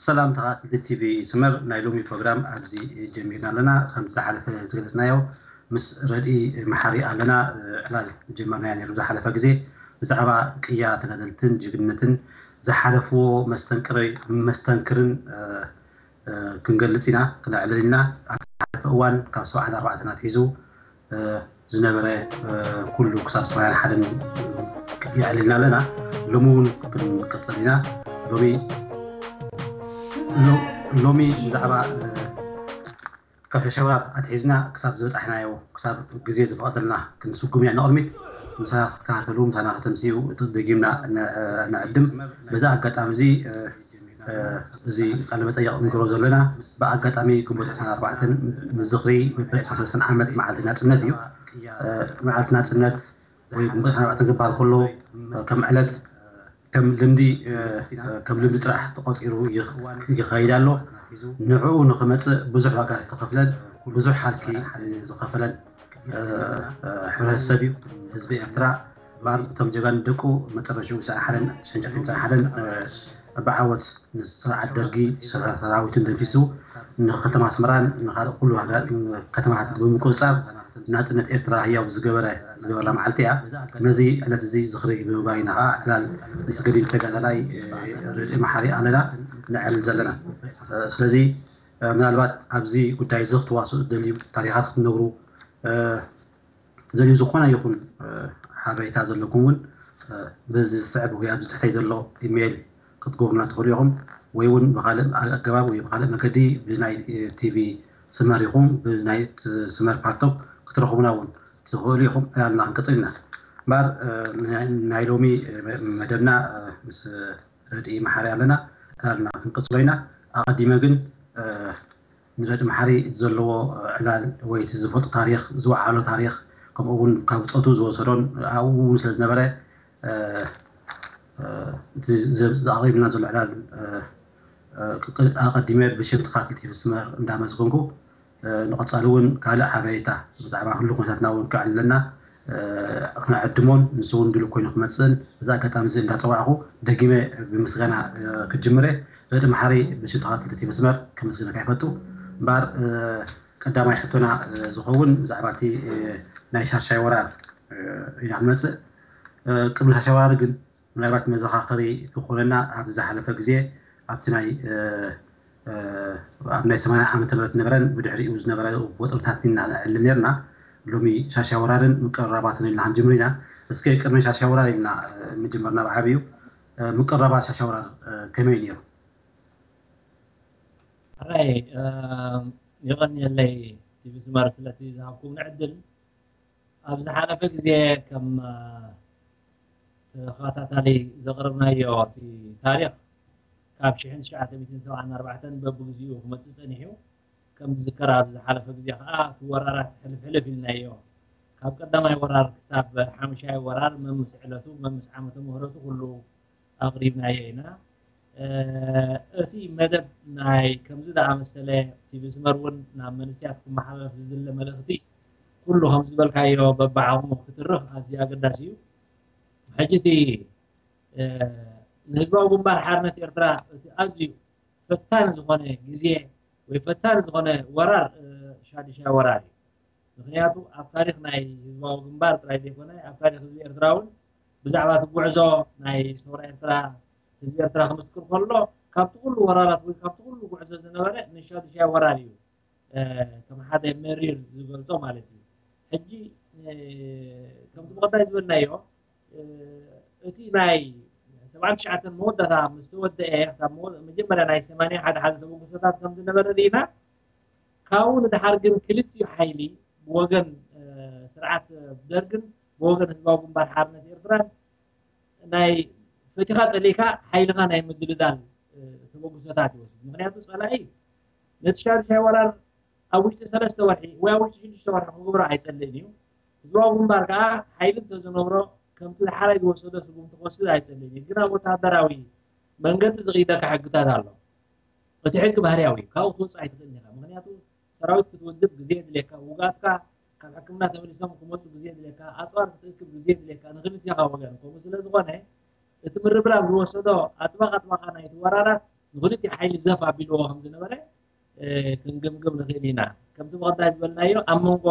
ሰላም ተኸታተልቲ ቲቪ ስመር፣ ናይ ሎሚ ፕሮግራም ኣብዚ ጀሚርና ኣለና። ከም ዝሓለፈ ዝገለጽናዮ፣ ምስ ረድኢ መሓሪ ኣለና ዕላል ጀመርናዮ ነይሩ ዝሓለፈ ግዜ። ብዛዕባ ቅያ ተጋደልትን ጅግንነትን ዝሓለፍዎ መስተንክርን ክንገልጽ ኢና፣ ክነዕልል ኢና። ኣብቲ ዝሓለፈ እዋን ካብ ሰብዓን ኣርባዕተን ኣትሒዙ ዝነበረ ኩሉ ክሳብ ሰብዓን ሓደን የዕልልና ኣለና። ሎሚ እውን ክንቅጽል ኢና። ሎሚ ሎሚ ብዛዕባ ካብ ሸሸብራር ኣትሒዝና ክሳብ ዝበጻሕናዮ፣ ክሳብ ግዜ ዝፈቐደልና ክንስጉም ኢና ንቕድሚት። ምሳና ክትከታተሉ፣ ምሳና ከተምስዩ ደጊምና ንዕድም። በዚ ኣጋጣሚ እዚ እዚ ቃለ መጠይቕ ንግሮ ዘለና ብኣጋጣሚ ግንቦት ዕስራን ኣርባዕተን ንዝኽሪ መበል ዕስራን ሰለስተን ዓመት መዓልቲ ናጽነት እዩ። መዓልቲ ናጽነት ወይ ግንቦት ዕስራን ኣርባዕተን ክበሃል ከሎ ከም ዕለት ከም ልምዲ ከም ልምዲ ጥራሕ ተቆጺሩ ይኸይድ ኣሎ። ንዕኡ ንክመጽእ ብዙሕ ዋጋ ዝተኸፍለን ብዙሕ ሃልኪ ዝኸፈለን ሕብረተሰብ እዩ ህዝቢ ኤርትራ። እምበኣር እቶም ጀጋኑ ደቁ መጠረሽኡ ሰዓሓለን ሸንጨትን ሰዓሓለን ብዓወት ንስርዓት ደርጊ ሰራዊትን ደምሲሱ ንከተማ ኣስመራን ንካልእ ኩሉ ከተማታት ብምቁፅፃር ናፅነት ኤርትራ ህያው ዝገበረ ዝገበርላ መዓልቲ እያ። ነዚ ዕለት እዚ ዝኽሪ ብምግባር ኢና ከዓ ዕላል ምስ ገዲም ተጋዳላይ ርድኢ መሓሪ ኣለና ነዕልል ዘለና። ስለዚ ምናልባት ኣብዚ ጉዳይ እዚ ክትዋስኡ ትደልዩ፣ ታሪኻት ክትነግሩ ትደልዩ፣ ዝኾነ ይኹን ሓበሬታ ዘለኩም እውን በዚ ዝስዕብ ወይ ኣብዚ ትሕተይ ዘሎ ኢሜይል ክትገብሩና ትኽእሉ ኢኹም። ወይ እውን ብኻልእ ኣገባብ ወይ ብኻልእ መገዲ ብናይ ቲቪ ስመር ኢኹም ብናይ ስመር ፓልቶክ ክትረኽቡና እውን ትኽእሉ ኢኹም። ዕላልና ክንቅፅል ኢና። እምበኣር ናይ ሎሚ መደብና ምስ ረድኢ መሓሪ ኣለና። ዕላልና ክንቅፅሎ ኢና። ኣቐዲመ ግን ንረድኢ መሓሪ እቲ ዘለዎ ዕላል ወይ እቲ ዝፈልጦ ታሪኽ ዝወዓሎ ታሪኽ ከምኡ እውን ካብ ብፆቱ ዝወሰዶን ኣብኡ እውን ስለ ዝነበረ እቲ ዘቕሪብልና ዘሎ ዕላል ኣቐዲመ ብሽም ተኻትልቲ መስመር እንዳመስገንኩ ንቐፃሊ እውን ካልእ ሓበሬታ ብዛዕባ ህሉ ኩነታትና እውን ክዕልለና ክነዕድሞን ንሱ እውን ድሉው ኮይኑ ክመፅእን እዚ ኣጋጣሚ እዚ እንዳፀዋዕኹ ደጊመ ብምስጋና ክጅምረ። ረዲ መሓሪ ብሽም ተኻትልቲ መስመር ከመስግነካ ይፈቱ። እምበኣር ቀዳማይ ሕቶና ዝኸውን ብዛዕባ እቲ ናይ ሻሻይ ወራር ኢና ንመፅእ። ቅድሚ ሻሻይ ወራር ግን ምናልባት መዘኻኸሪ ክኾነና ኣብ ዝሓለፈ ግዜ ኣብቲ ናይ ኣብ ናይ ሰማንያ ዓመተ ምህረት ነበረን ብድሕሪኡ ዝነበረ ወጥርታት ኢና ነዕልል ነርና። ሎሚ ሻሻይ ወራርን ምቅርራባትን ኢልና ክንጅምር ኢና። እስከ ቅድሚ ሻሻይ ወራር ኢልና ምጅመርና ብዓብዩ ምቅርራባት ሻሻይ ወራር ከመይ ነይሩ? ሕራይ የቐንየለይ ቲቪ ስመር ስለቲ ዝሃብኩም ዕድል። ኣብ ዝሓለፈ ግዜ ከም ተኸታታሊ ዘቕረብናዮ እቲ ታሪኽ ካብ ሽሕን ትሽዓተ ሚእትን ሰብዓን ኣርባዕተን በብግዚኡ ክመፅእ ፀኒሑ። ከም ዝዝከር ኣብ ዝሓለፈ ግዜ ከዓ እቲ ወራራት ሕልፍ ሕልፍ ኢልናዮ። ካብ ቀዳማይ ወራር ክሳብ ሓሙሻይ ወራር መምስ ዕለቱ መምስ ዓመተ ምህረቱ ኩሉ ኣቕሪብናዮ ኢና። እቲ መደብ ናይ ከምዚ ዝኣመሰለ ቲቪ ስመር እውን ናብ መንስያት ክመሓላለፍ ዝድለ መልእኽቲ ኩሉ ከም ዝበልካዮ በብዓቕሙ ክትርኽ ኣዝዩ ኣገዳሲ እዩ። ሕጂ እቲ ንህዝባዊ ግንባር ሓርነት ኤርትራ እቲ ኣዝዩ ፈታኒ ዝኾነ ግዜ ወይ ፈታኒ ዝኾነ ወራር ሻዱሻይ ወራር እዩ። ምክንያቱ ኣብ ታሪክ ናይ ህዝባዊ ግንባር ጥራይ ዘይኮነ ኣብ ታሪክ ህዝቢ ኤርትራ እውን ብዛዕባ እቲ ጉዕዞ ናይ ሰውራ ኤርትራ ህዝቢ ኤርትራ ክምስክር ከሎ ካብቲ ኩሉ ወራራት ወይ ካብቲ ኩሉ ጉዕዞ ዝነበረ ንሻዱሻይ ወራር እዩ ከም ሓደ መሪር ዝገልጾ ማለት እዩ። ሕጂ ከምቲ ብቐዳይ ዝበልናዮ እቲ ናይ ሰብዓን ትሽዓተን መወዳእታ ምስ ተወደአ ክሳብ መጀመርያ ናይ ሰማንያ ሓደ ሓደ ተበግሶታት ከም ዝነበረ ርኢና። ካብኡ ንድሓር ግን ክልቲኡ ሓይሊ ብወገን ስርዓት ደርግን ብወገን ህዝባዊ ግንባር ሓርነት ኤርትራን ናይ ፈቲኻ ጸሊእካ ሓይልኻ ናይ ምድልዳል ተበግሶታት ይወስድ። ምክንያቱ ጸላኢ ነቲ ሻዱሻይ ወራር ኣብ ውሽጢ ሰለስተ ወርሒ ወይ ኣብ ውሽጢ ሽዱሽተ ወርሒ ክገብሮ ኣይጸልእን እዩ። ህዝባዊ ግንባር ከኣ ሓይሊ እንተዝነብሮ ከምቲ ዝሓራይ ዝወሰዶ ስጉምቲ ክወስድ ኣይጸልእን እዩ። ግን ኣብ ወተሃደራዊ መንገዲ ዝቕይደካ ሕግታት ኣሎ። እቲ ሕጊ ባህርያዊ እዩ። ካብኡ ክትወጽእ ኣይትኽእልን ኢኻ። ምክንያቱ ሰራዊት ክትውድብ ግዜ የድልየካ፣ ውጉኣትካ ካብ ሕክምና ተመሊሶም ክመጹ ግዜ የድልየካ፣ ኣጽዋር ክትእክብ ግዜ የድልየካ፣ ንክልቲኻ ወገን። ከምኡ ስለ ዝኾነ እቲ ምርብራብ ዝወሰዶ ኣጥባቕ ኣጥባቓ ናይቲ ወራራት ንክልቲኡ ሓይሊ ዘፍ ኣቢልዎ ከም ዝነበረ ክንግምግም ንኽእል ኢና። ከምቲ ብቐዳይ ዝበልናዮ ኣብ መንጎ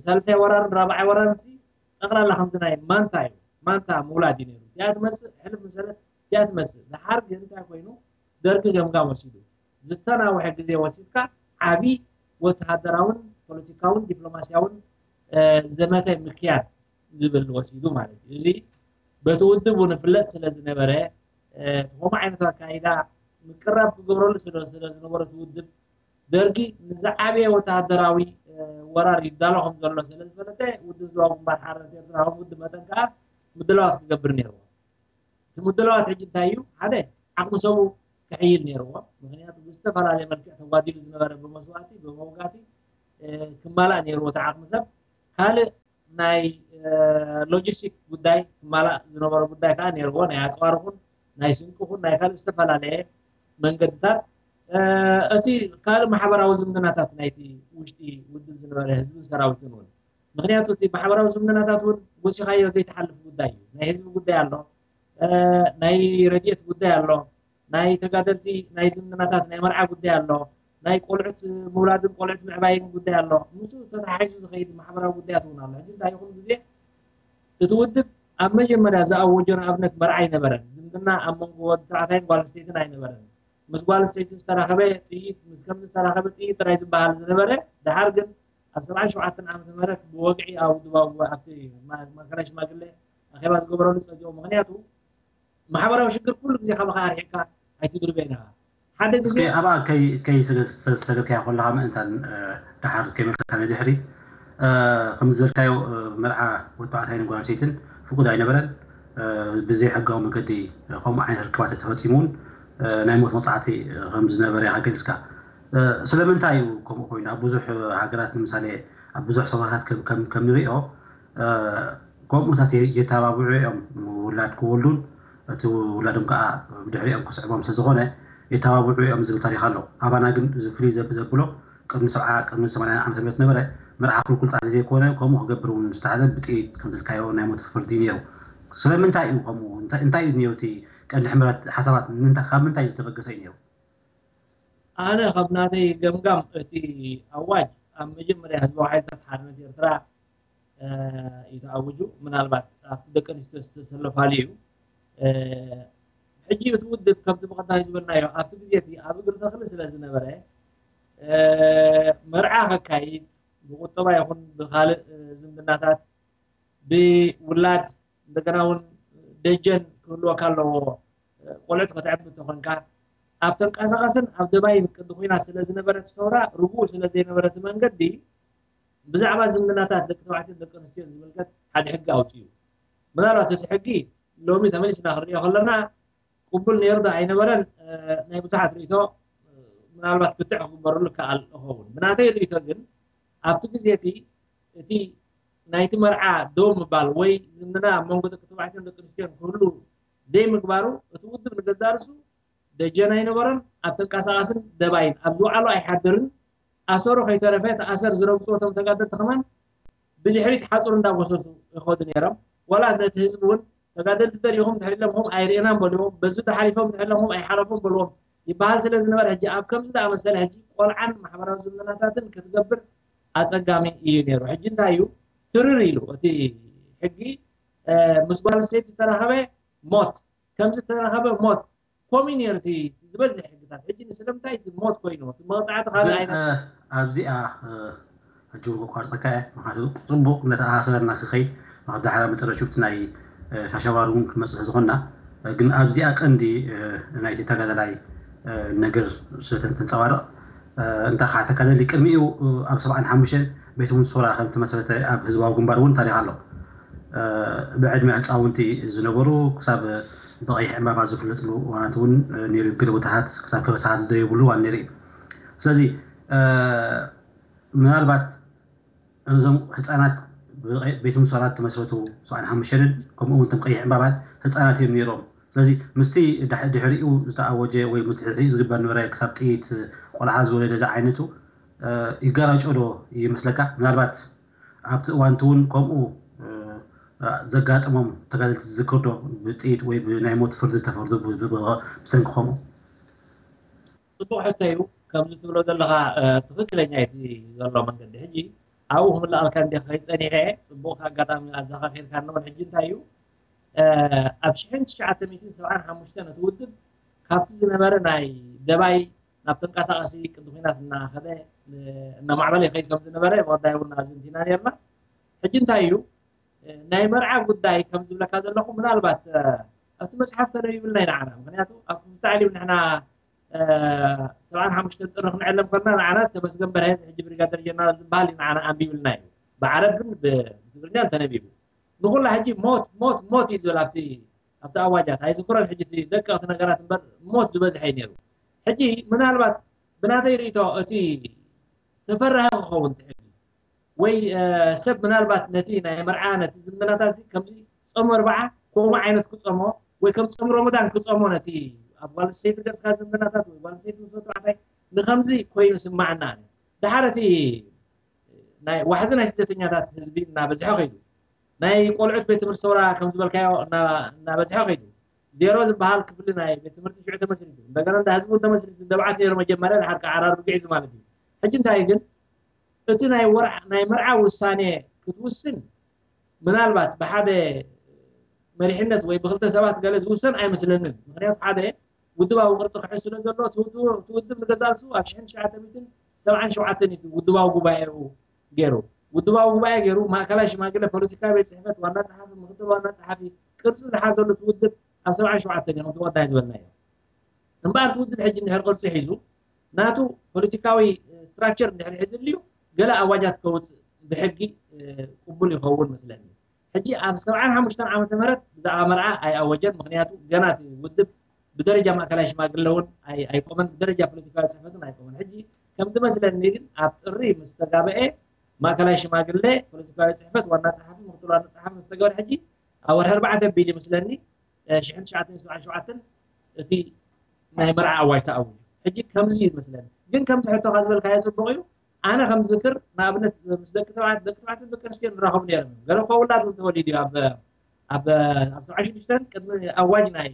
ሳልሳይ ወራርን ራብዓይ ወራርን ጠቕላላ ከምዚ ናይ ማንታ እዩ፣ ማንታ ምውላድ እዩ ነይሩ። እዚኣ ትመፅእ ሕልፍ ምሰለት እዚኣ ትመፅእ። ደሓር ግን እንታይ ኮይኑ ደርጊ ገምጋም ወሲዱ ዝተናውሐ ግዜ ወሲድካ ዓብዪ ወተሃደራውን ፖለቲካውን ዲፕሎማሲያውን ዘመተ ምክያድ ዝብል ወሲዱ ማለት እዩ። እዚ በቲ ውድብ እውን ይፍለጥ ስለ ዝነበረ ከምኡ ዓይነት ኣካይዳ ምቅራብ ክገብረሉ ስለ ዝነበረ እቲ ውድብ ደርጊ ንዝዓበየ ወተሃደራዊ ወራር ይዳሎ ከም ዘሎ ስለ ዝፈለጠ ውድብ ህዝባዊ ግንባር ሓርነት ኤርትራ ከም ውድብ መጠን ከዓ ምድላዋት ክገብር ነይርዎ። እቲ ምድላዋት ሕጂ እንታይ እዩ? ሓደ ዓቕሚ ሰቡ ክሕይል ነይርዎ። ምክንያቱ ብዝተፈላለየ መልክዕ ተጓዲሉ ዝነበረ ብመስዋእቲ ብመውጋእቲ ክማላእ ነይርዎ እቲ ዓቕሚ ሰብ። ካልእ ናይ ሎጂስቲክ ጉዳይ ክማላእ ዝነበሮ ጉዳይ ከዓ ነይርዎ። ናይ ኣፅዋር ኹን ናይ ስንቂ ኹን ናይ ካልእ ዝተፈላለየ መንገድታት እቲ ካልእ ማሕበራዊ ዝምድናታት ናይቲ ውሽጢ ውድብ ዝነበረ ህዝብን ሰራዊትን እውን ምክንያቱ እቲ ማሕበራዊ ዝምድናታት እውን ወሲኻዮ ዘይተሓልፍ ጉዳይ እዩ። ናይ ህዝቢ ጉዳይ ኣሎ፣ ናይ ረድኤት ጉዳይ ኣሎ፣ ናይ ተጋደልቲ ናይ ዝምድናታት ናይ መርዓ ጉዳይ ኣሎ፣ ናይ ቆልዑት ምውላድን ቆልዑት ምዕባይን ጉዳይ ኣሎ። ምስ ተተሓሒዙ ዝኸይድ ማሕበራዊ ጉዳያት እውን ኣሎ። ሕጂ እንታይ ይኹን ግዜ እቲ ውድብ ኣብ መጀመርያ ዝኣወጆ ንኣብነት መርዓ ኣይነበረን። ዝምድና ኣብ መንጎ ወዲ ተባዕታይን ጓል ኣንስተይትን ኣይነበረን። ምስ ጓል ኣንስተይቲ ዝተራኸበ ጥይት ምስ ከምዚ ዝተራኸበ ጥይት ጥራይ ዝበሃል ዝነበረ፣ ደሓር ግን ኣብ ሰብዓን ሸውዓተን ዓመተ ምህረት ብወግዒ ኣብ ውድባዊ ኣብቲ ማእከላይ ሽማግለ ኣኼባ ዝገበረሉ ፀጅኦ። ምክንያቱ ማሕበራዊ ሽግር ኩሉ ግዜ ካባኻ ኣርሒቕካ ኣይትድርበን ኢኻ። ሓደ ግዜ እስከ ኣብኣ ከይሰገድካያ ከለኻ ምእንታን ደሓር ከይመልከካ ንድሕሪ ከም ዝበልካዮ መርዓ ወተባዕታይን ጓል ኣንስተይትን ፍቁድ ኣይነበረን። ብዘይ ሕጋዊ መገዲ ከምኡ ዓይነት ርክባት ተፈፂሙ እውን ናይ ሞት መቕፃዕቲ ከም ዝነበረ ኢኻ ገሊፅካ። ስለምንታይ እዩ ከምኡ ኮይኑ? ኣብ ብዙሕ ሃገራት ንምሳሌ ኣብ ብዙሕ ሰውራታት ከም ንሪኦ ከምኡታት የተባብዑ እዮም ውላድ ክወልዱን እቲ ውላዶም ከዓ ብድሕሪኦም ክስዕቦም ስለዝኾነ የተባብዑ እዮም ዝብል ታሪክ ኣሎ። ኣባና ግን ፍልይ ዘብሎ ቅድሚ ሰብዓ ቅድሚ ሰማንያ ዓመተ ምህረት ነበረ። መርዓ ክልኩል ጥራሕ ዘይኮነ ከምኡ ክገብር እውን ዝተሓዘ ብጥይት ከምዝልካዮ ናይ ሞት ፍርዲ ነይሩ። ስለምንታይ እዩ ከምኡ? እንታይ እዩ ነይሩ እቲ ቀንዲ ሕምረት ሓሳባት? ካብ ምንታይ ዝተበገሰ እዩ ነይሩ? ኣነ ካብ ናተይ ገምጋም እቲ ኣዋጅ ኣብ መጀመርያ ህዝባዊ ሓይልታት ሓርነት ኤርትራ እዩ ተኣዊጁ። ምናልባት ኣብቲ ደቂ ኣንስትዮ ዝተሰለፋሉ እዩ። ሕጂ እቲ ውድብ ከምቲ ብቐዳሚ ዝበልናዮ ኣብቲ ግዜ እቲ ኣብ እግሪ ተኽሊ ስለ ዝነበረ መርዓ ከካይድ ብቁጠባ ይኹን ብካልእ ዝምድናታት ብውላድ እንደገና እውን ደጀን ክህልወካ ኣለዎ። ቆልዑት ከተዕቢ እንተኾንካ ኣብ ተንቀሳቐስን ኣብ ደባይን ቅዲ ኩናት ስለ ዝነበረት ሰውራ ርጉእ ስለ ዘይነበረ እቲ መንገዲ ብዛዕባ ዝምድናታት ደቂ ተባዕትዮን ደቂ ኣንስትዮን ዝምልከት ሓደ ሕጊ ኣውፅኡ። ምናልባት እቲ ሕጊ ሎሚ ተመሊስና ክንሪኦ ከለና ቅቡል ነይሩ ዶ ኣይነበረን ናይ ብዙሓት ርእቶ ምናልባት ክትዕ ክግበረሉ ይከኣል ይኸውን። ብናተይ ርእቶ ግን ኣብቲ ግዜ እቲ እቲ ናይቲ መርዓ ደው ምባል ወይ ዝምድና ኣብ መንጎ ደቂ ተባዕትዮን ደቂ ኣንስትዮን ክህሉ ዘይምግባሩ እቲ ውድብ ንገዛእ ርእሱ ደጀን ኣይነበሮን። ኣብ ተንቀሳቓስን ደባይን ኣብ ዝወዓሎ ኣይሓድርን። ኣሰሩ ከይተረፈ እቲ ኣሰር ዝረግፁ እቶም ተጋደልቲ ከማን ብድሕሪት ሓፁር እንዳጎሰሱ ይኸዱ ነይሮም። ዋላ ነቲ ህዝቢ እውን ተጋደልቲ ደሪኹም ድሕሪ ለምኹም ኣይርእናን በልዎም፣ በዚ ተሓሊፎም ድሕሪ ለምኹም ኣይሓለፉን በልዎም ይበሃል ስለ ዝነበረ ሕጂ ኣብ ከምዚ ዝኣመሰለ ሕጂ ቆልዓን ማሕበራዊ ዝምድናታትን ክትገብር ኣፀጋሚ እዩ ነይሩ። ሕጂ እንታይ እዩ ትርር ኢሉ እቲ ሕጊ ምስ ጓል ኣንስተይቲ ዝተራኸበ ሞት፣ ከምዚ ዝተራኸበ ሞት ኮሚ ነይሩ እቲ ዝበዝሕ ሕግታት። ሕጂ ስለምንታይ እቲ ሞት ኮይኑ እቲ መቕፃዕቲ ካልእ ዓይነት ኣብዚኣ ሕጂ እውን ከቋርፀካ እየ። ምክንያቱ ፅቡቕ ነቲ ኣሃሰበና ክኸይድ ንክዳሓራ መጨረሽቲ ናይ ሻሻዋር እውን ክመፅእ ዝኾንና ግን ኣብዚኣ ቀንዲ ናይቲ ተጋዳላይ ነገር ስለተንፀባርቕ እንታይ ከዓ ተጋደሊ ቅድሚኡ ኣብ ሰብዓን ሓሙሽተን ቤት ሙንሶራ ከም ተመስረተ ኣብ ህዝባዊ ግንባር እውን ታሪክ ኣሎ። ብዕድመ ህፃውንቲ ዝነበሩ ክሳብ ብቐይሕ ዕምባባ ዝፍለጥሉ እዋናት እውን ነይሩ። ገለ ቦታታት ክሳብ ከበሳሓት ዝደየብሉ እዋን ነይሩ እዩ። ስለዚ ምናልባት እዞም ህፃናት ቤት ሙንሶራ ተመስረቱ ሰብዓን ሓሙሽተን ከምኡ እውን እቶም ቀይሕ ዕምባባን ህፃናት እዮም ነይሮም። ስለዚ ምስቲ ድሕሪኡ ዝተኣወጀ ወይ ድሕሪኡ ዝግበር ነበረ ክሳብ ጥይት ቆልዓ ዝወለደ ዝዓይነቱ ይጋራጮ ዶ ይመስለካ? ምናልባት ኣብቲ እዋን እቲ እውን ከምኡ ዘጋጠሞም ተጋደልቲ ትዝክር ዶ? ብጥይት ወይ ብናይ ሞት ፍርዲ ዝተፈርዱ ብሰንኪ ከምኡ? ጽቡቕ ሕቶ እዩ። ከምዚ ትብሎ ዘለኻ ትኽክለኛ እቲ ዘሎ መንገዲ። ሕጂ ኣብኡ ክምልኣልካ እንዲ ከይጸኒሐ ጽቡቕ ኣጋጣሚ ኣዘኻኺርካ። እንውን ሕጂ እንታይ እዩ ኣብ ሽሕን ትሽዓተ ሚእትን ሰብዓን ሓሙሽተን እቲ ውድብ ካብቲ ዝነበረ ናይ ደባይ ናብ ተንቀሳቐሲ ቅዲ ኩናት እናኸደ እናማዕበለ ይኸይድ ከም ዝነበረ ወዳይ እውን ኣዘንቲና ነርና። ሕጂ እንታይ እዩ ናይ መርዓ ጉዳይ ከም ዝብለካ ዘለኹ ምናልባት ኣብቲ መፅሓፍ ተነቢብልና ኢና ዓና። ምክንያቱ ኣብ ክፍልተ ዓሊም ንሕና ሰብዓን ሓሙሽተን ጥሪ ክንዕለም ከልና ንዓና ተመስገን በርሀ ሕጂ ብሪጋደር ጀነራል ዝበሃል እዩ ንዓና ኣንቢብልና እዩ። ብዓረብን ብትግርኛን ተነቢቡ። ንኩላ ሕጂ ሞት ሞት ሞት እዩ ዝብል ኣብቲ ኣብቲ ኣዋጃት ኣይዝክሮን ሕጂ እቲ ደቀቕቲ ነገራት እምበር ሞት ዝበዝሐ እዩ ነይሩ። ሕጂ ምናልባት ብናተይ ርእቶ እቲ ተፈራሂ ክኸውን ትሕል ወይ ሰብ ምናልባት ነቲ ናይ መርዓ ነቲ ዝምድናታት ከምዚ ጾም ኣርብዓ ከምኡ ዓይነት ክጸሞ ወይ ከም ጾም ረመዳን ክጸሞ ነቲ ኣብ ጓል ሰይቲ ገጽካ ዝምድናታት ወይ ጓል ሰይቲ ምስ ወዲ ተባዕታይ ንከምዚ ኮይኑ ስማዓና። ድሓር እቲ ናይ ዋሕዚ ናይ ስደተኛታት ህዝቢ እናበዝሐ ከይዱ ናይ ቆልዑት ቤት ትምህርቲ ሰውራ ከም ዝበልካዮ እናበዝሐ ከይዱ ዜሮ ዝበሃል ክፍሊ ናይ ቤት ትምህርቲ ሽዑ ተመስሪቱ እንደገና እንዳ ህዝቢ ተመስሪቱ ደብዓት ነይሩ መጀመርያ ድሓር ከዓ ዓራርቢ ግዒዙ ማለት እዩ። ሕጂ እንታይ ግን እቲ ናይ ወርዓ ናይ መርዓ ውሳኔ ክትውስን ምናልባት ብሓደ መሪሕነት ወይ ብክልተ ሰባት ገለ ዝውሰን ኣይመስለንን። ምክንያቱ ሓደ ውድባዊ ቅርፂ ክሕዝ ስለ ዘሎ ትውድብ ንገዛእ ርእሱ ኣብ ሽሕን ትሽዓተ ሚእትን ሰብዓን ሸውዓተን እዩ ውድባዊ ጉባኤኡ ገይሩ ውድባዊ ጉባኤ ገይሩ ማእከላይ ሽማግለ ፖለቲካዊ ቤት ፅሕፈት ዋና ፀሓፊ ምክትል ዋና ፀሓፊ ቅርፂ ዝሓዘሉ ትውድብ ኣብ ሰብዓን ሸውዓተን እዮም ትወዳይ ዝበልናዮ። እምበኣር እቲ ውድብ ሕጂ እንድሕር ቅርፂ ሒዙ ናቱ ፖለቲካዊ ስትራክቸር እንድሕር ሒዝልዩ ገለ ኣዋጃት ከውፅእ ብሕጊ ቅቡል ይኸውን መስለኒ። ሕጂ ኣብ ሰብዓን ሓሙሽተን ዓመተ ምህረት ብዛዕባ መርዓ ኣይኣወጀን። ምክንያቱ ገና እቲ ውድብ ብደረጃ ማእከላይ ሽማግለ እውን ኣይቆመን፣ ብደረጃ ፖለቲካዊ ፅሕፈትን ኣይቆመን። ሕጂ ከም ዝመስለኒ ግን ኣብ ጥሪ ምስ ተጋበኤ ማእከላይ ሽማግለ ፖለቲካዊ ፅሕፈት ዋና ፀሓፊ ምክትል ዋና ፀሓፊ ምስ ተገበረ ሕጂ ኣብ ወርሒ ኣርባዕተ ቢል ይመስለኒ ሽሕን ትሽዓተን ሰብዓን ሸውዓተን እቲ ናይ መርዓ ኣዋጅ ተኣዊጁ። ሕጂ ከምዚ እዩ ዝመስለኒ። ግን ከምዚ ሕቶኻ ዝበልካዮ ጽቡቕ እዩ። ኣነ ከም ዝዝክር ንኣብነት ምስ ደቂ ተባዕት ደቂ ተባዕትን ደቂ ኣንስትዮ ንራኸቡ ነይሮም እዮም። ገለ እኳ ውላድ እውን ተወሊዱ እዩ ኣብ ኣብ ኣብ ሰብዓ ሽዱሽተን ቅድሚ ኣዋጅ ናይ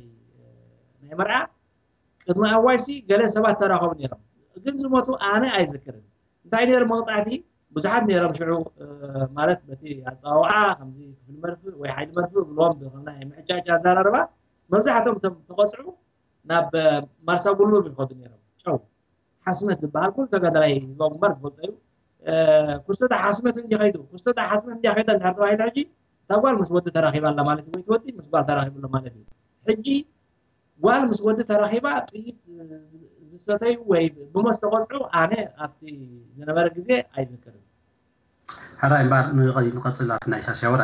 ናይ መርዓ ቅድሚ ኣዋጅ ሲ ገለ ሰባት ተራኸቡ ነይሮም። ግን ዝሞቱ ኣነ ኣይዝክርን። እንታይ ነይሩ መቕጻዕቲ ብዙሓት ነይሮም ሽዑ ማለት በቲ ኣጸዋውዓ ከምዚ ክፍሊ መርፍእ ወይ ሓይሊ መርፍእ ብልዎም ብናይ ምዕጫጭ ኣዘራርባ መብዛሕትኦም እቶም ተቐፅዑ ናብ ማርሳ ጉሉብ ይኸዱ ነይሮም። ጨው ሓስመት ዝበሃል ኩሉ ተጋዳላይ ህዝባዊ ግንባር ዝፈልጦ እዩ። ኩስቶዳ ሓስመት እንዲ ከይዱ ኩስቶዳ ሓስመት እንዲ ከይዳ እንድሕር ተባሂሉ ሕጂ እታ ጓል ምስ ወዲ ተራኺባ ኣላ ማለት እዩ ወይ ትወዲ ምስ ጓል ተራኺቡ ኣሎ ማለት እዩ። ሕጂ ጓል ምስ ወዲ ተራኺባ ጥይት ዝሰተዩ ወይ ብሞት ዝተቐፅዑ ኣነ ኣብቲ ዝነበረ ግዜ ኣይዝክርን። ሕራይ እምበኣር ንቐፅል ኣብቲ ናይ ሻሻወራ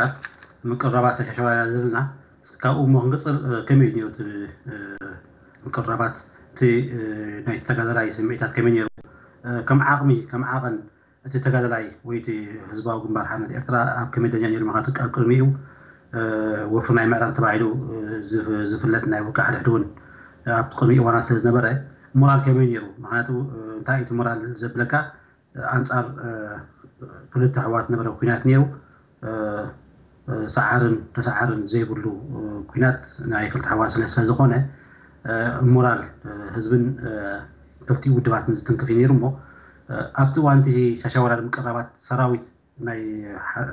ምቅርራባት ናይ ሻሻወራ ዝብልና ካብኡ እሞ ክንቅፅል ከመይ እዩ ነይሩ እቲ ምቅርራባት እቲ ናይ ተጋዳላይ ስምዒታት ከመይ ነይሩ ከም ዓቕሚ ከም ዓቐን እቲ ተጋዳላይ ወይ እቲ ህዝባዊ ግንባር ሓርነት ኤርትራ ኣብ ከመይ ደረጃ ነይሩ ምክንያቱ ኣብ ቅድሚኡ ወፍሪ ናይ ምዕራብ ተባሂሉ ዝፍለጥ ናይ ውልቀ ሓድሕድ እውን ኣብቲ ቅድሚ እዋና ስለ ዝነበረ ሞራል ከመይ ነይሩ ምክንያቱ እንታይ እቲ ሞራል ዘብለካ ኣንፃር ክልተ ኣሕዋት ነበረ ኩናት ነይሩ ሰዓርን ተሰዓርን ዘይብሉ ኩናት ናይ ክልተ ኣሕዋት ስለ ስለዝኾነ ሞራል ህዝብን ክልቲኡ ውድባትን ዝትንክፍ እዩ ነይሩ እሞ ኣብቲ እዋን እቲ ሻሻወራር ምቅራባት ሰራዊት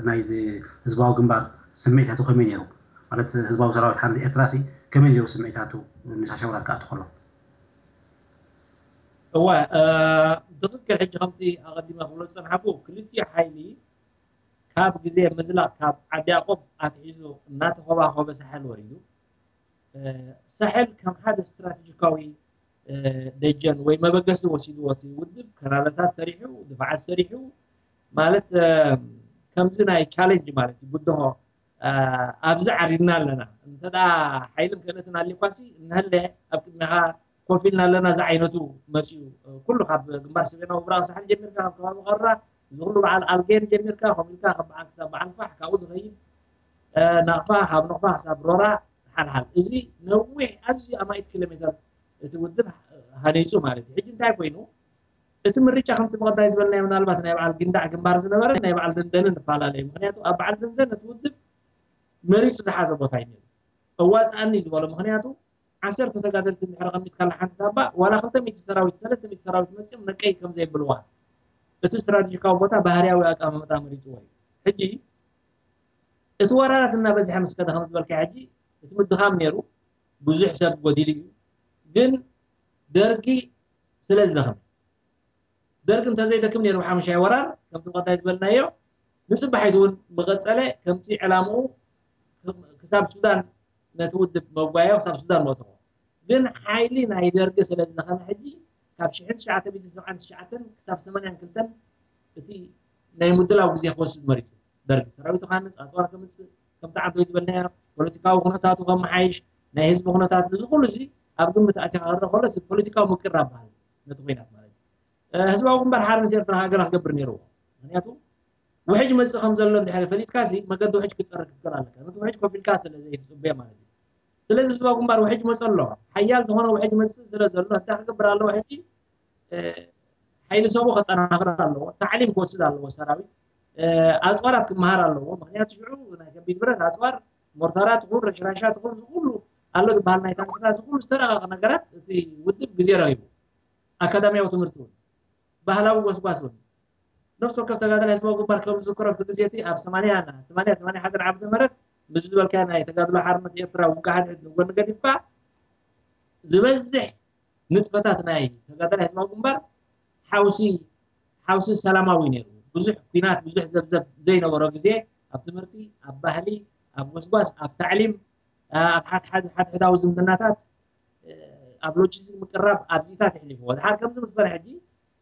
ናይ ህዝባዊ ግንባር ስምዒታቱ ከመይ ነይሩ ማለት ህዝባዊ ሰራዊት ሓንቲ ኤርትራ ሲ ከመይ ነይሩ ስምዒታቱ ንሻሻወራር ክኣቱ ከሎ እወ ትኽክል። ሕጂ ከምቲ ኣቐዲመ ክብሎ ዝፀንሓኩ ክልቲኡ ሓይሊ ካብ ግዜ ምዝላቕ ካብ ዓዲ ያቆብ ኣትሒዙ እናተኸባኸበ ሳሕል ወሪዱ። ሳሕል ከም ሓደ ስትራቴጂካዊ ደጀን ወይ መበገሲ ወሲድዎ እቲ ውድብ ከራረታት ሰሪሑ፣ ድፋዓት ሰሪሑ ማለት ከምዚ ናይ ቻሌንጅ ማለት እዩ ብድሆ ኣብዚ ዓሪድና ኣለና እንተ ሓይልን ክእለትን ኣልኳሲ እንሀለ ኣብ ቅድሚኻ ኮፍ ኢልና ኣለና ዝዓይነቱ መፅኡ ኩሉ ካብ ግንባር ሰሜናዊ ምብራቕ ሳሕል ጀሚርካ ካብ ከባቢ ቀራ እዚ ኩሉ በዓል ኣልጌን ጀሚርካ ከምኡ ኢልካ ካብ በዓል ክሳብ በዓል ፋሕ ካብኡ ዝኸይድ ናቕፋ ካብ ነቕፋ ክሳብ ሮራ ሓልሓል እዚ ነዊሕ ኣዝዩ ኣማኢት ኪሎ ሜተር እቲ ውድብ ሃኒፁ ማለት እዩ። ሕጂ እንታይ ኮይኑ እቲ ምርጫ ከምቲ ብቐዳይ ዝበልናዮ ምናልባት ናይ በዓል ጊንዳዕ ግንባር ዝነበረ ናይ በዓል ደንደነ ንፈላለ እዩ። ምክንያቱ ኣብ በዓል ደንደነ እቲ ውድብ መሪፁ ዝሓዘ ቦታ እዩ ነይሩ። እዋፅኣኒ ዝበሎ ምክንያቱ ዓሰርተ ተጋደልቲ እንድሕር ኣቐሚጥካላ ሓንቲ ዳባ፣ ዋላ ክልተ ሚእቲ ሰራዊት፣ ሰለስተ ሚእቲ ሰራዊት መጺኦም ነቀይ ከም ዘየብልዋ፣ እቲ ስትራቴጂካዊ ቦታ ባህርያዊ ኣቀማምጣ መሪጽዎ እዩ። ሕጂ እቲ ወራራት እናበዝሐ ምስ ከደ፣ ከም ዝበልካ፣ ሕጂ እቲ ምድኻም ነይሩ፣ ብዙሕ ሰብ ጎዲሉ እዩ። ግን ደርጊ ስለ ዝደኸመ፣ ደርጊ እንተዘይደክም ነይሩ፣ ሓሙሻይ ወራር ከምቲ ቀዳይ ዝበልናዮ፣ ንጽባሒቱ እውን ምቐጸለ፣ ከምቲ ዕላምኡ ክሳብ ሱዳን፣ ነቲ ውድብ መጓዮ ክሳብ ሱዳን መእተዎ። ግን ሓይሊ ናይ ደርጊ ስለ ዝደኸመ፣ ሕጂ ካብ ሽሕን ትሽዓተ ሚእትን ሰብዓን ትሽዓተን ክሳብ ሰማንያን ክልተን እቲ ናይ ምድላው ግዜ ክወስድ መሪጹ። ደርጊ ሰራዊቱ ክሃንጽ፣ ኣጽዋር ከምጽእ፣ ከምቲ ዓንተወይ ዝበልናዮ፣ ፖለቲካዊ ኩነታቱ ከመሓይሽ፣ ናይ ህዝቢ ኩነታት፣ እዚ ኩሉ እዚ ኣብ ግምት ኣቲኻ ክረአ ከሎ፣ እቲ ፖለቲካዊ ምቅራብ በሃል ነቲ ኩናት ማለት እዩ። እ፣ ህዝባዊ ግንባር ሓርነት ኤርትራ ሃገራ ክገብር ነይርዎ። ምክንያቱ ውሕጅ መጽእ ከም ዘሎ እንድሕር ፈሊጥካ ሲ፣ መገዲ ውሕጅ ክጸርግ ክትክእል ኣለካ። ነቲ ውሕጅ ኮፍ ኢልካ ስለ ዘይትጽበዮ ማለት እዩ። ስለዚ ህዝባዊ ግንባር ውሕጅ መጽእ ኣሎ። ሓያል ዝኾነ ውሕጅ መጽእ ስለ ዘሎ፣ እንታይ ክገብር ኣለዎ ሕጂ? እ፣ ሓይሊ ሰቡ ከጠናኽር ኣለዎ። ታዕሊም ክወስድ ኣለዎ ሰራዊት። እ፣ ኣጽዋራት ክመሃር ኣለዎ። ምክንያቱ ሽዑ ናይ ከቢድ ብረት ኣጽዋር፣ ሞርታራት ይኹን፣ ረሽራሻት ይኹን፣ እዚ ኩሉ ኣሎ ዝበሃል፣ ናይ ታንክታት፣ እዚ ኩሉ ዝተረቐቐ ነገራት እቲ ውድብ ግዜ ረኺቡ። ኣካዳሚያዊ ትምህርቲ እውን፣ ባህላዊ ጎስጓስ እውን። ነፍሲ ወከፍ ተጋዳላይ ህዝባዊ ግንባር ከም ዝዝክሮ፣ ኣብቲ ግዜ እቲ ኣብ ሰማንያ፣ ሰማንያ፣ ሰማንያ ሓደን ዓመተ ምህረት፣ ምስ ዝበልካዮ ናይ ተጋድሎ ሓርነት ኤርትራ ውግእ ሓድሕድ ንጎኒ ገዲፍካ፣ ዝበዝሕ ንጥፈታት ናይ ተጋዳላይ ህዝባዊ ግንባር ሓውሲ፣ ሓውሲ ሰላማዊ ነይሩ። ብዙሕ ኲናት፣ ብዙሕ ዘብዘብ ዘይነበሮ ግዜ፣ ኣብ ትምህርቲ፣ ኣብ ባህሊ፣ ኣብ ጎስጓስ፣ ኣብ ታዕሊም፣ ኣብ ሓድ-፣ ሓድ-፣ ሓድሕዳዊ ዝምድናታት፣ ኣብ ሎጂስቲክ ምቅራብ፣ ኣብዚታት የሕሊፍዎ። ድሓር ከምዚ ምስ በለ፣ ሕጂ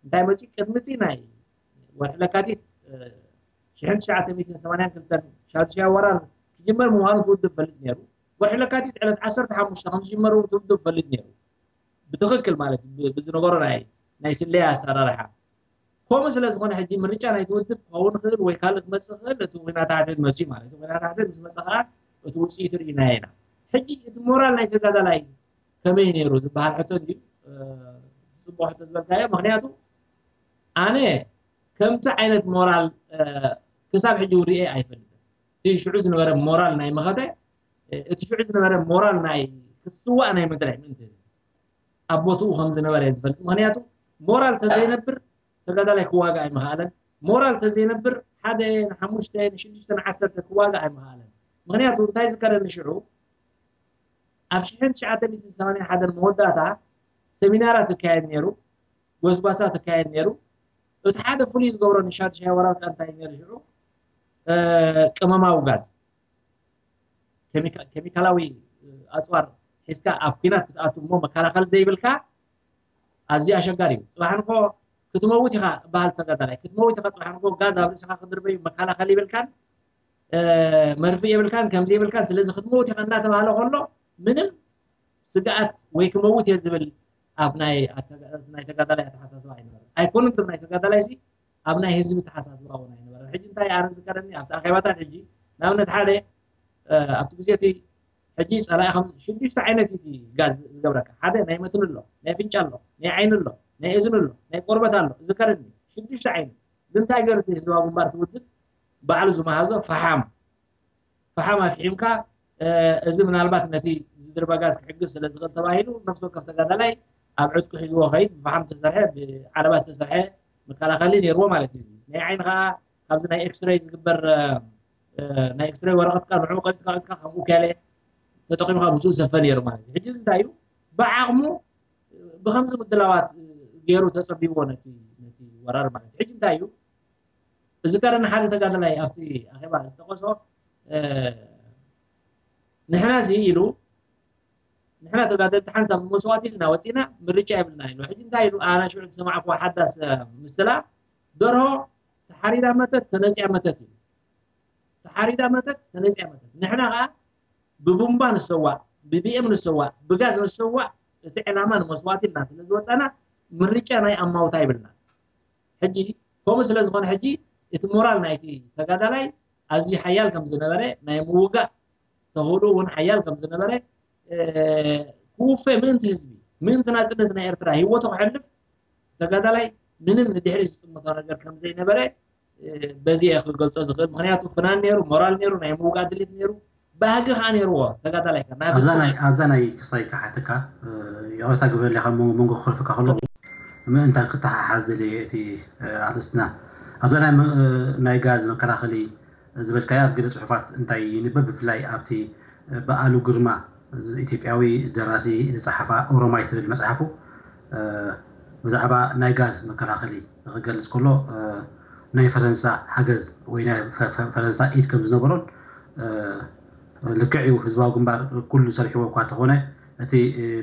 እንታይ መጺኡ? ቅድሚ እቲ ናይ ወርሒ ለካቲት፣ እ፣ ሽሕን ትሽዓተ ሚእትን ሰማንያን ክልተን ሻድሻይ ወራር ክጅመር ምዃኑ እቲ ውድብ ፈልጥ ነይሩ። ወርሒ ለካቲት ዕለት ዓሰርተ ሓሙሽተ ከም ዝጅመሩ እቲ ውድብ ፈልጥ ነይሩ። ብትኽክል ማለት ብ-፣ ብዝነበሮ ናይ፣ ናይ ስለያ ኣሰራርሓ። ከምኡ ስለ ዝኾነ፣ ሕጂ ምርጫ ናይቲ ውድብ ክኸውን ይኽእል ወይ ካልእ ክመጽእ ይኽእል፣ እቲ ኲናት ሓድሕድ መጺኡ ማለት እዩ። ኲናት ሓድሕድ ምስ መጸ ከኣ እቲ ውጽኢቱ ርኢናዮ ኢና። ሕጂ እቲ ሞራል ናይ ተጋዳላይ ከመይ ነይሩ ዝበሃል ሕቶ እንድዩ፣ እ፣ ጽቡቕ ሕቶ ዝበልካዮ። ምኽንያቱ ኣነ ከምቲ ዓይነት ሞራል፣ እ፣ ክሳብ ሕጂ ውርኤ ኣይፈልጥን። እቲ ሽዑ ዝነበረ ሞራል ናይ መኸተ፣ እ፣ እቲ ሽዑ ዝነበረ ሞራል ናይ ክስዋእ ናይ ምድራይ ምእንቲ ህዝቢ ኣብ ቦትኡ ከም ዝነበረ እየ ዝፈልጥ። ምኽንያቱ ሞራል ተዘይነብር ተጋዳላይ ክዋጋእ ኣይምኽኣለን። ሞራል ተዘይነብር ሓደ ንሓሙሽተ፣ ንሽዱሽተ፣ ንዓሰርተ ክዋጋእ ኣይምኽኣለን። ምኽንያቱ እንታይ ዝከረኒ ሽዑ፣ ኣብ ሽሕን ትሽዓተ ሚእትን ሰማንያን ሓደን መወዳእታ ሰሚናራት ይካየድ ነይሩ፣ ጎስጓሳት ይካየድ ነይሩ። እቲ ሓደ ፍሉይ ዝገብሮ ንሻድሻይ ወራር ከ እንታይ ነይሩ ሽዑ? እ፣ ቅመማዊ ጋዝ፣ ኬሚካ-፣ ኬሚካላዊ፣ እ፣ ኣጽዋር ሒዝካ ኣብ ኲናት ክትኣቱ እሞ መከላኸሊ ዘይብልካ ኣዝዩ ኣሸጋሪ እዩ። ጽባሕ ንግሆ ክትመውት ኢኻ በሃል ተጋዳላይ። ክትመውት ኢኻ፣ ጽባሕ ንግሆ ጋዝ ኣብ ርእስኻ ክድርበዩ መከላኸሊ ይብልካን፣ እ፣ መርፍእ የብልካን፣ ከምዚ የብልካን፣ ስለዚ ክትመውት ኢኻ እናተባህለ ከሎ ምንም ስግኣት ወይ ክመውት እየ ዝብል ኣብ ናይ ኣተጋ-፣ ናይ ተጋዳላይ ኣተሓሳስባ ኣይነበረን። ኣይኮነን ጥራይ ናይ ተጋዳላይ ሲ፣ ኣብ ናይ ህዝቢ ኣተሓሳስባ እውን ኣይነበረን። ሕጂ እንታይ ኣነ ዝዝከረኒ ኣብቲ ኣኼባታት፣ ሕጂ ንኣብነት ሓደ፣ እ፣ ኣብቲ ግዜ እቲ ሕጂ ጸላኢ ከም ሽዱሽተ ዓይነት እዩ እቲ ጋዝ ዝገብረካ። ሓደ ናይ መትኒ ኣሎ፣ ናይ ኣፍንጫ ኣሎ፣ ናይ ዓይኒ ኣሎ፣ ናይ እዝኒ ኣሎ፣ ናይ ቆርበት ኣሎ። ዝዝከረኒ ሽዱሽተ ዓይነት። ግን እንታይ ገይሩ እቲ ህዝባዊ ግንባር፣ እቲ ውድብ ባዕሉ ዝመሃዞ ፈሓም፣ ፈሓም ኣፍሒምካ፣ እ፣ እዚ ምናልባት ነቲ ዝድርበ ጋዝ ክሕግዝ ስለ ዝኽእል ተባሂሉ፣ ነፍሲ ወከፍ ተጋዳላይ ኣብ ዕጥቁ ሒዝዎ ኸይድ፣ ብፈሓም ዝተሰርሐ፣ ብዓለባ ዝተሰርሐ መከላኸሊ ነይርዎ ማለት እዩ። ናይ ዓይኒ ኸዓ ካብዚ ናይ ኤክስሬይ ዝግበር፣ እ፣ እ፣ ናይ ኤክስሬይ ወረቐትካ ንዕኡ ቀጥካ፣ ቀጥካ ከምኡ ከለ ተጠቒምካ ምስኡ ዝሰፈ ነይሩ ማለት እዩ። ሕጂ እዚ እንታይ እዩ? ብዓቕሙ ብኸምዚ ምድላዋት ገይሩ ተጸቢዎ ነቲ፣ ነቲ ወራር ማለት እዩ። ሕጂ እንታይ እዩ? እዚ ቀረኒ ሓደ ተጋዳላይ ኣብቲ ኣኼባ ዝጠቐሶ፣ እ፣ ንሕና እዚ ኢሉ፣ ንሕና ተጋደልቲ ሓንሳብ መስዋእቲ ኢልና ወጺና፣ ምርጫ የብልና ኢሉ። ሕጂ እንታይ ኢሉ? ኣነ ሽዑ ዝሰማዕክዎ ሓዳስ፣ እ፣ ምስላ፣ ደርሆ ተሓሪዳ መተት፣ ተነጺያ መተት ኢሉ። ተሓሪዳ መተት፣ ተነጺያ መተት። ንሕና ኸኣ ብቡምባ ንሰዋእ፣ ብቢኤም ንሰዋእ፣ ብጋዝ ንሰዋእ፣ እቲ ዕላማ ንመስዋእቲ ኢልና ስለ ዝወጻና፣ ምርጫ ናይ ኣማውታ ይብልና። ሕጂ፣ ከምኡ ስለ ዝኾነ፣ ሕጂ እቲ ሞራል ናይቲ ተጋዳላይ ኣዝዩ ሓያል ከም ዝነበረ፣ ናይ ምውጋእ ተኽእሎ እውን ሓያል ከም ዝነበረ፣ እ፣ ክውፈ ምእንቲ ህዝቢ፣ ምእንቲ ናጽነት ናይ ኤርትራ ህይወቱ ከሕልፍ ተጋዳላይ ምንም ንድሕሪት ዝጥምቶ ነገር ከም ዘይነበረ፣ እ፣ በዚ እየ ክገልጾ ዝኽእል። ምኽንያቱ ፍናን ነይሩ፣ ሞራል ነይሩ፣ ናይ ምውጋእ ድሌት ነይሩ። ባህጊ ከዓ ነይርዎ ተጋዳላይ ከ ናይ ኣብዛ ብዝኾነ ናይ ኣብዛ ናይ ክሳይ ክሓተካ ይቕረታ ግበረለይ ካብ መንጎ መንጎ ክኸልፈካ ከለኹ ምእንታን ክተሓሓዝ ደለየ እቲ ኣርእስትና ኣብዛ ናይ መ- ናይ ጋዝ መከላኸሊ ዝበልካዮ ኣብ ገለ ፅሑፋት እንታይ ይንበብ ብፍላይ ኣብቲ በኣሉ ግርማ እዚ ኢትዮጵያዊ ደራሲ ዝፀሓፋ ኦሮማይ ትብል መፅሓፉ ብዛዕባ ናይ ጋዝ መከላኸሊ ክገልፅ ከሎ ናይ ፈረንሳ ሓገዝ ወይ ናይ ፈ- ፈ- ፈረንሳ ኢድ ከም ዝነበሮን ልክዕ እዩ ህዝባዊ ግንባር ኩሉ ሰሪሕዎ እኳ እንተኾነ እቲ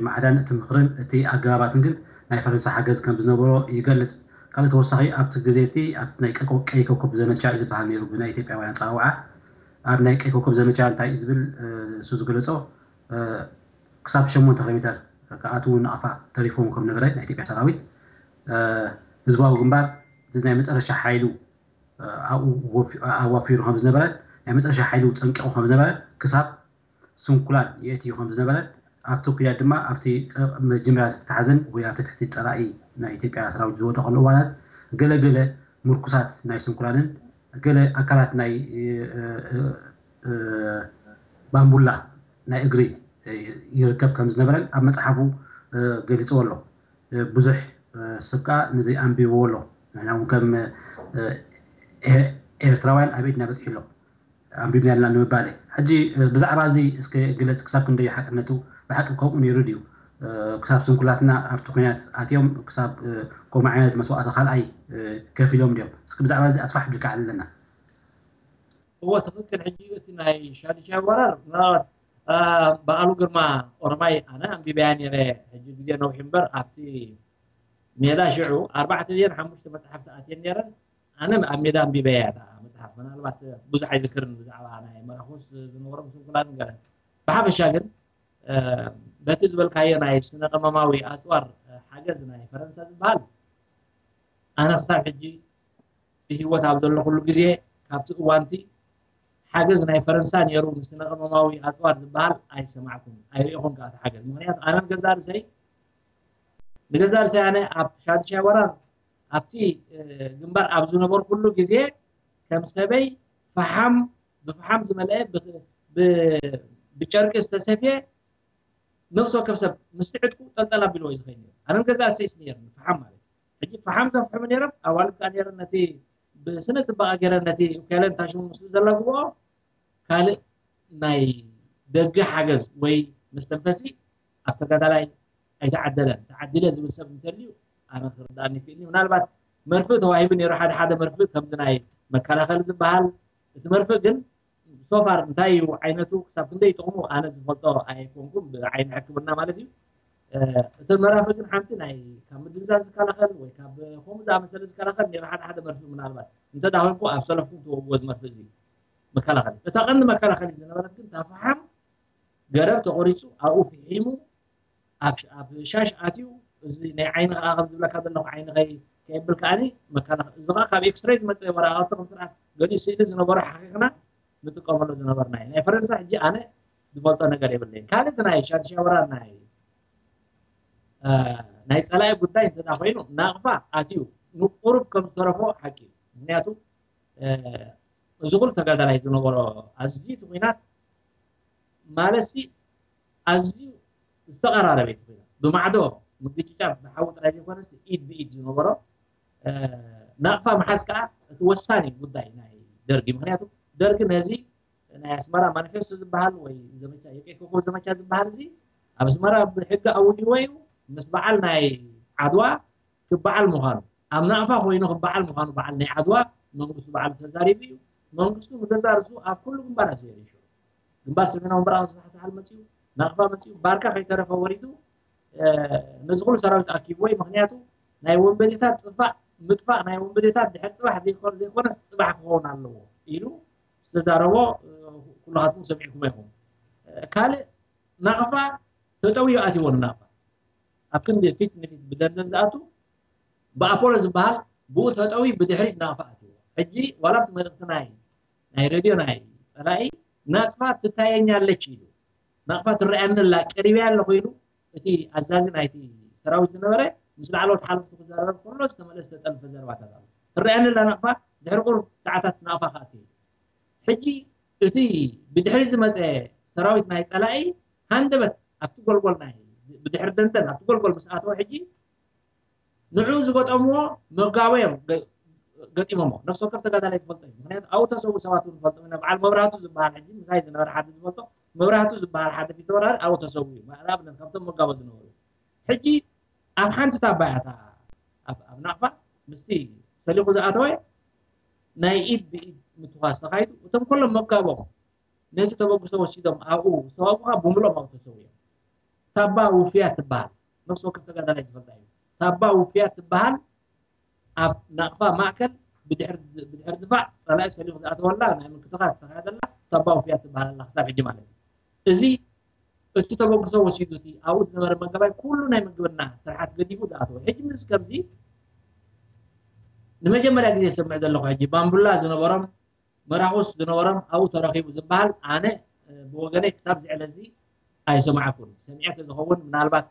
ማዕዳን እቲ ምኽርን እቲ ኣገባባትን ግን ናይ ፈረንሳ ሓገዝ ከም ዝነበሮ ይገልፅ ካልእ ተወሳኺ ኣብቲ ግዜ እቲ ኣብቲ ናይ ቀይ ኮ- ቀይ ኮከብ ዘመቻ እዩ ዝበሃል ነይሩ ብናይ ኢትዮጵያውያን ኣፀዋውዓ ኣብ ናይ ቀይ ኮከብ ዘመቻ እንታይ እዩ ዝብል እሱ ዝገለፆ ክሳብ ሸሞንተ ኪሎ ሜተር ክኣትዉ ናቕፋ ተሪፎም ከም ነበረ ናይ ኢትዮጵያ ሰራዊት ህዝባዊ ግንባር እቲ ናይ መጨረሻ ሓይሉ ኣብኡ ወፊ- ኣዋፊሩ ከም ዝነበረ ናይ መጨረሻ ሓይሉ ጠንቂቑ ከም ዝነበረ ክሳብ ስንኩላን የእትዩ ከም ዝነበረ ኣብቲ ኩናት ድማ ኣብቲ መጀመርያ ዝተተሓዘን ወይ ኣብቲ ትሕቲ ፀላኢ ናይ ኢትዮጵያ ሰራዊት ዝወደቐሉ እዋናት ገለገለ ምርኩሳት ናይ ስንኩላንን ገለ ኣካላት ናይ ባምቡላ ናይ እግሪ ይርከብ ከም ዝነበረን ኣብ መፅሓፉ ገሊፅዎ ኣሎ ብዙሕ ሰብ ከዓ ነዚ ኣንቢብዎ ኣሎ ንሕና እውን ከም ኤርትራውያን ኣብ ኢድና በፂሑ ኣሎ ኣንቢብና ኣለና ንምባል ሕጂ ብዛዕባ እዚ እስከ ግለፅ ክሳብ ክንደይ ሓቅነቱ ብሓቂ ከምኡ ነይሩ ድዩ ክሳብ ስንኩላትና ኣብቲ ኩናት ኣትዮም ክሳብ ከምኡ ዓይነት መስዋእቲ ካልኣይ ከፊሎም ድዮም እስኪ ብዛዕባ እዚ ኣስፋሕ ብልካ ኣለና እዎ ትኽክል ሕጂ እቲ ናይ ሻድሻይ ወራር ምናልባት በዓሉ ግርማ ኦሮማይ ኣነ ኣንቢበያ ነረ ሕጂ ግዜ ነዊሕ እምበር ኣብቲ ሜዳ ሽዑ ኣርባዕተ ድየን ሓሙሽተ መፅሓፍቲ ኣትየን ነረን ኣነ ኣብ ሜዳ ኣንቢበያ እታ መፅሓፍ ምናልባት ብዙሕ ኣይዝክርን ብዛዕባ ናይ መራኹስ ዝነበሮም ስንኩላን ገለ ብሓፈሻ ግን በቲ ዝበልካዮ ናይ ስነ ቀመማዊ ኣፅዋር ሓገዝ ናይ ፈረንሳ ዝበሃል ኣነ ክሳብ ሕጂ ብህይወት ኣብ ዘለኹሉ ግዜ ካብቲ እዋንቲ ሓገዝ ናይ ፈረንሳ ነይሩ ንስነ ቀመማዊ ኣፅዋር ዝበሃል ኣይሰማዕኩን ኣይሪእኹን ከዓ ሓገዝ ምክንያቱ ኣነ ንገዛ ርእሰይ ንገዛ ርእሰይ ኣነ ኣብ ሻድሻይ ወራር ኣብቲ ግንባር ኣብ ዝነበርኩሉ ግዜ ከም ሰበይ ፈሓም ብፈሓም ዝመልአ ብጨርቂ ዝተሰፍየ ነፍሲ ወከፍ ሰብ ምስቲ ዕጥቁ ጠልጠል ኣቢልዎ እዩ ዝኸይድ ነይሩ ኣነ ንገዛ ርእሰይስ ነይርኒ ፈሓም ማለት ሕጂ ፈሓም ዘፍሕሙ ነይሮም ኣዋልድ ከዓ ነይረን ነቲ ብስነ ፅባቐ ገይረን ነቲ ኡካለን ታሽሙ ምስሉ ዘለግብኦ ካልእ ናይ ደገ ሓገዝ ወይ መስተንፈሲ ኣብ ተጋዳላይ ኣይተዓደለን ተዓዲለ ዝብል ሰብ እንተልዩ ኣነ ክርዳእኒ ይክእል ምናልባት መርፍእ ተዋሂቡ ነይሩ ሓደ ሓደ መርፍእ ከምዚ ናይ መከላኸሊ ዝበሃል እቲ መርፍእ ግን ሶፋር እንታይ እዩ ዓይነቱ ክሳብ ክንደይ ጥቕሙ ኣነ ዝፈልጦ ኣይኮንኩም ብዓይኒ ሕክምና ማለት እዩ እቲ መራፍእ ግን ሓንቲ ናይ ካብ ምድንዛዝ ዝከላኸል ወይ ካብ ከምኡ ዝኣመሰለ ዝከላኸል ነይሩ ሓደ ሓደ መርፍእ ምናልባት እንተ ዳ ኮይንኩ ኣብ ሰለፍኩም ትወግዎ ዝመርፍእ እዚ መከላኸሊ እታ ቀንዲ መከላኸሊ ዝነበረት ግን እታ ፈሓም ገረብ ተቆሪፁ ኣብኡ ፍሒሙ ኣብ ሻሽ ኣትዩ እዚ ናይ ዓይኒ ከዓ ከም ዝብለካ ዘለኹ ዓይኒ ከይ ከየብል ከዓኒ መከላኸሊ እዚ ከዓ ካብ ኤክስሬይ ዝመፀ ወረቃቅቲ ከም ስርዓት ገሊኡ ስእሊ ዝነበሮ ሓቂቕና ንጥቀመሉ ዝነበርና እዩ ናይ ፈረንሳ ሕጂ ኣነ ዝፈልጦ ነገር የብለይን ካልእ ናይ ሻድሻይ ወራር ናይ ናይ ፀላኢ ጉዳይ እንተ ኮይኑ ናቕፋ ኣትዩ ንቁሩብ ከም ዝተረፎ ሓቂ እዩ ምክንያቱ እዚ ኩሉ ተጋዳላይ ዝነበሮ ኣዝዩ እቲ ኩናት ማለትሲ ኣዝዩ ዝተቐራረበ እቲ ኩናት ብማዕዶ ምግጭጫ ብሓዊ ጥራይ ዘይኮነስ ኢድ ብኢድ ዝነበሮ ናቕፋ መሓዝ ከዓ እቲ ወሳኒ ጉዳይ ናይ ደርጊ ምክንያቱ ደርጊ ነዚ ናይ ኣስመራ ማኒፌስቶ ዝበሃል ወይ ዘመቻ የቀይ ኮኮብ ዘመቻ ዝበሃል እዚ ኣብ ኣስመራ ብሕጊ ኣውጅዎ እዩ ምስ በዓል ናይ ዓድዋ ክበዓል ምዃኑ ኣብ ናቕፋ ኮይኑ ክበዓል ምዃኑ በዓል ናይ ዓድዋ መንግስቱ በዓሉ ተዛሪቡ እዩ መንግስቱ ንገዛ ርእሱ ኣብ ኩሉ ግንባራት ዘየሪሹ ግንባር ሰሜናዊ ምብራቕ ዝሳሕሳሓል መፅኡ ናቕፋ መፅኡ ባርካ ከይተረፈ ወሪዱ ነዚ ኩሉ ሰራዊት ኣኪብዎ እዩ ምክንያቱ ናይ ወንበዴታት ፅፋእ ምጥፋእ ናይ ወንበዴታት ድሕር ፅባሕ ዘይኮነስ ፅባሕ ክኸውን ኣለዎ ኢሉ ዝተዛረቦ ኩላኻትኩም ሰሚዕኩሞ ኢኹም ካልእ ናቕፋ ተጠውዩ ኣትዎ ንናቕፋ ኣብ ክንዲ ፊት ንፊት ብደንደን ዝኣቱ ብኣፖሎ ዝበሃል ብኡ ተጠውዩ ብድሕሪት ናቕፋ ኣትዎ ሕጂ ዋላ ኣብቲ መልእክቲ ናይ ናይ ሬድዮ ናይ ፀላኢ ናቕፋ ትታየኛለች ኢሉ ናቕፋ ትረኣየኒ ኣላ ቀሪበያ ኣለኹ ኢሉ እቲ ኣዛዚ ናይቲ ሰራዊት ዝነበረ ምስ ላዕለዎት ሓለፍቱ ክዛረብ ከሎ ዝተመለስ ተጠልፈ ዘረባታት ኣሎ ትረኣየኒ ኣላ ናቕፋ ድሕሪ ቁሩብ ሰዓታት ናቕፋ ክኣቲ ሕጂ እቲ ብድሕሪ ዝመፀ ሰራዊት ናይ ፀላኢ ሃንደበት ኣብቲ ጎልጎል ናይ ብድሕሪ ደንደን ኣብቲ ጎልጎል ምስ ኣተወ ሕጂ ንዕኡ ዝገጠምዎ መጋቦ እዮም ገ- ገጢሞሞ። ነፍሲ ወከፍ ተጋዳላይ ዝፈልጦ እዩ። ምክንያቱ ኣብኡ ተሰዉ ሰባት እውን ዝፈልጦ ኢና። በዓል መብራህቱ ዝበሃል ሕጂ ምሳይ ዝነበረ ሓደ ዝፈልጦ መብራህቱ ዝበሃል ሓደ ፊት ወራሪ ኣብኡ ተሰዉ እዩ። ንኣብነት ካብቶም መጋቦ ዝነበሩ ሕጂ ኣብ ሓንቲ ታባ እያ እታ ኣብ ኣብ ናቕፋ ምስቲ ሰሊኹ ዝኣተወ ናይ ኢድ ብኢድ ምትኳስ ተኻይዱ እቶም ኩሎም መጋቦም ነቲ ተበግሶ ወሲዶም ኣብኡ ዝተዋጉኻ ብምሎም ኣብኡ ተሰውዮም። ታባ ውፍያት ትበሃል ነፍሲ ወከፍ ተጋዳላይ ዝፈልጣ እዩ። ታባ ውፍያት ትበሃል ኣብ ናቕፋ ማእከል ብድሕር ድፋዕ ጸላኢ ሰሊኹ ዝኣተወላ ናይ ምክትኻል ዝተኻየደላ ታባ ውፍያት ትበሃል ኣላ ክሳብ ሕጂ ማለት እዩ። እዚ እቲ ተበግሶ ወሲዱ እቲ ኣብኡ ዝነበረ መጋባይ ኩሉ ናይ ምግብና ስርሓት ገዲፉ ዝኣተወ ሕጂ ምስ ከምዚ ንመጀመርያ ግዜ ዝሰምዕ ዘለኹ ሕጂ ባምቡላ ዝነበሮም መራኹስ ዝነበሮም ኣብኡ ተረኺቡ ዝበሃል ኣነ ብወገነይ ክሳብ ዝዕለ እዚ ኣይሰማዕኩን። ሰሚዐ ተዝኸውን ምናልባት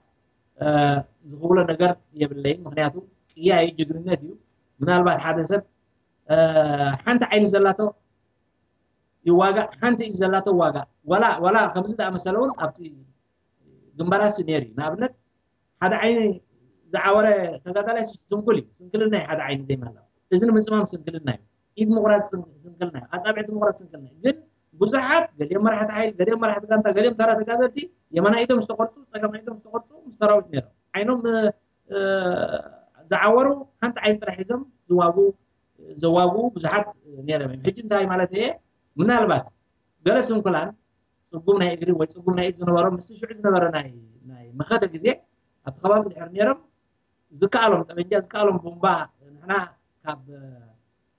ዝኽብሎ ነገር የብለይን። ምክንያቱ ቅያ እዩ፣ ጅግንነት እዩ። ምናልባት ሓደ ሰብ ሓንቲ ዓይኒ ዘላቶ ይዋጋእ፣ ሓንቲ ኢድ ዘላቶ ዋጋእ። ዋላ ዋላ ከምዚ ዝኣመሰለ እውን ኣብቲ ግንባራት ነይሩ እዩ። ንኣብነት ሓደ ዓይኒ ዝዓወረ ተጋዳላይ ስንኩል እዩ። ስንክልና እዩ ሓደ ዓይኒ ዘይማላ። እዚ ንምፅማም ስንክልና እዩ። ኢድ ምቑራፅ ስንክልና እዩ። ኣፃብዕቲ ምቑራፅ ስንክልና እዩ። ግን ብዙሓት ገሊኦም መራሕቲ ሓይሊ፣ ገሊኦም መራሕቲ ጋንታ፣ ገሊኦም ተራ ተጋደልቲ የማናይ ኢዶም ዝተቆርፁ፣ ፀጋማይ ኢዶም ዝተቆርፁ ምስ ሰራዊት ነይሮም። ዓይኖም ዝዓወሩ ሓንቲ ዓይኒ ጥራሕ ሒዞም ዝዋጉ ዘዋጉ ብዙሓት ነይሮም እዮም። ሕጂ እንታይ ማለት እየ ምናልባት ገለ ስንኩላን ፅጉም ናይ እግሪ ወይ ፅጉም ናይ ኢድ ዝነበሮም ምስቲ ሽዑ ዝነበረ ናይ ናይ መኸተ ግዜ ኣብቲ ከባቢ ድሕር ነይሮም ዝከኣሎም ጠበንጃ ዝከኣሎም ቡምባ ንሕና ካብ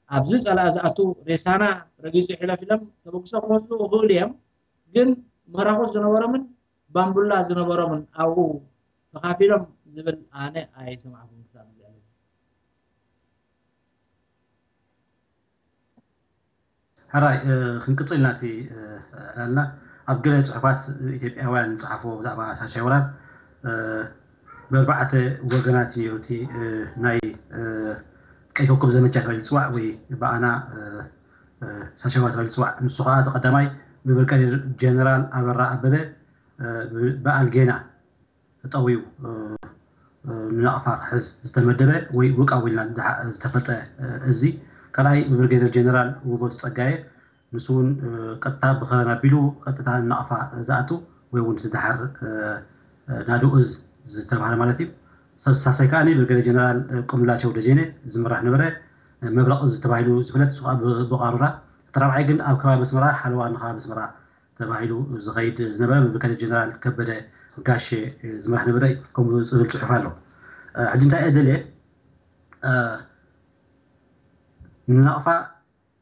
ኣብዚ ፀላኢ ዝኣቱ ሬሳና ረጊፁ ሕለፍ ኢሎም ተበግሶ ክወስዱ ይኽእሉ እዮም። ግን መራኹስ ዝነበሮምን ባምቡላ ዝነበሮምን ኣብኡ ተኻፊሎም ዝብል ኣነ ኣይሰማዕኩን ክሳብ ዝዕለት። ሕራይ ክንቅፅል ናቲ ዕላልና ኣብ ገለ ፅሑፋት ኢትዮጵያውያን ዝፀሓፍዎ ብዛዕባ ሻሻይ ወራር ብኣርባዕተ ወገናት ነይሩ እቲ ናይ ቀይ ኮከብ ዘመቻ ተባሂሉ ዝፅዋዕ ወይ ብኣና ሻሻይ ወራር ተባሂሉ ዝፅዋዕ ንሱ ከዓ እቲ ቀዳማይ ብብርጋዴር ጀነራል ኣበራ ኣበበ ብኣልጌና ተጠውዩ ንናቕፋ ክሕዝ ዝተመደበ ወይ ውቃው ኢልና ዝተፈልጠ እዚ ካልኣይ ብብርጌደር ጀነራል ውበቱ ፀጋየ ንሱ እውን ቀጥታ ብኸረን ኣቢሉ ቀጥታ ንናቕፋ ዝኣቱ ወይ እውን ዝደሓር ናዶ እዝ ዝተባህለ ማለት እዩ። ሰብ ሳሳይ ከዓ ብርጌደር ጀነራል ቁምላቸው ደጀነ ዝምራሕ ነበረ። መብረቕ እዝ ተባሂሉ ዝፍለጥ ንሱ ከዓ ብቃሩራ እቲ ራብዓይ ግን ኣብ ከባቢ ኣስመራ ሓለዋ ንከባቢ ኣስመራ ተባሂሉ ዝኸይድ ዝነበረ ብብርጋዴር ጀነራል ከበደ ጋሼ ዝምራሕ ነበረ ከምኡ ዝብል ፅሑፍ ኣሎ። ሕጂ እንታይ እየ ደልየ ንናቕፋ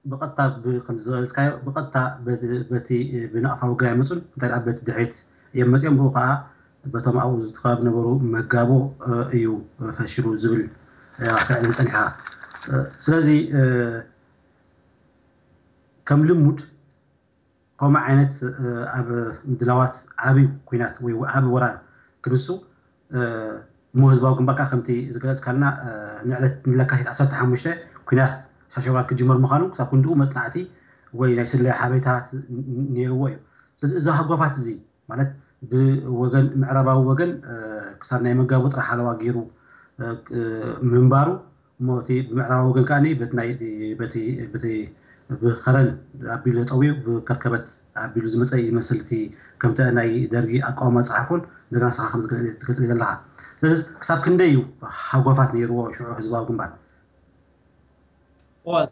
ብቐጥታ ከምዝገለፅካዮ ብቐጥታ በቲ ብናቕፋ ውግር ኣይመፁን እንታይ ደኣ በቲ ድሕሪት እዮም መፅኦም ብኡ ከዓ በቶም ኣብኡ ዝተኸባብ ነበሩ መጋቦ እዩ ፈሽሉ ዝብል ክትዕልም ፀኒሕካ ስለዚ ከም ልሙድ ከምኡ ዓይነት ኣብ ምድላዋት ዓብዩ ኩናት ወይ ዓብዩ ወራር ክንሱ እሞ ህዝባዊ ግንባር ከዓ ከምቲ ዝገለፅካልና ንዕለት ንለካቲት ዓሰርተ ሓሙሽተ ኩናት ሻሸውራር ክጅመር ምዃኑ ክሳብ ክንድኡ መፅናዕቲ ወይ ናይ ስለያ ሓበሬታት ነይርዎ እዩ። ስለዚ እዚ ሃጓፋት እዚ ማለት ብወገን ምዕራባዊ ወገን ክሳብ ናይ መጋቡ ጥራሕ ሓለዋ ገይሩ ምንባሩ እሞ እቲ ብምዕራባዊ ወገን ከዓ በቲ ናይ በቲ በቲ ብኸረን ኣቢሉ ተጠውዩ ብከርከበት ኣቢሉ ዝመፀ ይመስል እቲ ከምቲ ናይ ደርጊ ኣቃውማ ፀሓፎን እንደገና ስኻ ከም ትገልፅ ዘለካ ስለዚ ክሳብ ክንደይ እዩ ሃጓፋት ነይርዎ ሽዑ ህዝባዊ ግንባር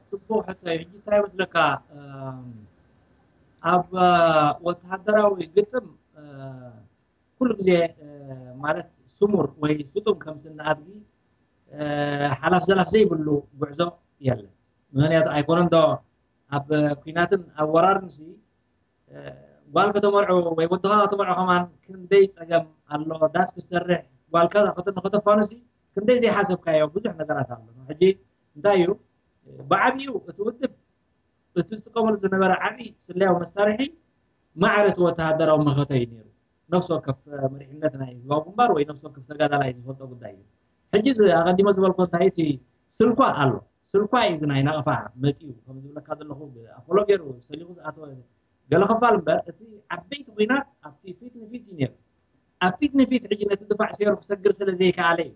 ጽቡቅ ሕቶ እዩ ሕጂ እንታይ መስለካ ኣብ ወተሃደራዊ ግጥም ኩሉ ግዜ ማለት ስሙር ወይ ስጡም ከም ስነ ኣድጊ ሓላፍ ዘላፍ ዘይብሉ ጉዕዞ የለን። ምክንያቱ ኣይኮነን ዶ ኣብ ኩናትን ኣብ ወራርን ሲ ጓል ከተመርዑ ወይ ወድኻ ከተመርዑ ከማን ክንደይ ፀገም ኣሎ ዳስ ክሰርሕ ጓልካ ከተፋኑሲ ክንደይ ዘይሓሰብካዮ ብዙሕ ነገራት ኣሎ። ሕጂ እንታይ እዩ ብዓብኡ እቲ ውድብ እቲ ዝጥቀመሉ ዝነበረ ዓብዪ ስለያዊ መሳርሒ ማዕረ እቲ ወተሃደራዊ መኸተ እዩ ነይሩ። ነፍሲ ወከፍ መሪሕነት ናይ ህዝባዊ ግንባር ወይ ነፍሲ ወከፍ ተጋዳላይ ዝፈልጦ ጉዳይ እዩ። ሕጂ እዚ ኣቐዲመ ዝበልኮ እንታይ እቲ ስልኳ ኣሎ ስልኳ እዩ እዚ ናይ ናቕፋ መፂኡ ከም ዝብለካ ዘለኹ ብኣፖሎ ገይሩ ሰሊኹ ዝኣተወ ገለ ክፋል እምበር እቲ ዓበይቲ ኩናት ኣብቲ ፊት ንፊት እዩ ነይሩ። ኣብ ፊት ንፊት ሕጂ ነቲ ድፋዕ ሰይሩ ክሰግር ስለ ዘይከኣለ እዩ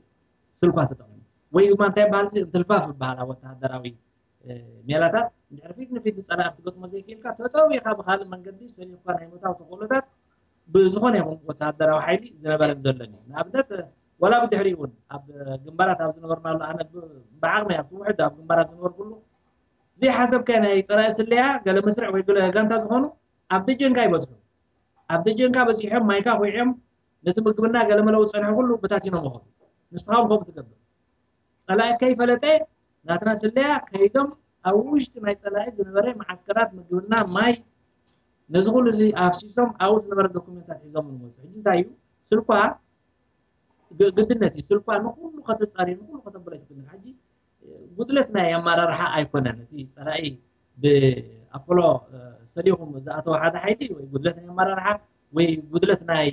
ስልኳ ተጠቒሙ። ወይ ድማ እንታይ በሃል እንትልፋፍ ይበሃል ኣብ ወተሃደራዊ ሜላታት። እንድሕሪ ፊት ንፊት ንፀላኢ ክትገጥሞ ዘይክኢልካ ተጠዊኻ ብካልእ መንገዲ ሰሊፍካ ናይ ምእታው ተኽእሎታት ብዝኾነ ይኹን ወተሃደራዊ ሓይሊ ዝነበረን ዘሎን እዩ። ንኣብነት ዋላ ብድሕሪኡ እውን ኣብ ግንባራት ኣብ ዝነበርናሉ ኣነ ብዓቕሚ ኣብቲ ውሕድ ኣብ ግንባራት ዝነበርኩሉ ዘይሓሰብካዮ ናይ ፀላኢ ስለያ ገለ መስርዕ ወይ ገለ ጋንታ ዝኾኑ ኣብ ደጀንካ ይበዝሑ። ኣብ ደጀንካ በዚሖም ማይካ ኮይዖም ነቲ ምግብና ገለ መለዊ ዝፀንሐ ኩሉ በታቲኖም ይኸዱ። ንስኻ እውን ከምኡ ትገብር። ፀላኢ ከይፈለጠ ናትና ስለያ ከይዶም ኣብ ውሽጢ ናይ ፀላኢ ዝነበረ መዓስከራት ምግብና ማይ ነዚ ኩሉ እዚ ኣፍሲሶም ኣብኡ ዝነበረ ዶኩሜንታት ሒዞም ንመፁ። ሕጂ እንታይ እዩ ስልኳ ግድነት እዩ። ስልኳ ንኩሉ ከተፃሪ ንኩሉ ከተብሎ ኣይትክእልን። ሕጂ ጉድለት ናይ ኣመራርሓ ኣይኮነን። እቲ ፀላኢ ብኣፖሎ ሰሊኹም ዝኣተወ ሓደ ሓይሊ ወይ ጉድለት ናይ ኣመራርሓ ወይ ጉድለት ናይ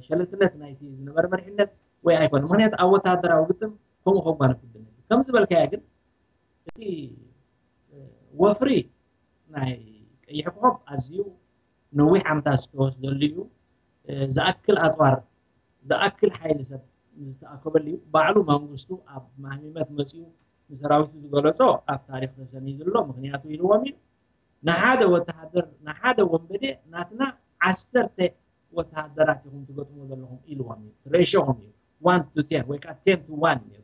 ሸለልትነት ናይቲ ዝነበረ መሪሕነት ወይ ኣይኮነ። ምክንያቱ ኣብ ወተሃደራዊ ግጥም ከምኡ ከጓነፍ ግድነት እዩ። ከም ዝበልካዮ ግን እቲ ወፍሪ ናይ ቀይሕ ኮኾብ ኣዝዩ ነዊሕ ዓመታት ዝተወስደሉ እዩ። ዝኣክል ኣፅዋር ዝኣክል ሓይሊ ሰብ ዝተኣከበሉ እዩ። ባዕሉ መንግስቱ ኣብ ማህሚመት መፂኡ ንሰራዊቱ ዝገለፆ ኣብ ታሪክ ተሰኒዱ ኣሎ። ምክንያቱ ኢልዎም እዩ ንሓደ ወተሃደር ንሓደ ወንበዴ ናትና ዓሰርተ ወተሃደራት ኢኹም ትገጥሙ ዘለኹም ኢልዎም እዩ። ሬሽዮም እዩ ዋን ቱ ቴን ወይ ከዓ ቴን ቱ ዋን ነይሩ።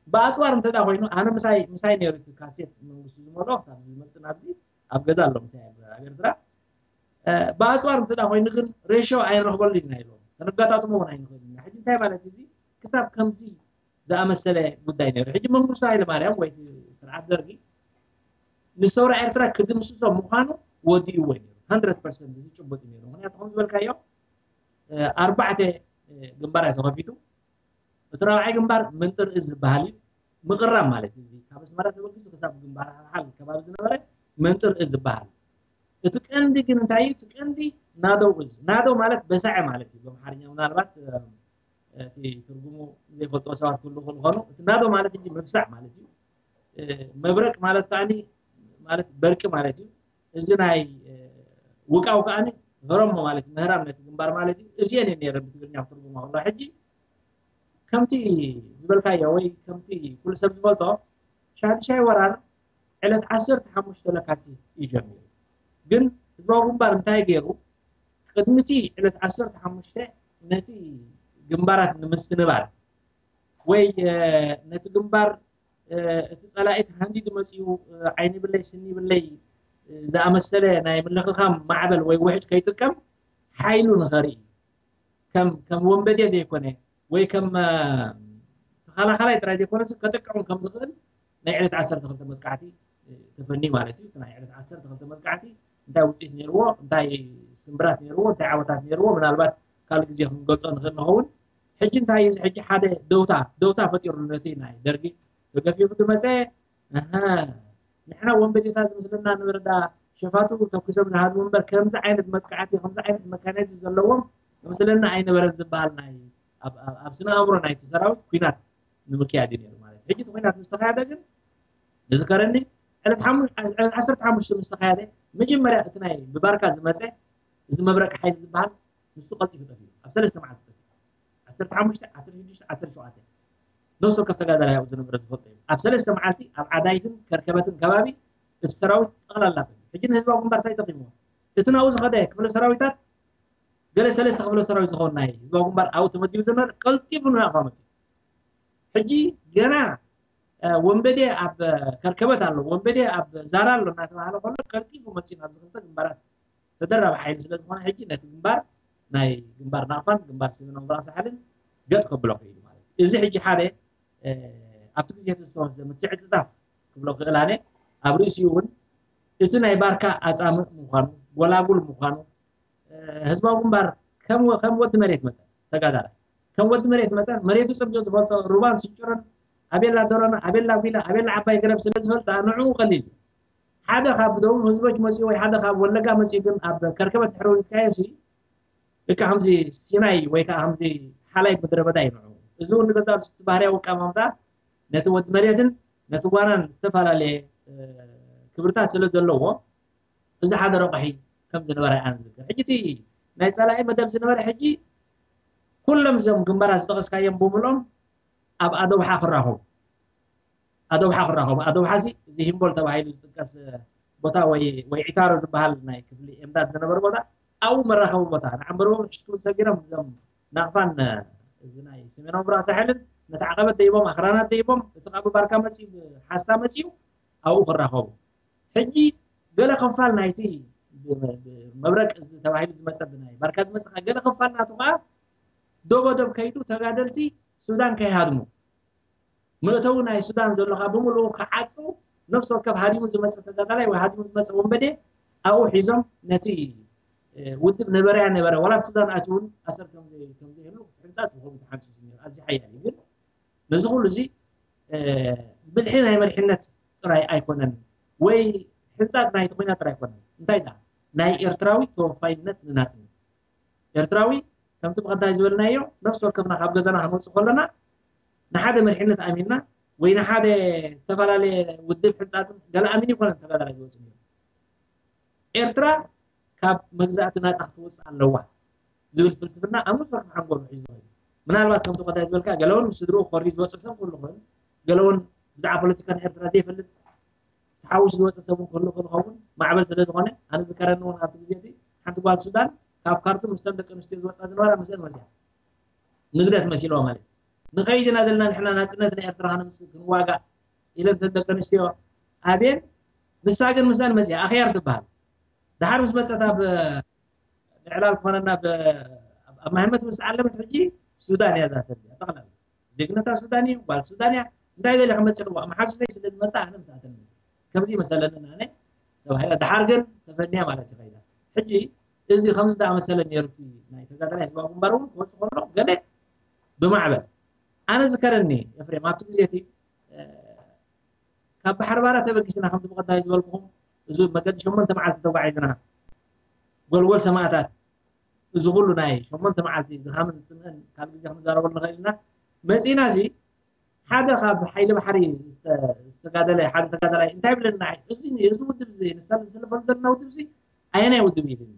ብኣፅዋር እንተ ኮይኑ ኣነ ምሳይ ምሳይ ነይሩ እቲ ካሴት መንግስቱ ዝመልኦ ክሳብ ዝመፅእ ናብዚ ኣብ ገዛ ኣሎ ምሳይ ኣብ ኤርትራ ብኣፅዋር እንተ ኮይኑ ግን ሬሽዮ ኣይንረኽበሉ ኢና ኢሎም ተነጋጣጥሞ እውን ኣይንኽእል ኢና። ሕጂ እንታይ ማለት እዚ ክሳብ ከምዚ ዝኣመሰለ ጉዳይ ነይሩ። ሕጂ መንግስቱ ሃይለማርያም ወይ ስርዓት ደርጊ ንሰውራ ኤርትራ ክድምስሶ ምዃኑ ወዲእዎ ነይሩ። ሃንድረድ ፐርሰንት ዝጭበጥ ነይሩ። ምክንያቱ ከም ዝበልካዮ ኣርባዕተ ግንባር ተኸፊቱ እቲ ራብዓይ ግንባር ምንጥር እዝ ዝበሃል እዩ። ምቕራብ ማለት እዩ። ካብ ኣስመራ ተበጊሱ ክሳብ ግንባር ሓልሓል ከባቢ ዝነበረ ምንጥር እዝ ዝበሃል። እቲ ቀንዲ ግን እንታይ እዩ? እቲ ቀንዲ ናደው እዝ ናደው ማለት በሳዐ ማለት እዩ ብኣምሓርኛ ምናልባት እቲ ትርጉሙ ዘይፈልጥዎ ሰባት ክህሉ ክኾኑ እቲ ናዶ ማለት እንጂ ምብሳዕ ማለት እዩ። መብረቅ ማለት ከዓኒ ማለት በርቂ ማለት እዩ። እዚ ናይ ውቃው ከዓኒ ህረሞ ማለት ምህራም ነቲ ግንባር ማለት እዩ። እዚአን እየን ነይረን ብትግርኛ ክትርጉማ ከሎ ሕጂ ከምቲ ዝበልካዮ ወይ ከምቲ ኩሉ ሰብ ዝፈልጦ ሻድሻይ ወራር ዕለት ዓሰርተ ሓሙሽተ ለካቲት እዩ ጀሚሩ። ግን ህዝባዊ ግንባር እንታይ ገይሩ ቅድሚ እቲ ዕለት ዓሰርተ ሓሙሽተ ነቲ ግንባራት ንምስንባር ወይ ነቲ ግንባር እቲ ፀላኢ ተሃንዲዱ መፂኡ ዓይኒ ብለይ ስኒ ብለይ ዝኣመሰለ ናይ ምልኽኻም ማዕበል ወይ ውሕጅ ከይጥቀም ሓይሉ ንኸርኢ ከም ከም ወንበዴ ዘይኮነ ወይ ከም ተኸላኸላይ ጥራይ ዘይኮነስ ከጥቅዑን ከም ዝኽእል ናይ ዕለት ዓሰርተ ክልተ መጥቃዕቲ ተፈኒ ማለት እዩ። ናይ ዕለት ዓሰርተ ክልተ መጥቃዕቲ እንታይ ውፅኢት ነይርዎ፣ እንታይ ስምብራት ነይርዎ፣ እንታይ ዓወታት ነይርዎ ምናልባት ካልእ ግዜ ክንገልፆ ንኽእል ንኸውን። ሕጂ እንታይ እዩ እዚ ሕጂ ሓደ ደውታ ደውታ ፈጢሩ ነቲ ናይ ደርጊ ተገፊፉ ዝመፀ ንሕና ወንበዴታት ዝመስለና ንበረዳ ሸፋቱ ተኩሶም ዝሃድሙ እምበር ከምዚ ዓይነት መጥቃዕቲ ከምዚ ዓይነት መካናይዝ ዘለዎም ዝመስለና ኣይነበረን ዝበሃል ናይ ኣብ ስነ ኣእምሮ ናይቲ ሰራዊት ኩናት ንምክያድ እዩ ነይሩ ማለት ሕጂ እቲ ኩናት ምስ ተኻየደ ግን ንዝከረኒ ዕለት ዓሰርተ ሓሙሽተ ምስ ተኻየደ መጀመርያ እቲ ናይ ብባርካ ዝመፀ እዚ መብረቅ ሓይሊ ዝበሃል ንሱ ቀልጢፉ ጠፊኡ ኣብ ሰለስተ መዓልቲ ጠፊኡ ዓሰርተ ሓሙሽተ ዓሰርተ ሽዱሽተ ዓሰርተ ሸውዓተ ነፍሲ ወከፍ ተጋዳላይ ኣብኡ ዝነበረ ዝፈልጦ እዩ ኣብ ሰለስተ መዓልቲ ኣብ ዓዳይትን ከርከበትን ከባቢ እቲ ሰራዊት ጠቕላላ ጠፊኡ ሕጂ ንህዝባዊ ግንባር እንታይ ጠቂምዎ እቲ ናብኡ ዝኸደ ክፍለ ሰራዊታት ገለ ሰለስተ ክፍለ ሰራዊት ዝኸውን ናይ ህዝባዊ ግንባር ኣብኡ ተመዲቡ ዝነበረ ቀልጢፉ ንናቕፋ መፂኡ ሕጂ ገና ወንበዴ ኣብ ከርከበት ኣሎ ወንበዴ ኣብ ዛራ ኣሎ እናተባሃለ ከሎ ቀልጢፉ መፂኡ ናብዚ ክልተ ግንባራት ተደራቢ ሓይሊ ስለ ዝኾነ ሕጂ ነቲ ግንባር ናይ ግንባር ናቕፋን ግንባር ሰሜናዊ ምብራቕ ሳሕልን ገጥ ከብሎ ክኢሉ ማለት እዩ እዚ ሕጂ ሓደ ኣብቲ ግዜ ዝተወስደ ምትዕፅፃፍ ክብሎ ክእል ኣነ ኣብ ርእሲኡ እውን እቲ ናይ ባርካ ኣፃምእ ምዃኑ ጎላጉል ምዃኑ ህዝባዊ ግንባር ከም ወዲ መሬት መጠን ተጋዳላይ ከም ወዲ መሬት መጠን መሬቱ ፅብቅ ዝፈልጦ ሩባን ስንጭሮን ኣቤላ ደሮና ኣቤላ ጒላ ኣቤላ ዓባይ ገረብ ስለ ዝፈልጣ ንዕኡ ቀሊል እዩ ሓደ ካብ ደቡብ ህዝቦች መፅኡ ወይ ሓደ ካብ ወለጋ መፅኡ ግን ኣብ ከርከበት ድሕሪ ውሪድካዮ ሲ ልክዕ ከምዚ ሲናይ ወይ ከዓ ከምዚ ሓላይ ምድረ በዳ እዩ ንዕኡ እዚ እውን ንገዛ ርስቲ ባህርያዊ ኣቀማምጣ ነቲ ወዲ መሬትን ነቲ ጓናን ዝተፈላለየ ክብርታት ስለ ዘለዎ እዚ ሓደ ረቑሒ ከም ዝነበረ ኣነ ዝዝክር። ሕጂ እቲ ናይ ጸላኢ መደብ ዝነበረ ሕጂ ኩሎም እዞም ግንባራት ዝጠቐስካዮም ብምልኦም ኣብ ኣደውሓ ክራኸቡ ኣደውሓ ክራኸቡ ኣደውሓ ሲ እዚ ሂምቦል ተባሂሉ ዝጥቀስ ቦታ ወይ ወይ ዒታሮ ዝበሃል ናይ ክፍሊ ኤምዳድ ዝነበረ ቦታ ኣብኡ መራኸቢ ቦታ ንዓምበርቦም ሽትውን ሰጊሮም እዞም ናቕፋን እዚ ናይ ሰሜናዊ ምብራቕ ሳሕልን ነቲ ዓቐበት ደይቦም ኣኽራናት ደይቦም እቲ ካብ ባርካ መፅዩ ሓስታ መፅዩ ኣብኡ ክራኸቡ ሕጂ ገለ ክፋል ናይቲ መብረቅ እዚ ተባሂሉ ዝመፀ ብናይ ባርካ ዝመፅእ ገለ ክፋል ናቱ ከዓ ዶቦ ዶብ ከይዱ ተጋደልቲ ሱዳን ከይሃድሙ መእተዊ ናይ ሱዳን ዘሎ ካብ ብምልኡ ክዓፁ ነፍሲ ወከፍ ሃዲሙ ዝመፀ ተጋዳላይ ወይ ሃዲሙ ዝመፀ ወንበዴ ኣብኡ ሒዞም ነቲ ውድብ ነበረያ ነበረ ዋላ ሱዳን ኣትውን ኣሰር ከምዘይህሉ ሕንፃፅ ዝኸውን ተሓንፂ ኣብዚ ሓያል እዩ ግን ነዚ ኩሉ እዚ ብልሒ ናይ መሪሕነት ጥራይ ኣይኮነን ወይ ሕንፃፅ ናይ ተኮይና ጥራይ ኣይኮነን እንታይ ዳ ናይ ኤርትራዊ ተወፋይነት ንናፅነት ኤርትራዊ ከምቲ ብቐዳይ ዝበልናዮ ነፍሲ ወከፍና ካብ ገዛና ክንወፅእ ከለና ንሓደ መሪሕነት ኣሚንና ወይ ንሓደ ዝተፈላለየ ውድብ ሕንፃፅን ገለ ኣሚን ይኮነን ተጋዳላይ ዝወፅእ ነይሩ ኤርትራ ካብ መግዛእቲ ናፃ ክትወፅእ ኣለዋ ዝብል ፍልስፍና ኣብ ነፍሲ ወከፍ ሓንጎሉ ሒዙ ኮይኑ ምናልባት ከምቲ ቀዳይ ዝበልካ ገለውን ምስ ስድርኡ ክኸሪ ዝወፅእ ሰብ ክህሉ ክእል ገለውን ብዛዕባ ፖለቲካ ናይ ኤርትራ ዘይፈልጥ ተሓዊሱ ዝወፀ ሰብ እውን ክህሉ ክእል ኸውን ማዕበል ስለ ዝኾነ ኣነ ዝከረኒ እውን ኣብቲ ግዜ እቲ ሓንቲ ጓል ሱዳን ካብ ካርቱም ምስተን ደቂ ኣንስትዮ ዝወፃ ዝነበራ ምስአን መፅያ ንግደት መሲልዋ ማለት እዩ ንኸይድ ኢና ዘለና ንሕና ናፅነት ናይ ኤርትራ ከነምፅእ ክንዋጋእ ኢለን ተን ደቂ ኣንስትዮ ኣብየን ንሳ ግን ምስአን መፅያ ኣኽያር ትበሃል ደሓር ምስ መፀት ኣብ ምዕላል ክኾነና ኣብ ማህመት ምስ ዓለመት ሕጂ ሱዳን እያ እዛ ሰብ እዚኣ ጠቕላላ ዜግነታ ሱዳን እዩ ጓል ሱዳን እያ እንታይ ገለ ክመፅእ ክዋ መሓዙተይ ስለ ዝመፅእ ኣነ ምስኣተን መፅእ ከምዚ መሰለንን ኣነ ተባሂላ ድሓር ግን ተፈንያ ማለት እዩ ከይዳ ሕጂ እዚ ከምዚ ዝኣመሰለ ነይሩ እቲ ናይ ተጋዳላይ ህዝባዊ ግንባር እውን ክወፅእ ከሎ ገለ ብማዕበል ኣነ ዝከረኒ ኤፍሬም ኣብቲ ግዜ እቲ ካብ ባሕሪ ባራ ተበጊስና ከምቲ ብቐዳይ ዝበልኩኹም እዚ መገዲ ሸሞንተ መዓልቲ ተጓዒዝና ጎልጎል ሰማእታት እዚ ኩሉ ናይ ሸሞንተ መዓልቲ ድኻምን ስምዕን ካብ ግዜ ክንዛረበሉ ንኽእል ኢና መፂና ሲ ሓደ ካብ ሓይሊ ባሕሪ ዝተጋደለ ሓደ ተጋዳላይ እንታይ ብለና እዚ እዚ ውድብ እዚ ንሳ ዝሰለፈሉ ዘለና ውድብ እዚ ኣየናይ ውድብ እዩ ኢሉኒ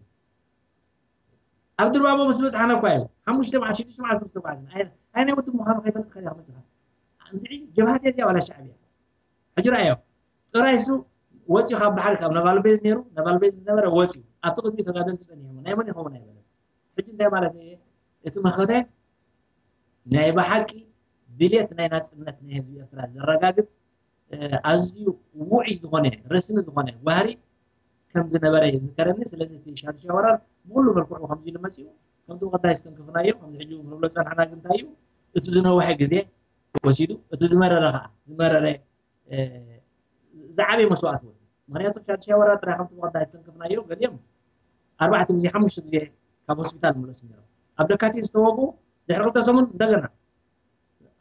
ኣብ ድርባቦ ምስ በፅሓና እኳ እዩ ሓሙሽተ መዓልቲ ሽዱሽተ መዓልቲ ምስ ተጓዓዝና ኣየናይ ውድብ ምዃኑ ከይፈልጥ ከዲያ ክመፅኻ እንድዒ ጀብሃት እያ ዋላ ሻዕብያ ሕጂ ረኣዮ ጥራይ እሱ ወፂኡ ካብ ባሕሪ ካብ ነባል ቤዝ ነይሩ ነባል ቤዝ ዝነበረ ወፂኡ ኣብቲ ቅድሚ ተጋደልቲ ፀኒሖም ናይ መን ይኸውን ኣይበለን ሕጂ እንታይ ማለት እየ እቲ መኸተ ናይ ብሓቂ ድልየት ናይ ናፅነት ናይ ህዝቢ ኤርትራ ዘረጋግፅ ኣዝዩ ውዑይ ዝኾነ ረስኒ ዝኾነ ባህሪ ከም ዝነበረ ይዝከረኒ ስለዚ እቲ ሻድሻይ ወራር ብኩሉ መልክዑ ከምዚ ኢሉ መፂኡ ከምቲ ቀዳይ ዝተንክፍናዮ ከምዚ ሕጂ ክንብሎ ፀናሕና ግን እንታይ እዩ እቲ ዝነውሐ ግዜ ወሲዱ እቲ ዝመረረ ከዓ ዝመረረ ዝዓበየ መስዋእቲ ወዲ ምክንያቱ ሻድሻይ ወራር ጥራይ ከምቲ ቀዳይ ዝተንክፍናዮ ገሊኦም ኣርባዕተ ግዜ ሓሙሽተ ግዜ ካብ ሆስፒታል ምለሱ ነይሮም ኣብ ደካቲት ዝተወጉ ድሕሪ ክልተ ሰሙን እንደገና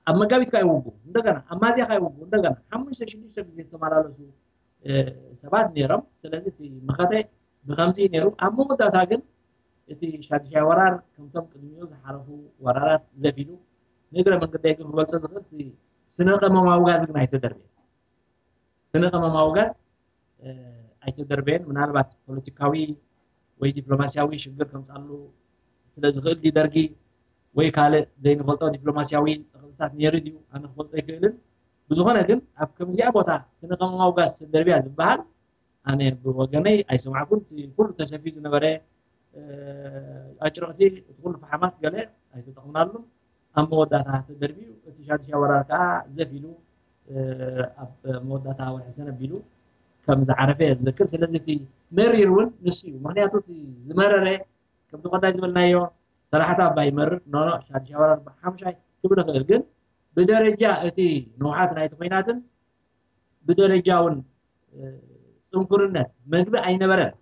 ኣብ መጋቢት ካ ይወጉ እንደገና ኣብ ማዝያ ካ ይወጉ እንደገና ሓሙሽተ ሽዱሽተ ግዜ ዝተመላለሱ ሰባት ነይሮም ስለዚ እቲ መኸተ ብከምዚ ነይሩ ኣብ መወዳእታ ግን እቲ ሻድሻይ ወራር ከምቶም ቅድሚኡ ዝሓለፉ ወራራት ዘፊሉ ንእግረ መንገደይ ግን ክገልፆ ዝኽእል ስነ ቀመማዊ ጋዝ ግን ኣይተደርበየ ስነ ቀመማዊ ጋዝ ኣይተደርበየን ምናልባት ፖለቲካዊ ወይ ዲፕሎማሲያዊ ሽግር ከምፃሉ ስለ ዝኽእል ድዩ ደርጊ ወይ ካልእ ዘይንፈልጦ ዲፕሎማሲያዊ ፀቕጥታት ነይሩ ድዩ ኣነ ክፈልጦ ኣይክእልን ብዝኾነ ግን ኣብ ከምዚኣ ቦታ ስነ ቀመማዊ ጋዝ ተደርብያ ዝበሃል ኣነ ብወገነይ ኣይሰማዕኩን እቲ ኩሉ ተሰፊዩ ዝነበረ ኣጭርቕቲ እቲ ኩሉ ፈሓማት ገለ ኣይተጠቕምናሉን ኣብ መወዳእታ ተደርብዩ እቲ ሻድሻይ ወራር ከዓ ዘፍ ኢሉ ኣብ መወዳእታ ወርሒ ሰነ ኣቢሉ ከም ዝዓረፈ እየ ዝዘክር ስለዚ እቲ መሪር እውን ንሱ እዩ ምክንያቱ እቲ ዝመረረ ከምቲ ቀዳይ ዝበልናዮ ሰላሕታ ኣባ ይመርር ኖኖ ሻድሻይ ወራር ብሓምሻይ ክብል ይኽእል ግን ብደረጃ እቲ ንውሓት ናይቲ ኮይናትን ብደረጃ እውን ፅንኩርነት መግቢ ኣይነበረን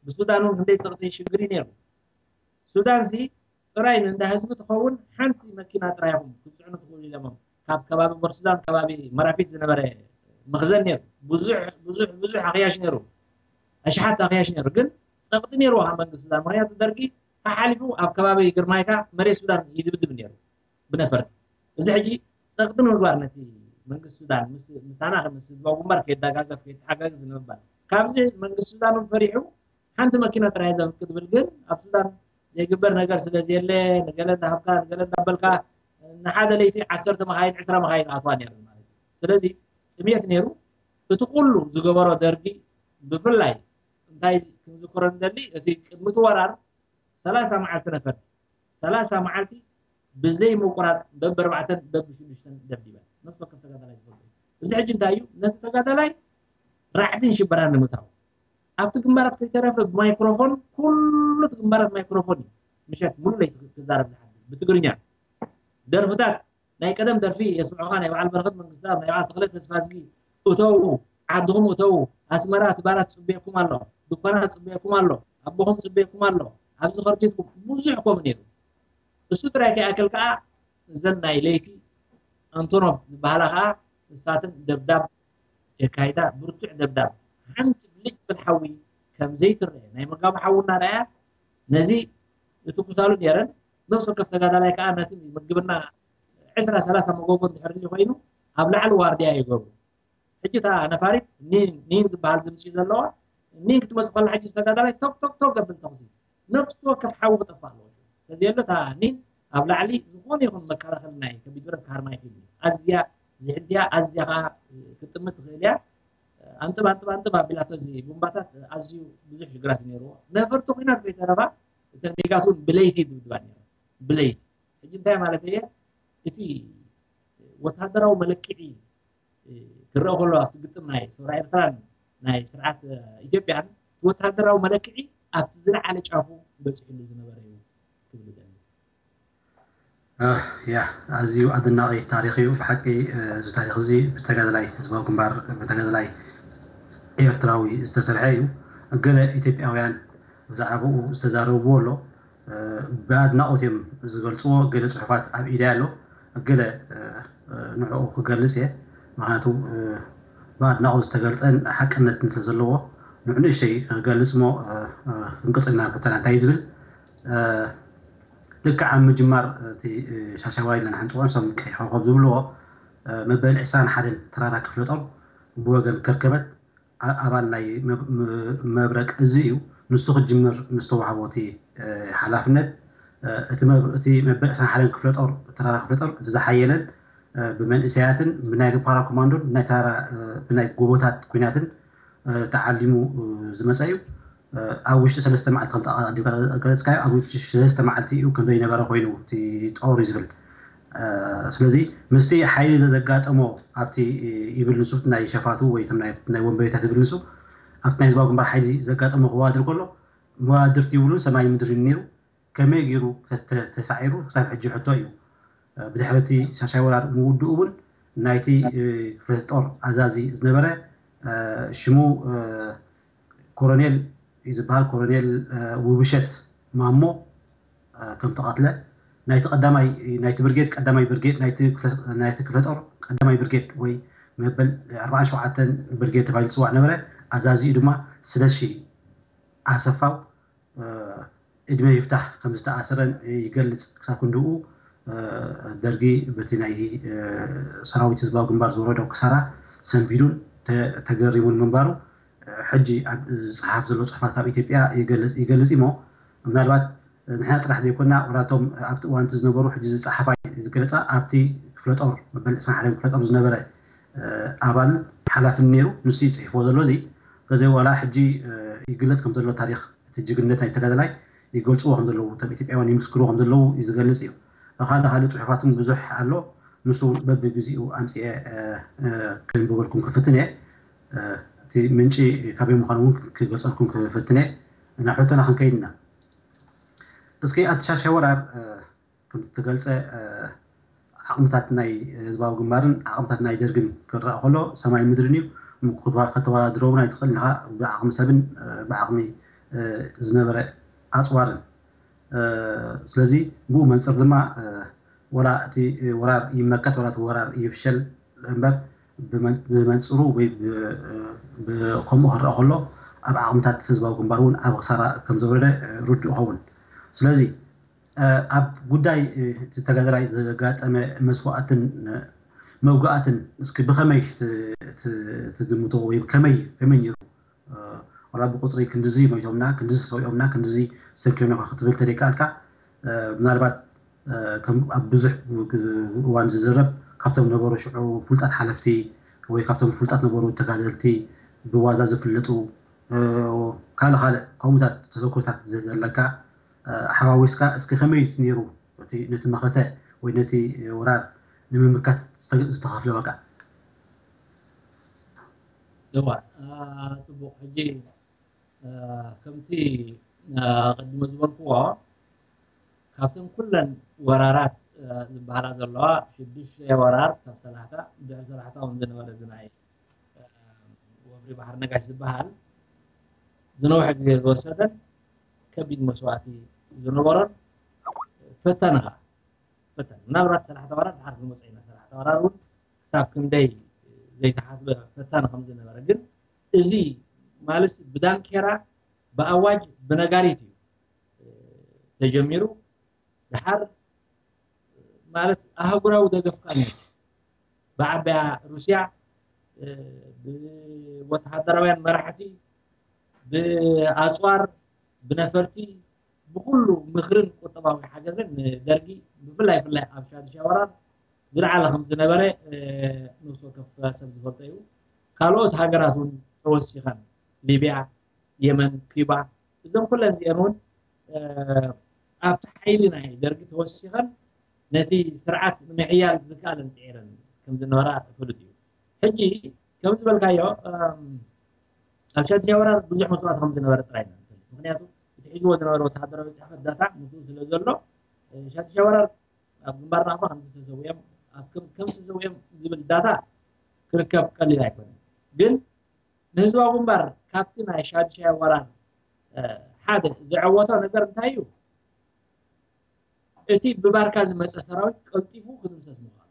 ብሱዳን እውን ክንደይ ፀቕጢ ሽግር እዩ ነይሩ ሱዳን ሲ ጥራይ ንእንዳ ህዝቢ ትኸውን ሓንቲ መኪና ጥራይ ኢኹም ክትፅዕኑ ትኽእሉ ኢሎሞም ካብ ከባቢ ቦርሱዳን ከባቢ መራፊት ዝነበረ መኽዘን ነይሩ ብዙሕ ብዙሕ ብዙሕ ኣኽያሽ ነይሩ ኣሽሓት ኣኽያሽ ነይሩ ግን ፀቕጢ ነይርዎ ካብ መንግስቲ ሱዳን ምክንያቱ ደርጊ ተሓሊፉ ኣብ ከባቢ ግርማይካ መሬት ሱዳን ይድብድብ ነይሩ ብነፈርቲ እዚ ሕጂ ፀቕጢ ንምግባር ነቲ መንግስቲ ሱዳን ምሳና ምስ ህዝባዊ ግንባር ከየዳጋገፍ ከየተሓጋግዝ ንምባል ካብዚ መንግስቲ ሱዳን እውን ፈሪሑ ሓንቲ መኪና ጥራይ ዘምልክ ዝብል ግን ኣብ ሱዳን ዘይግበር ነገር ስለ ዘየለ፣ ንገለ እንዳሃብካ ንገለ እንዳበልካ ንሓደ ለይቲ ዓሰርተ መኻይን ዕስራ መኻይን ኣትዋ ነይሩ ማለት እዩ። ስለዚ ጥምየት ነይሩ። እቲ ኩሉ ዝገበሮ ደርጊ ብፍላይ እንታይ ክንዝክሮ ንደሊ፣ እቲ ቅድሚ እቲ ወራር ሰላሳ መዓልቲ ነፈርቲ ሰላሳ መዓልቲ ብዘይ ምቁራፅ በብኣርባዕተን በብሽዱሽተን ደብዲበን ነፍሲ ወከፍ ተጋዳላይ ዝፈልጡ። እዚ ሕጂ እንታይ እዩ? ነቲ ተጋዳላይ ራዕድን ሽበራን ንምታው ኣብቲ ግንባራት ከይተረፈ ብማይክሮፎን ኩሉ እቲ ግንባራት ማይክሮፎን እዩ ምሸት ሙሉ ለይቲ ክዛረብ ዝሓድር ብትግርኛ ደርፍታት ናይ ቀደም ደርፊ የስምዑኻ ናይ በዓል በረኸት መንግስታብ ናይ በዓል ተኽለ ተስፋዝጊ እተው ዓድኹም እተው ኣስመራ እቲ ባራት ጽበየኩም ኣሎ ድኳናት ጽበየኩም ኣሎ ኣቦኹም ጽበየኩም ኣሎ ኣብዚ ኸርቲትኩም ብዙሕ ኮም ነይሩ እሱ ጥራይ ከይኣክል ከዓ እዘን ናይ ለይቲ ኣንቶኖቭ ዝበሃላ ከዓ ንሳትን ደብዳብ የካይዳ ብርቱዕ ደብዳብ ሓንቲ ብልጭ ትብል ሓዊ ከም ዘይትረአ ናይ መጋቡ ሓዊ እናረኣያ ነዚ ዝትኩሳሉ ነይረን ነብሲ ወከፍ ተጋዳላይ ከዓ ነቲ ምግብና ዕስራ ሰላሳ መጎጎ እንድሕር ኮይኑ ኣብ ላዕሊ ዋርድያ ይገብሩ ሕጂ እታ ነፋሪት ኒን ዝበሃል ድምፂ ዘለዋ ኒን ክትመፅእ ከላ ሕጂ ዝተጋዳላይ ቶክ ቶክ ቶክ ዘብል ተኹሲ ነፍሲ ወከፍ ሓዊ ክጠፍእ ኣለዎ ተዘየሎ እታ ኒን ኣብ ላዕሊ ዝኾነ ይኹን መከላኸሊ ናይ ከቢድ ብረት ክሃርማ ይኽእል እዩ ኣዝያ ዝሕድያ ኣዝያ ከዓ ክትጥምት ትኽእል እያ ኣንጥብ ኣንጥብ ኣንጥብ ኣቢላቶ እዚ ቡምባታት ኣዝዩ ብዙሕ ሽግራት ነይርዎ ነፈርቲ ኩናት ከይተረፋ እተን ሜጋት እውን ብለይቲ ድብድባ ነይረ ብለይቲ ሕጂ እንታይ ማለት እየ እቲ ወታደራዊ መለክዒ ክረአ ከሎ ኣብቲ ግጥም ናይ ሰውራ ኤርትራን ናይ ስርዓት ኢትዮጵያን ወታደራዊ መለክዒ ኣብቲ ዝለዓለ ጫፉ በፂሕሉ ዝነበረ እዩ ክብል ይደሊ ያ ኣዝዩ ኣደናቂ ታሪክ እዩ ብሓቂ እዚ ታሪክ እዚ ብተጋደላይ ህዝባዊ ግንባር ብተጋደላይ ኤርትራዊ ዝተሰርሐ እዩ ገለ ኢትዮጵያውያን ብዛዕባኡ ዝተዛረብዎ ኣሎ ብኣድናቆት እዮም ዝገልፅዎ ገለ ፅሑፋት ኣብ ኢደይ ኣሎ ገለ ንዕኡ ክገልፅ እየ ምክንያቱ ብኣድናቆት ዝተገልፀን ሓቅነትን ስለ ዘለዎ ንዑ ንእሸይ ክገልፅ ሞ ክንቅፅልና ፈተና እንታይ እዩ ዝብል ልክዕ ኣብ ምጅማር እቲ ሻሻዋይ ኢልና ንሓንፅዎ ንሶም ቀይሕ ኮኸብ ዝብልዎ መበል ዕስራን ሓደን ተራራ ክፍለ ጦር ብወገን ከርከበት ኣባል ናይ መብረቅ እዚ እዩ። ንሱ ክጅምር ምስ ተዋህቦ እቲ ሓላፍነት እቲ መበል ዕስራን ሓደን ክፍለ ጦር ተራራ ክፍለ ጦር እቲ ዝሓየለን ብመንእሰያትን ብናይ ፓራ ኮማንዶን ብናይ ተራራ ብናይ ጎቦታት ኩናትን ተዓሊሙ ዝመፀ እዩ። ኣብ ውሽጢ ሰለስተ መዓልቲ ከምቲ ኣቐዲምካ ዝገለፅካዮ ኣብ ውሽጢ ሰለስተ መዓልቲ እዩ ከም ዘይነበረ ኮይኑ እቲ ጦር እዩ ዝብል። ስለዚ ምስቲ ሓይሊ ዘጋጠሞ ኣብቲ ይብል ንሱ ናይ ሸፋቱ ወይ ናይ ወንበዴታት ይብል ንሱ ኣብቲ ናይ ህዝባዊ ግንባር ሓይሊ ዘጋጠሞ ክዋድር ከሎ መዋድርቲ ይብሉ ሰማይ ምድሪ ነይሩ ከመይ ገይሩ ተሳዒሩ ክሳብ ሕጂ ሕቶ እዩ። ብድሕሪ እቲ ሻሻይ ወራር ምውድኡ እውን ናይቲ ክፍለ ጦር ኣዛዚ ዝነበረ ሽሙ ኮሮኔል እዩ ዝበሃል ኮሮኔል ውብሸት ማሞ ከም ተቐትለ ናይቲ ቀዳማይ ናይቲ ብርጌድ ቀዳማይ ብርጌድ ናይቲ ክፍለ ጦር ቀዳማይ ብርጌድ ወይ መበል ኣርባዓን ሸውዓተን ብርጌድ ተባሂሉ ዝፅዋዕ ነበረ ኣዛዚኡ ድማ ስለሺ ኣሰፋው እድመ ይፍታሕ ከም ዝተኣሰረን ይገልፅ ክሳብ ክንድኡ ደርጊ በቲ ናይ ሰራዊት ህዝባዊ ግንባር ዝወረዶ ክሳራ ሰንቢዱን ተገሪሙን ምንባሩ ሕጂ ኣብ ዝፅሓፍ ዘሎ ፅሑፋት ካብ ኢትዮጵያ ይገልፅ ይሞ ምናልባት ንሕና ጥራሕ ዘይኮና ወላቶም ኣብቲ እዋንቲ ዝነበሩ ሕጂ ዝፀሓፋ ዝገለፃ ኣብቲ ክፍለጦር መበል ዕስራን ሓደን ክፍለጦር ዝነበረ ኣባል ሓላፍን ነይሩ ንሱ ይፅሒፍዎ ዘሎ እዚ ከዚ ዋላ ሕጂ ይግለፅ ከም ዘሎ ታሪክ እቲ ጅግነት ናይ ተጋደላይ ይገልፅዎ ከም ዘለዉ ከም ኢትዮጵያውያን ይምስክርዎ ከም ዘለዉ ዝገልፅ እዩ። ካልእ ካልእ ፅሑፋት እውን ብዙሕ ኣሎ። ንሱ እውን በብግዚኡ ኣምፅኤ ክንብበልኩም ክፍትን እየ። እቲ ምንጪ ካበይ ምዃኑ እውን ክገልፀልኩም ክፍትን እየ። ናብ ሕቶና ክንከይድ ኢና። እስኪ ኣብቲ ሻሻይ ወራር ከም ዝተገልፀ ዓቕምታት ናይ ህዝባዊ ግንባርን ዓቕምታት ናይ ደርግን ክረኣ ከሎ ሰማይ ምድርን እዩ። ከተወዳድሮ እውን ኣይትኽእል ኢኻ ብዓቕሚ ሰብን ብዓቕሚ ዝነበረ ኣፅዋርን። ስለዚ ብኡ መንፅር ድማ ወላ እቲ ወራር ይመከት ወላ እቲ ወራር ይፍሸል እምበር ብመንፅሩ ወይ ከምኡ ክረኣ ከሎ ኣብ ዓቕምታት ህዝባዊ ግንባር እውን ዓብ ክሳራ ከም ዘውረደ ርዱእ ይኸውን። ስለዚ ኣብ ጉዳይ እቲ ተጋደላይ ዘጋጠመ መስዋእትን መውጋእትን እስኪ ብኸመይ ትግምቶ ወይ ከመይ ከመይ ነይሩ ዋላ ብቁፅሪ ክንድዚ ሞይቶምና፣ ክንድዚ ሰዊኦምና፣ ክንድዚ ሰንኪዮምና ክትብል ተደይከኣልካ፣ ምናልባት ኣብ ብዙሕ እዋን ዝዝረብ ካብቶም ነበሩ ሽዑ ፍሉጣት ሓለፍቲ ወይ ካብቶም ፍሉጣት ነበሩ ተጋደልቲ ብዋዛ ዝፍለጡ ካልእ ካልእ ከምኡታት ተዘክሮታት ዘለካ ሓዋዊስካ እስኪ ከመይ ነይሩ ነቲ መኸተ ወይ ነቲ ወራር ንምምካት ዝተኸፍለ ዋጋ? እዋ ጽቡቕ። ሕጂ ከምቲ ኣቐድመ ዝበልክዎ ካብተን ኩለን ወራራት ዝበሃላ ዘለዋ ሽዱሽተ ወራር ክሳብ ሰላሕታ ድሕሪ ሰላሕታ እውን ዝነበረ ዝናይ ወፍሪ ባሕሪ ነጋሽ ዝበሃል ዝነውሐ ግዜ ዝወሰደን ከቢድ መስዋእቲ ዝነበሮን ፈተነ ኸዓ ፈተነ ምናልባት ሰላሕታ ወራር ድሓር ክንመፀ ኢና። ሰላሕታ ወራር እውን ክሳብ ክንደይ ዘይተሓስበ ፈታኒ ከም ዝነበረ ግን እዚ ማለት ብዳንኬራ ብኣዋጅ ብነጋሪት እዩ ተጀሚሩ። ድሓር ማለት ኣህጉራዊ ደገፍ ከዓ ነይሩ። ብዓባያ ሩስያ ብወተሃደራውያን መራሕቲ ብኣፅዋር ብነፈርቲ ብኩሉ ምኽርን ቁጠባዊ ሓገዝን ንደርጊ ብፍላይ ብፍላይ ኣብ ሻድሻይ ወራር ዝለዓለ ከም ዝነበረ ነፍሲ ወከፍ ሰብ ዝፈልጦ እዩ። ካልኦት ሃገራት እውን ተወሲኸን ሊብያ፣ የመን፣ ኩባ እዞም ኩለን እዚአን እውን ኣብቲ ሓይሊ ናይ ደርጊ ተወሲኸን ነቲ ስርዓት ንምሕያል ዝከኣለን ፅዒረን ከም ዝነበራ ፍሉጥ እዩ። ሕጂ ከም ዝበልካዮ ኣብ ሻድሻይ ወራር ብዙሕ መስዋእቲ ከም ዝነበረ ጥራይ ኢና ንፈልጥ። ምክንያቱ እቲ ሒዝዎ ዝነበረ ወተሃደራዊ ፅሕፈት ዳታ ምስኡ ስለ ዘሎ ሻድሻይ ወራር ኣብ ግንባር ናቕፋ ከምዚ ተሰዊኦም ከም ተሰዊኦም ዝብል ዳታ ክርከብ ቀሊል ኣይኮነን። ግን ንህዝባዊ ግንባር ካብቲ ናይ ሻድሻይ ወራር ሓደ ዘዐወቶ ነገር እንታይ እዩ? እቲ ብባርካ ዝመፀ ሰራዊት ቀልጢፉ ክድምሰስ ምዃኑ።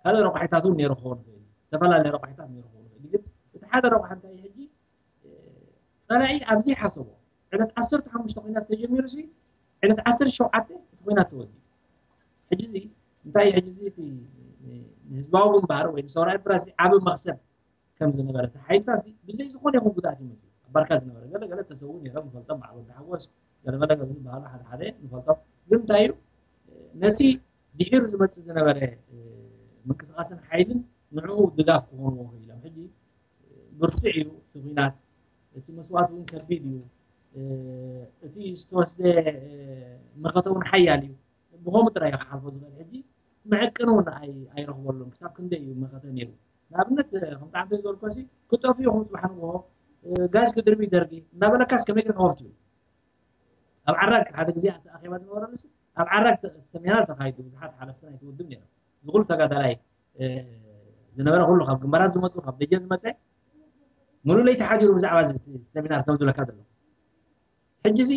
ካልእ ረቋሒታት እውን ነይሩ ክኸውን ይኽእል እዩ። ዝተፈላለየ ረቋሒታት ነይሩ ክኸውን ይኽእል እዩ። ግን እቲ ሓደ ረቋሒ እንታይ እዩ? ሕጂ ፀላኢ ኣብ ዘይሓሰቦ ዕለት ዓሰርተ ሓሙሽተ ኲናት ተጀሚሩ ሲ ዕለት ዓሰርተ ሸውዓተ እቲ ኲናት ተወዲኡ። ሕጂ እዚ እንታይ እዩ? ሕጂ እዚ እቲ ንህዝባዊ ግንባር ወይ ንሰውራ ኤርትራ እዚ ዓቢ መኽሰብ ከም ዝነበረ እቲ ሓይልታት እዚ ብዘይ ዝኾነ ይኹን ጉድኣት ይመስሉ ኣብ ባርካ ዝነበረ ገለ ገለ ተሰዉ ነይሮም ንፈልጦም በዓል ወዲ ሓጎስ ገለመለ ገለ ዝበሃሉ ሓደ ሓደ ንፈልጦም ግን እንታይ እዩ ነቲ ድሒሩ ዝመፅእ ዝነበረ ምንቅስቃስን ሓይልን ንዕኡ ድጋፍ ክኾንዎ ክኢሎም ሕጂ ብርቱዕ እዩ እቲ ኲናት እቲ መስዋእቲ እውን ከቢድ እዩ እቲ ዝተወስደ መኸተ እውን ሓያል እዩ ብኸምኡ ጥራይ ክሓልፎ ዝኽእል ሕጂ መዕቀኒ እውን ኣይረኽበሉን ክሳብ ክንደይ እዩ መኸተ ነይሩ ንኣብነት ከም ጣዕምተ ዝበልኮ ሲ ክጠፍኡ ኢኹም ፅባሕ ንግሆ ጋዝ ክድርቢ ደርጊ እናበለካስ ከመይ ግን ኦፍ ትብል ኣብ ዓራግ ሓደ ግዜ ኣቲ ኣኼባ ዝነበረሉ ሲ ኣብ ዓራግ ሰሚናር ተኻይዱ ብዙሓት ሓለፍቲ ናይቲ ውድብ ነይሮም እዚ ኩሉ ተጋዳላይ ዝነበረ ኩሉ ካብ ግንባራት ዝመፁ ካብ ደጀን ዝመፀ ሙሉእ ለይቲ ሓዲሩ ብዛዕባ ሰሚናር ከም ዝብለካ ዘሎ ሕጂ ሲ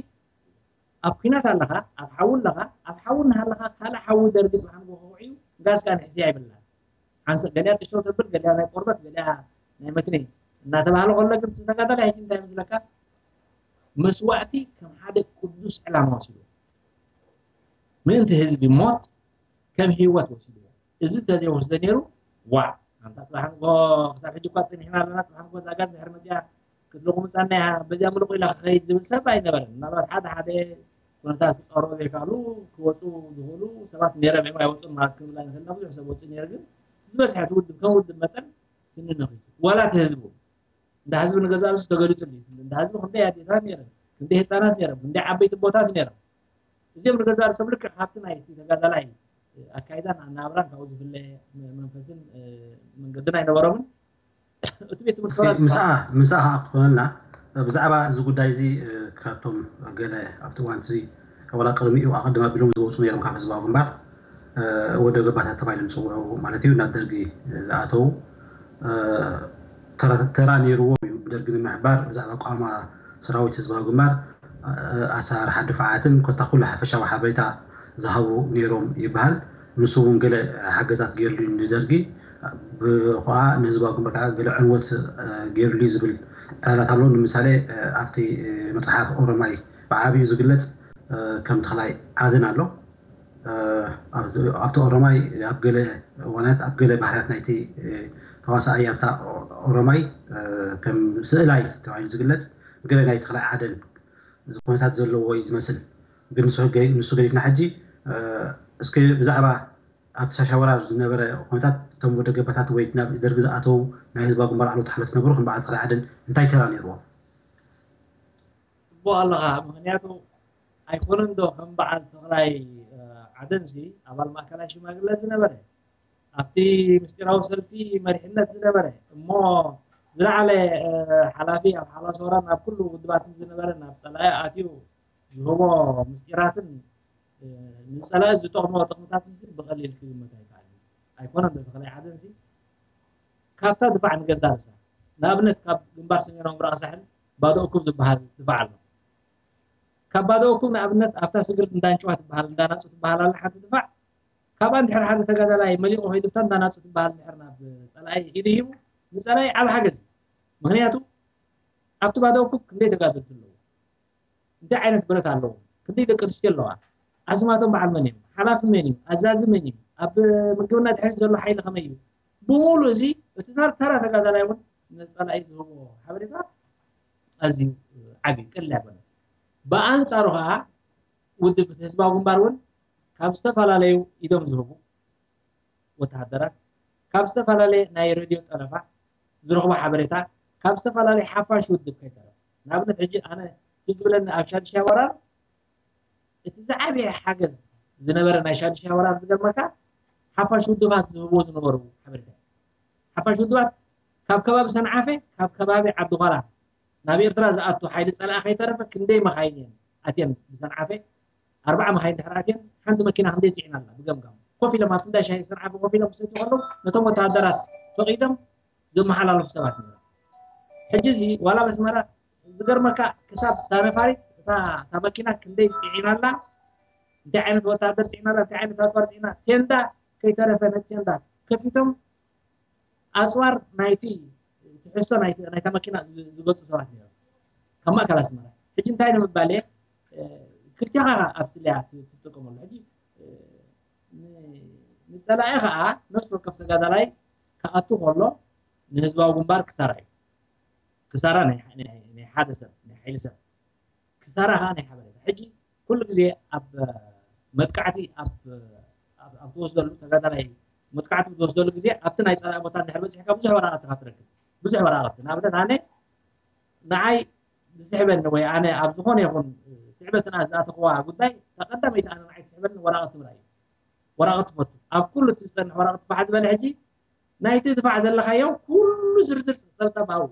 ኣብ ኲናት ኣለኻ ኣብ ሓዊ ኣለኻ ኣብ ሓዊ እናሃለኻ ካልእ ሓዊ ደርጊ ፅባሕ ንግሆ ከውዕዩ ጋዝ ከዓ ንሕስያ ይብላን ሓንሳእ ገሊኣ ጥሸው ተብል ገሊኣ ናይ ቆርበት ገሊኣ ናይ መትኒ እናተባህለ ከሎ ግን ተጋዳላይ ሕጂ እንታይ ይመስለካ መስዋእቲ ከም ሓደ ቅዱስ ዕላማ ወሲድዎ ምእንቲ ህዝቢ ሞት ከም ህይወት ወሲድዎ እዚ እንተዘይወስደ ነይሩ ዋዕ ኣንታ ፅባሕ ንግሆ ክሳብ ሕጂ እኳ ፀኒሕና ኣለና ፅባሕ ንግሆ እዛ ጋዝ ድሕሪ መፅያ ክትልቑ ምፃና እያ በዚኣ ምልቑ ኢላ ክኸይድ ዝብል ሰብ ኣይነበረን ምናልባት ሓደ ሓደ ኩነታት ክፀሮ ዘይከኣሉ ክወፁ ዝኽእሉ ሰባት ነይሮም እዮም ኣይወፁን ማለት ክንብል ኣይንኽእል ኢና ብዙሕ ሰብ ወፁ ነይሩ ግን ዝበዝሐ እቲ ውድብ ከም ውድብ መጠን ስኒ ነኺሱ ዋላ እቲ ህዝቡ እንዳ ህዝቢ ንገዛእ ርእሱ ተገሊፁ እንዳ ህዝቢ ክንደይ ኣዴታት ነይረን ክንደይ ህፃናት ነይሮም ክንደይ ዓበይቲ ቦታት ነይሮም እዚኦም ንገዛእ ርእሶም ልክዕ ካብቲ ናይ እቲ ተጋዳላይ ኣካይዳን ኣናብራን ካብኡ ዝፍለ መንፈስን መንገድን ኣይነበሮምን እቲ ቤት ትምህርቲ ምስኣ ምስኣ ከዓ ክትኾነልና ብዛዕባ እዚ ጉዳይ እዚ ካብቶም ገለ ኣብቲ እዋን እዚ ዋላ ቅድሚኡ ኣቐድም ኣቢሎም ዝወፁ ነይሮም ካብ ህዝባዊ ግንባር ወደ ገባታት ተባሂሎም ዝፅውዑ ማለት እዩ ናብ ደርጊ ዝኣተዉ ተራ ነይርዎም እዩ ብደርጊ ንምሕባር ብዛዕባ ኣቋማ ሰራዊት ህዝባዊ ግንባር ኣሰራርሓ ድፋዓትን ኮታ ኩሉ ሓፈሻዊ ሓበሬታ ዝሃቡ ነይሮም ይበሃል። ንሱ እውን ገለ ሓገዛት ገይሩሉ እዩ ንደርጊ። ብኸዓ ንህዝባዊ ግንባር ከዓ ገለ ዕንወት ገይሩሉ እዩ ዝብል ዕላላት ኣለዉ። ንምሳሌ ኣብቲ መፅሓፍ ኦሮማይ ብዓብዩ ዝግለፅ ከም ተኽላይ ዓደን ኣሎ። ኣብቲ ኦሮማይ ኣብ ገለ እዋናት ኣብ ገለ ባህርያት ናይቲ ተዋሳኣይ ኣብታ ኦሮማይ ከም ስእላይ ተባሂሉ ዝግለፅ ገለ ናይ ተኽላይ ዓደን እዚ ኩነታት ዘለዎ እዩ ዝመስል። ግን ንሱ ገ- ንሱ ገዲፍና ሕጂ፣ እ፣ እስኪ ብዛዕባ ኣብቲ ሻሻ ወራር ዝነበረ ኩነታት፣ እቶም ወደ ገባታት ወይ ናብ ደርጊ ዝኣተው ናይ ህዝባዊ ግንባር ዓለውቲ ሓለፍቲ ነበሩ ከም በዓል ተኽላይ ዓደን እንታይ ተራ ነይርዎም? ጽቡቕ ኣለኻ። ምኽንያቱ ኣይኮነን ዶ ከም በዓል ተኽላይ፣ እ፣ ዓደንሲ ኣባል ማእከላይ ሽማግለ ዝነበረ፣ ኣብቲ ምስጢራዊ ሰልፊ መሪሕነት ዝነበረ፣ እሞ ዝለዓለ፣ እ፣ ሓላፊ ኣብ ሓላስ ወራር ናብ ኩሉ ውድባትን ዝነበረ፣ ናብ ጸላኢ ኣትዩ ዝህቦ ምስጢራትን፣ እ፣ ንጸላኢ ዝጠቕሞ ጥቕምታት እዚ ብቐሊል ክግመት ኣይከኣልን። ኣይኮነን ዶ ተኽላይ ዓደንሲ ካብታ ድፋዕ ንገዛ ርእሳ፣ ንኣብነት ካብ ግንባር ሰሜናዊ ምብራቕ ሳሕል ባዶ እኩብ ዝበሃል ድፋዕ ኣሎ። ካብ ባዶ እኩብ ንኣብነት ኣብታ ስግር እንዳንጭዋ ትበሃል፣ እንዳናጹ ትበሃል ኣላ ሓንቲ ድፋዕ። ካብኣ እንድሕር ሓደ ተጋዳላይ መሊቑ ከይዱ፣ እታ እንዳናጹ ትበሃል እንድሕር ናብ ጸላኢ ኢዱ ሂቡ፣ ንጸላኢ ዓቢ ሓገዝ እዩ። ምኽንያቱ ኣብቲ ባዶ እኩብ ክንደይ ተጋደልቲ ኣለዉ፣ እንታይ ዓይነት ብረት ኣለዎም፣ ክንደይ ደቂ ኣንስትዮ ኣለዋ፣ ኣስማቶም በዓል መን እዮም፣ ሓላፊ መን እዩ፣ ኣዛዚ መን እዩ፣ ኣብ ምግብና ድሕሪት ዘሎ ሓይሊ ከመይ እዩ፣ ብምሉእ እዚ እቲ ተራ ተራ ተጋዳላይ እውን ንጸላኢ ዝህቦ ሓበሬታ ኣዝዩ ዓቢ እዩ፣ ቀሊል ኣይኮነን። ብኣንጻሩ ከዓ ውድብ ህዝባዊ ግንባር እውን ካብ ዝተፈላለዩ ኢዶም ዝህቡ ወተሃደራት፣ ካብ ዝተፈላለየ ናይ ሬድዮ ጠለፋ ዝረኽቦ ሓበሬታ፣ ካብ ዝተፈላለየ ሓፋሽ ውድብ ከይተረፈ። ንኣብነት ሕጂ ኣነ እቲ ዝብለኒ ኣብ ሻድሻይ ወራር እቲ ዝዓበየ ሓገዝ ዝነበረ ናይ ሻድሻይ ወራር ዝገርመካ ሓፋሽ ውድባት ዝህብዎ ዝነበሩ ሓበሬታ እዩ። ሓፋሽ ውድባት ካብ ከባቢ ሰንዓፈ፣ ካብ ከባቢ ዓዲ ኳላ ናብ ኤርትራ ዝኣቱ ሓይሊ ጸላኢ ከይተረፈ ክንደይ መኻይን እየን ኣትየን ብሰንዓፈ ኣርባዓ መኻይን ድሕሪ ኣትየን ሓንቲ መኪና ክንደይ ጽዒና ኣላ ብገምጋም ኮፍ ኢሎም ኣብቲ እንዳ ሻሂ ሰንዓፈ ኮፍ ኢሎም ክሰትዩ ከለዉ ነቶም ወተሃደራት ፈቒዶም ዘመሓላለፉ ሰባት ነይሮም። ሕጂ እዚ ዋላ በስመራ ዝገርመካ ክሳብ እታ ነፋሪት እታ እታ መኪና ክንደይ ጽዒና ኣላ እንታይ ዓይነት ወተሃደር ጽዒና ኣላ እንታይ ዓይነት ኣጽዋር ጽዒና ቴንዳ ከይተረፈ ነቲ ቴንዳ ከፊቶም ኣፅዋር ናይቲ ትሕዝቶ ናይቲ- ናይታ መኪና ዝ- ዝገልፁ ሰባት ነይሮም ካብ ማእከል ኣስመራ። ሕጂ እንታይ ንምባል እየ ክልቲኻ ኣብ ስልያ ትጥቀመሉ። ሕጂ ን- ንፀላኢ ከዓ ነፍሲ ወከፍ ተጋዳላይ ክኣቱ ከሎ ንህዝባዊ ግንባር ክሳራ እዩ። ክሳራ ናይ ናይ- ናይ ሓደ ሰብ ናይ ሓይሊ ሰብ ክሳራ ከዓ ናይ ሓበሬታ። ሕጂ ኩሉ ግዜ ኣብ መጥቃዕቲ ኣብ ኣብ- ኣብ ትወስደሉ ተጋዳላይ መጥቃዕቲ ብትወስደሉ ግዜ ኣብቲ ናይ ፀላኢ ቦታ እንድሕር በፂሕካ ብዙሕ ወረቃቅቲ ኢካ ትረክብ። ብዙሕ ወረቃቅቲ ንኣብነት ኣነ ንዓይ ዝስሕበኒ ወይ ኣነ ኣብ ዝኾነ ይኹን ትዕበትና ዝኣተኽዋ ጉዳይ እታ ቀዳመይቲ ኣነ ንዓይ ትስሕበኒ ወረቃቅቲ ምርኣይ እዩ። ወረቃቅቲ ትፈቱ ኣብ ኩሉ እቲ ዝፀንሕ ወረቃቅቲ ባሕ ዝበለ ሕጂ ናይቲ ድፋዕ ዘለኻዮ ኩሉ ዝርዝር ፀብፃብ ኣብኡ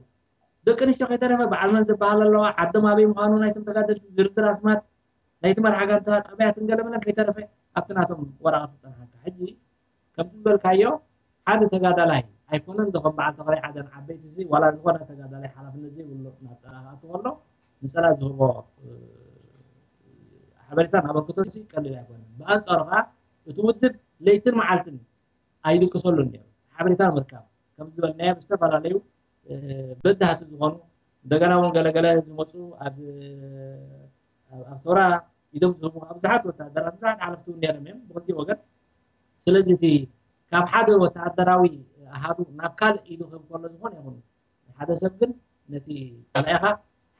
ደቂ ኣንስትዮ ከይተረፈ በዓል መን ዝበሃል ኣለዋ ዓዶም ኣበይ ምዃኑ ናይቶም ተጋደልቲ ዝርዝር ኣስማት ናይቲ መርሓ ጋንታ ጠባያትን ገለመለን ከይተረፈ ኣብቲ ናቶም ወረቐት ዝፀንሓካ ሕጂ ከምቲ ዝበልካዮ ሓደ ተጋዳላይ ኣይኮነን ዶ ከም በዓል ተኽላይ ዓደን ዓበይቲ እዚ ዋላ ዝኾነ ተጋዳላይ ሓላፍነት ዘይብሉ ናብ ፀላ ክኣቱ ከሎ ንፀላ ዝህቦ ሓበሬታን ኣበርክቶን ቀሊል ኣይኮነን። ብኣንፃሩ ከዓ እቲ ውድብ ለይትን መዓልትን ኣይድቅሰሉን ነይሩ። ሓበሬታ ንምርካብ ከም ዝበልናዮ ብዝተፈላለዩ በዳህቲ ዝኾኑ እንደገና እውን ገለገለ ዝመፁ ኣብ ኣብ ሰውራ ኢዶም ዝህቡ ብዙሓት ወታደራት ብዙሓት ሓለፍቲ እውን ነይሮም እዮም ብክልቲኡ ወገን። ስለዚ እቲ ካብ ሓደ ወታደራዊ ኣሃዱ ናብ ካልእ ኢዱ ክህብ ከሎ ዝኾነ ይኹን ሓደ ሰብ ግን ነቲ ፀላኢኻ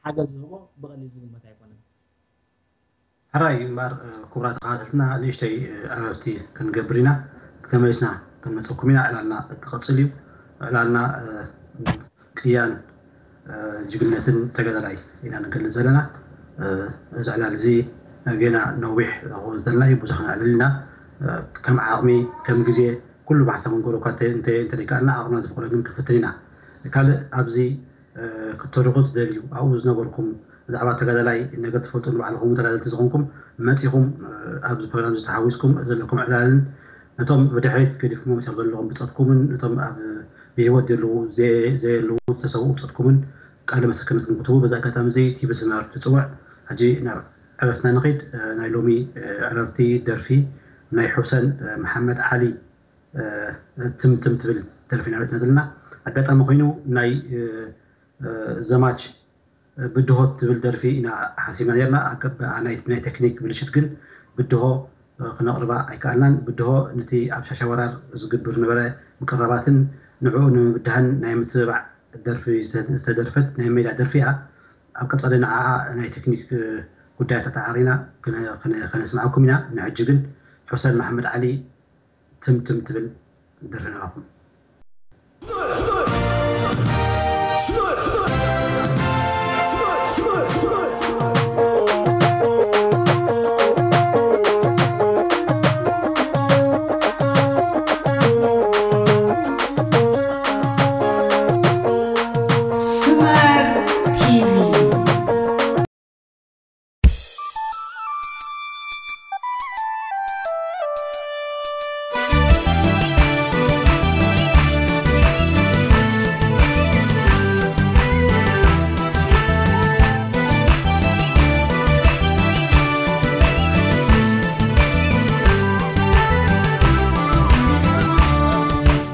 ሓገዝ ዝህቦ ብቐሊል ዝግመት ኣይኮነን። ሕራይ እምበር ክቡራት ተኸታተልትና ንእሽተይ ዕረፍቲ ክንገብር ኢና። ተመሊስና ክንመፀኩም ኢና። ዕላልና ክቕፅል እዩ። ዕላልና ቅያን ጅግነትን ተጋዳላይ ኢና ንገልፅ ዘለና። እዚ ዕላል እዚ ጌና ነዊሕ ክወስደልና እዩ። ብዙሕ ክነዕልል ኢና። ከም ዓቕሚ ከም ግዜ ኩሉ ብሓሳብ ክንገብሮ እኳ እንተ- እንተ- እንተደይከኣልና ዓቕምና ዝፈቕዶ ግን ክንፍትን ኢና። ካልእ ኣብዚ ክትተርኹ ትደልዩ ኣብኡ ዝነበርኩም ብዛዕባ ተጋዳላይ ነገር ትፈልጡ ንባዕልኹም ተጋደልቲ ዝኾንኩም መፂኹም ኣብዚ ፕሮግራም እዚ ተሓዊስኩም ዘለኩም ዕላልን ነቶም ብድሕሪት ገዲፍኩም መፂኦም ዘለኹም ብፀትኩምን ነቶም ኣብ ብህይወት ዘለዉ ዘየ- ዘየለዉ ዝተሰውኡ ብፀትኩምን ቃለ ምስክርነትኩም ክትህቡ በዚ ኣጋጣሚ እዚ ቲቪ ስመር ትፅውዕ። ሕጂ ናብ ዕረፍትና ንኺድ። ናይ ሎሚ ዕረፍቲ ደርፊ ናይ ሑሰን መሓመድ ዓሊ ትምትም ትብል ደርፊ ኢና ዘለና። ኣጋጣሚ ኮይኑ ናይ ዘማች ብድሆ ትብል ደርፊ ኢና ሓሲብና ነርና። ናይ ቴክኒክ ብልሽት ግን ብድሆ ክነቕርባ ኣይከኣልናን። ብድሆ ነቲ ኣብ ሻሻ ወራር ዝግብር ነበረ ምቅራባትን ንዕኡ ንምብዳህን ናይ ምትብባዕ ደርፊ ዝተደርፈት ናይ ሜዳ ደርፊ እያ። ኣብ ቀጻሊ ንዓኣ ናይ ቴክኒክ ጉዳያት ኣተዓሪና ክነ- ክነ- ከነስምዓኩም ኢና። ንሕጂ ግን ሑሰን መሓመድ ዓሊ ትምትም ትብል ደርፊ ናባኹም። Smart T V.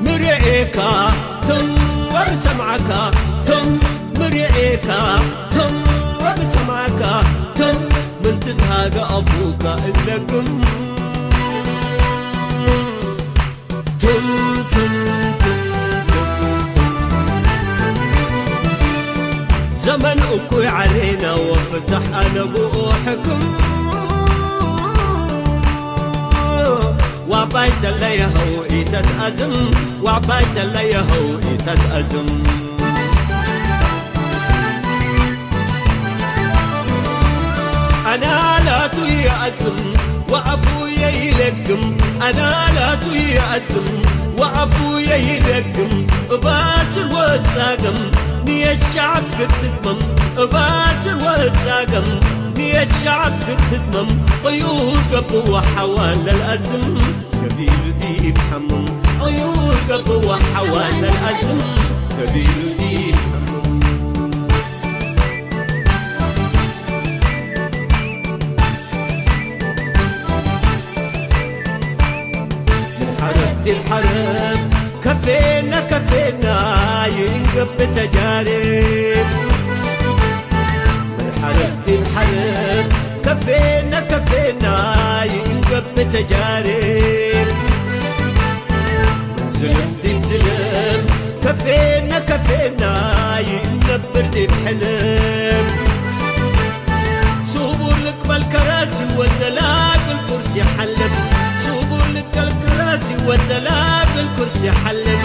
ምርኤካ ትም ወር ሰምዓካ ትም ምርኤካ ትም ወር ሰምዓካ ትም ምንትትሃገ ኣፉካ እለግም ትም ትም ትም ትም ትም ዘመን እኩይ ዓሌና ወፍታሕ ኣነ ብኡ ሕክም ዋባይ ተለየኸው ኢተትኣዝም ዋባይ ተለየኸው ኢተትኣዝም ኣናላቱ ይኣዝም ወኣፉ የይለግም ኣናላቱ ይኣዝም ወኣፉ የይለግም እባዝር ወጻገም ንየሻብ ክትትመም እባዝር ወጻገም ንየሻብ ክትትመም ቅዩር ገብዋ ሓዋን ለልኣዝም ገቢሉ ዲብ ሓምም ቅዩር ገብዋ ሓዋን ለልኣዝም ገቢሉ ዲብ ሓምም ሓረብ ዲብ ሓረብ ከፌና ከፌና ይእንገብ ተጃርብ ምን ሓረብ ዲብ ሓረብ ከፌና ከፌና ይእንገብ ተጃርብ ዝልም ዲብ ዝልም ከፌና ከፌና ይእነብር ዲብ ሕልም ስቡር ልቅበል ከራሲ ወደላግል ኩርሲ ሓልም ስቡር ልቅበል ከራሲ ወደላግል ኩርሲ ሓልም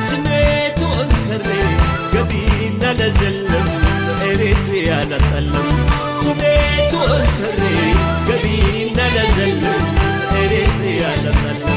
ስሜቱ እንከሬ ገቢና ለዘልም ኤሪትሪያ ለጠልም ስሜቱ እንከሬ ገቢና ለዘልም ኤሪትሪያ ለጠልም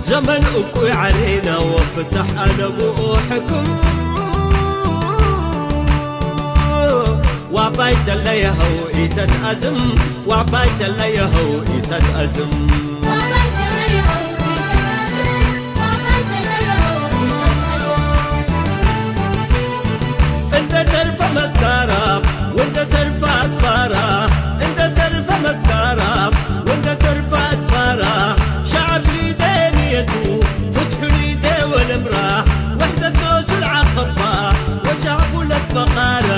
ዘመን እኩይ ዓሌና ወፍታሕ ኣነ ብኡ ሕክም ዋባይ ተለየኸው ኢተትኣዝም ዋባይ ተለየኸው ኢተትኣዝም እንደ ተርፈ መትካራ ወንደ ተርፈ ኣትፋራ እንደ ተርፈ መትካራ ወንደ ተርፈ ኣትፋራ ሸዓብ ሊደ ንየቱ ፍትሑ ሊደ ወለምራ ወሕደት መሱል ዓኸባ ወሻዕቡለት በቓራ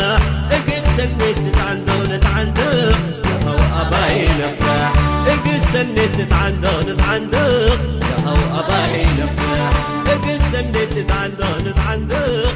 እግሰን ሜት ንትዓንደቕ ንትዓንደቕ የኸው ኣባይ ነፍራሕ እግሰን ሜት ንትዓንደቕ ንትዓንደቕ የኸው ኣባይ ነፍራሕ እግሰን ሜት ንትዓንደቕ ንትዓንደቕ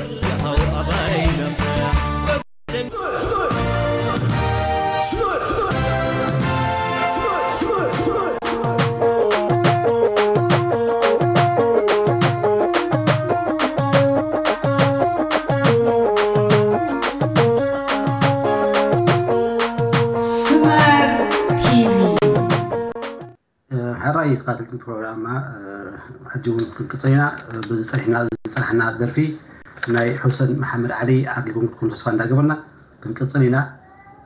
ተኸታተልቲ ፕሮግራምና፣ እ፣ ሕጂ እውን ክንቅጽል ኢና። እ፣ በዚ ጸኒሕና፣ ዝጸናሕና ደርፊ ናይ ሑሰን መሓመድ ዓሊ ዓጊብኩም ክትኮኑ ተስፋ እንዳገበርና ክንቅጽል ኢና።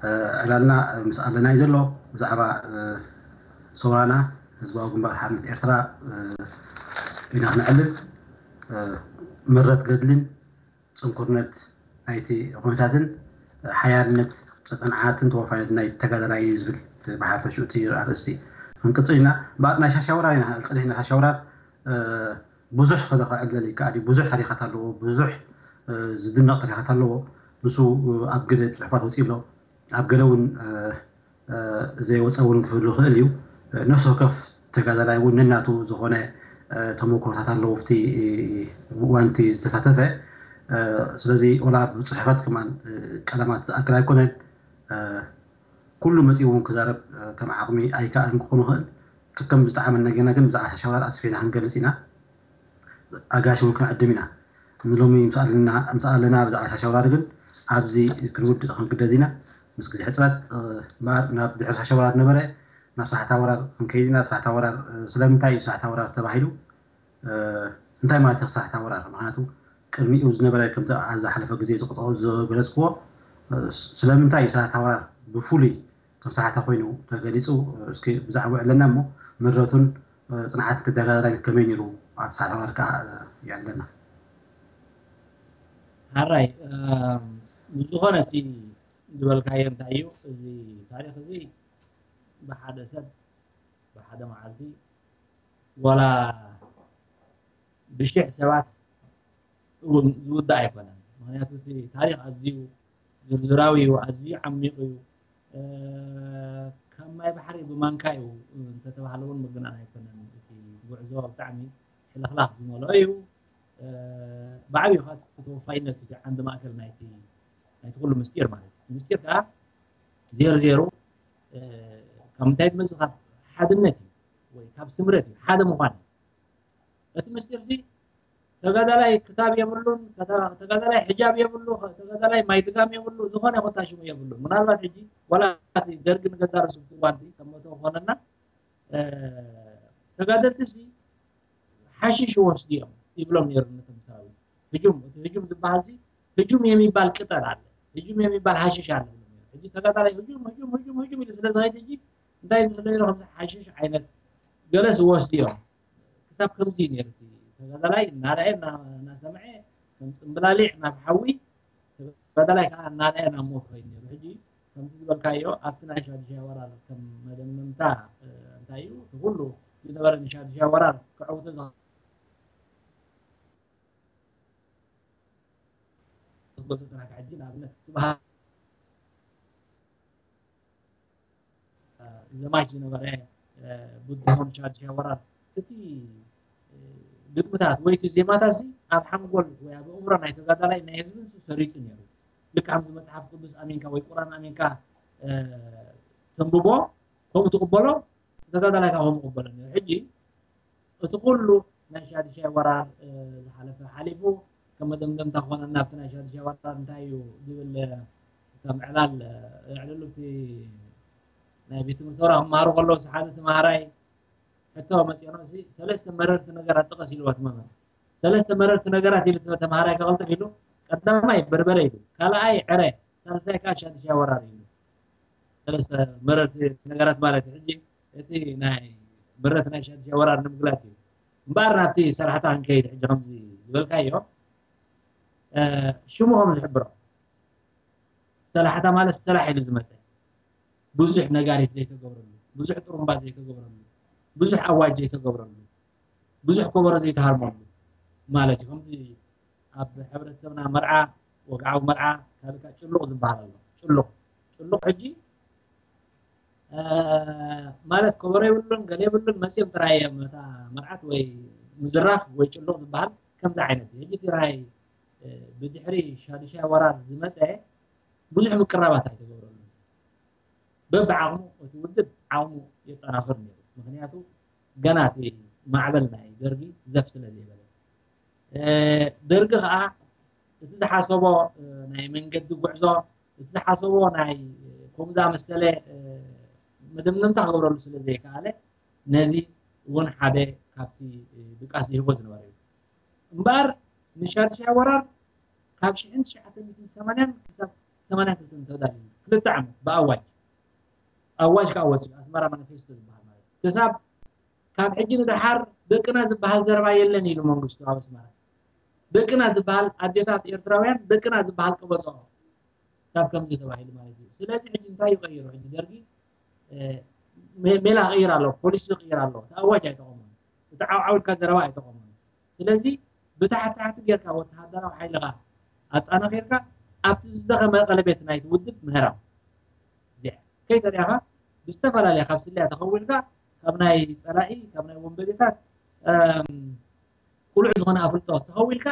እ፣ ዕላልና፣ እ፣ ምስ ኣለና እዩ ዘሎ። ብዛዕባ፣ እ፣ ሰውራና ህዝባዊ ግንባር ሓርነት ኤርትራ፣ እ፣ ኢና ክነዕልል። እ፣ ምረት ገድልን ጽንኩርነት ናይቲ ኩነታትን ሓያልነት ጽንዓትን ተወፋይነት ናይ ተጋዳላይ እዩ ዝብል ብሓፈሽኡ እቲ ኣርእስቲ ክንቅጽል ኢና። እምበኣር ናይ ሻሻ ወራር ኢና ክንዕል ጸኒሕና። ሻሻ ወራር፣ እ፣ ብዙሕ ክዕለል ይከኣል እዩ። ብዙሕ ታሪኻት ኣለዎ። ብዙሕ፣ እ፣ ዝድነቕ ታሪኻት ኣለዎ። ንሱ፣ እ፣ ኣብ ገለ ጽሑፋት ወጺኡ ኣሎ። ኣብ ገለ እውን፣ እ፣ እ፣ ዘይወፀ እውን ክህሉ ይኽእል እዩ። እ፣ ነፍሲ ወከፍ ተጋዳላይ እውን ነናቱ ዝኾነ፣ እ፣ ተመክሮታት ኣለዎ፣ ኣብቲ እዋንቲ ዝተሳተፈ። እ፣ ስለዚ ወላ ብፅሑፋት ከማን፣ እ፣ ቀለማት ዝኣክል ኣይኮነን። እ፣ ኩሉ መፂኡ እውን ክዛረብ፣ እ፣ ከም ዓቕሚ ኣይከኣልን ክኾን ይኽእል። ከከም ዝጠዓመና ጌና ግን ብዛዕባ ሻሻ ወራር ኣስፊሕና ክንገልፅ ኢና። ኣጋይሽ እውን ክንዕድም ኢና። ንሎሚ ምስ ኣለና፣ ምስ ኣለና ብዛዕባ ሻሻ ወራር ግን ኣብዚ ክንውድእ ክንግደድ ኢና። ምስ ግዜ ሕፅረት፣ እ፣ እምበኣር ናብ ድሕሪ ሻሻ ወራር ነበረ፣ ናብ ሳሕታ ወራር ክንከይድ ኢና። ሳሕታ ወራር፣ እ፣ ስለምንታይ እዩ ሳሕታ ወራር ተባሂሉ? እ፣ እንታይ ማለት እዩ ሳሕታ ወራር? ምኽንያቱ ቅድሚኡ ዝነበረ፣ ከምዚ ኣብ ዝሓለፈ ግዜ ዝቕጠ-፣ ዝገለጽክዎ፣ እ፣ ስ-፣ ስለምንታይ እዩ ሳሕታ ወራር ብፍሉይ ከም ሳሕታ ኮይኑ ተገሊጹ? እስኪ ብዛዕባኡ ኣለና እሞ ምረቱን፣ እ፣ ጽንዓት ተጋዳላይ ከመይ ነይሩ? ኣብ ሳሕታ ወራር ከኣ፣ እ፣ የዕልለና። ሓራይ፣ እ፣ ብዝኾነ እቲ ዝበልካዮ እንታይ እዩ? እዚ ታሪኽ እዚ ብሓደ ሰብ፣ ብሓደ መዓልቲ፣ ዋላ ብሽሕ ሰባት እውን ዝውዳእ ኣይኮነን። ምኽንያቱ እቲ ታሪኽ ኣዝዩ ዝርዝራዊ እዩ፣ ኣዝዩ ዓሚቕ እዩ። እ፣ ካብ ማይ ባሕሪ ብማንካ እዩ እንተተባህለ እውን ምግናን ኣይኮነን። እቲ ጉዕዞ ብጣዕሚ ሕልኽላኽ ዝመልኦ እዩ። እ፣ ብዓብዩ ከዓ እቲ ተወፋይነት እዩ ዓንዲ ማእከል ናይቲ፣ ናይቲ ኩሉ ምስጢር ማለት እዩ። ምስጢር ከዓ ዜሮ ዜሮ፣ እ፣ ካብ ምንታይ ዝመጽእ? ካብ ሓድነት እዩ፣ ወይ ካብ ስምረት እዩ፣ ሓደ ምዃን እዩ። እቲ ምስጢር እዚ ተጋዳላይ ክታብ የብሉን፣ ከተ-፣ ተጋዳላይ ሕጃብ የብሉ፣ ተጋዳላይ ማይድጋም የብሉ፣ ዝኾነ ኮታ ሽሙ የብሉን። ምናልባት ሕጂ ዋላ እቲ ደርጊ ንገዛ ርእሱ ኣብቲ እዋን እቲ ከም መእተዊ ክኾነና፣ እ፣ ተጋደልቲ ሲ ሓሽሽ ይወስዱ እዮም ይብሎም ነይሩ ነቶም ሰራዊት። ህጁም፣ እቲ ህጁም ዝበሃል ሲ ህጁም የሚባል ቅጠል አለ፣ ህጁም የሚባል ሓሽሽ አለ ይብሎም ነይሩ። ሕጂ ተጋዳላይ ህጁም፣ ህጁም፣ ህጁም፣ ህጁም ኢሉ ስለ ዝኸይድ ሕጂ እንታይ ይመስሎ ነይሩ? ከምዚ ሓሽሽ ዓይነት ገለስ ይወስዱ እዮም። ክሳብ ከምዚ እዩ ነይሩ። እቲ ተጋዳላይ እናረኣየ፣ እና-፣ እናሰምዐ፣ ከም ጽምብላሊዕ ናብ ሓዊ፣ ተጋዳላይ ከዓ እናረኣየ ናብ ሞት ኸይዱ ነይሩ። ሕጂ ከምቲ ዝበልካዮ፣ ኣብቲ ናይ ሻዱሻይ ወራር ከም መደምደምታ፣ እ፣ እንታይ እዩ፣ እቲ ኩሉ ዝነበረ ንሻዱሻይ ወራር ክዕውቶ ዝኸ-፣ ዝጎሰ ጽናሕ ሕጂ ንኣብነት ትበሃል ዘማች ዝነበረ፣ እ፣ ብድሆን ሻድሻይ ወራር፣ እቲ፣ እ፣ ግጥምታት ወይ እቲ ዜማታት እዚ ኣብ ሓንጎል ወይ ኣብ ኣእምሮ ናይ ተጋዳላይ ናይ ህዝብን ሲ ሰሪጹ ነይሩ። ልክዕ ከምዚ መጽሓፍ ቅዱስ ኣሚንካ ወይ ቁርኣን ኣሚንካ፣ እ፣ ተንብቦ፣ ከምኡ ትቕበሎ፣ ተጋዳላይ ካብ ከምኡ ይቕበሎ ነይሩ። ሕጂ እቲ ኩሉ ናይ ሻድሻይ ወራር፣ እ፣ ዝሓለፈ ሓሊፉ፣ ከም መደምደምታ ክኾነና ኣብቲ ናይ ሻድሻይ ወራር እንታይ እዩ ዝብል፣ እ፣ ከም ዕላል፣ እ፣ የዕልሉ። እቲ ናይ ቤት ትምህርቲ ሰውራ ክመሃሩ ከለዉ፣ ሓደ ተምሃራይ ሕቶ መፂኦኖ፣ እዚ ሰለስተ መረርቲ ነገራት ጥቀስ ኢልዎ እቲ መምህር። ሰለስተ መረርቲ ነገራት ኢሉ ተምሃራይ ከቐልጥፍ ኢሉ፣ ቀዳማይ በርበረ ኢሉ፣ ካልኣይ ዕረ፣ ሳልሳይ ከዓ ሻድሻይ ወራር ኢሉ። ሰለስተ መረርቲ ነገራት ማለት እዩ። ሕጂ እቲ ናይ መረት ናይ ሻድሻይ ወራር ንምግላጽ እዩ። እምበኣር ናብቲ ሰላሕታ ክንከይድ ሕጂ ከምዚ ዝበልካዮ፣ እ፣ ሽሙ ከም ዝሕብሮ፣ ሰላሕታ ማለት ሰላሕ ኢሉ ዝመጸ፣ ብዙሕ ነጋሪት ዘይተገብረሉ፣ ብዙሕ ጥሩምባ ዘይተገብረሉ፣ ብዙሕ ኣዋጅ ዘይተገብረሉ፣ ብዙሕ ከበሮ ዘይተሃርመሉ ማለት እዩ። ከምዚ ኣብ ሕብረተሰብና መርዓ፣ ወግዓዊ መርዓ፣ ካልእ ከዓ ጭሉቕ ዝበሃል ኣሎ። ጭሉቕ፣ ጭሉቕ ሕጂ፣ እ፣ ማለት ከበሮ የብሉን፣ ገለ የብሉን፣ መጺኦም ጥራይ እዮም ነታ መርዓት ወይ ምዝራፍ ወይ ጭሉቕ ዝበሃል ከምዚ ዓይነት እዩ። ሕጂ እቲ ራይ፣ እ፣ ብድሕሪ ሻዱሻይ ወራር ዝመጸ ብዙሕ ምቅራባት ኣይተገብረሉን። በብዓቕሙ እቲ ውድብ ዓቕሙ የጠናኽር ነይሩ። ምኽንያቱ ገና እቲ ማዕበል ናይ ደርጊ ዘፍ ስለ ዘይበለ። እ፣ ደርጊ ኸዓ እቲ ዝሓሰቦ፣ እ፣ ናይ መንገዲ ጉዕዞ፣ እቲ ዝሓሰቦ ናይ ከምኡ ዝኣመሰለ፣ እ፣ መደምደምታ ክገብረሉ ስለ ዘይከኣለ፣ ነዚ እውን ሓደ ካብቲ ድቃስ ዝህቦ ዝነበረ እዩ። እምበኣር ንሻድሻይ ወራር ካብ ሽሕን ትሽዓተ ሚእትን ሰማንያን ክሳብ ሰማንያን ክልተን ተዳልዩ ክልተ ዓመት ብኣዋጅ ኣዋጅ ከዓ ወፂኡ ኣስመራ ማኒፌስቶ ዝበሃል ማለት እዩ። ክሳብ ካብ ሕጂ ንደሓር ደቅና ዝበሃል ዘረባ የለን ኢሉ መንግስቱ ኣብ ኣስመራ። ደቅና ዝበሃል ኣዴታት ኤርትራውያን ደቅና ዝበሃል ቀበፅኦ ሳብ ከምዚ ተባሂሉ ማለት እዩ። ስለዚ ሕጂ እንታይ ይቐይሩ? ሕጂ ደርጊ ሜላ ክቕይር ኣሎ፣ ፖሊሲ ክቕይር ኣሎ። እቲ ኣዋጅ ኣይጠቐሙን፣ እቲ ዓውዓው ኢልካ ዘረባ ኣይጠቐሙን። ስለዚ ብታሕቲ ታሕቲ ጌርካ ወተሃደራዊ ሓይልኻ ኣጣናኺርካ ኣብቲ ዝደኸመ ቀለቤት ናይቲ ውድብ ምህራም እዚኣ ከይተሪኣኻ ብዝተፈላለየ ካብ ስልያ ተኸዊልካ ካብ ናይ ፀላኢ ካብ ናይ ወንበዴታት ቁሉዕ ዝኾነ ኣፍልጦ ተኸዊልካ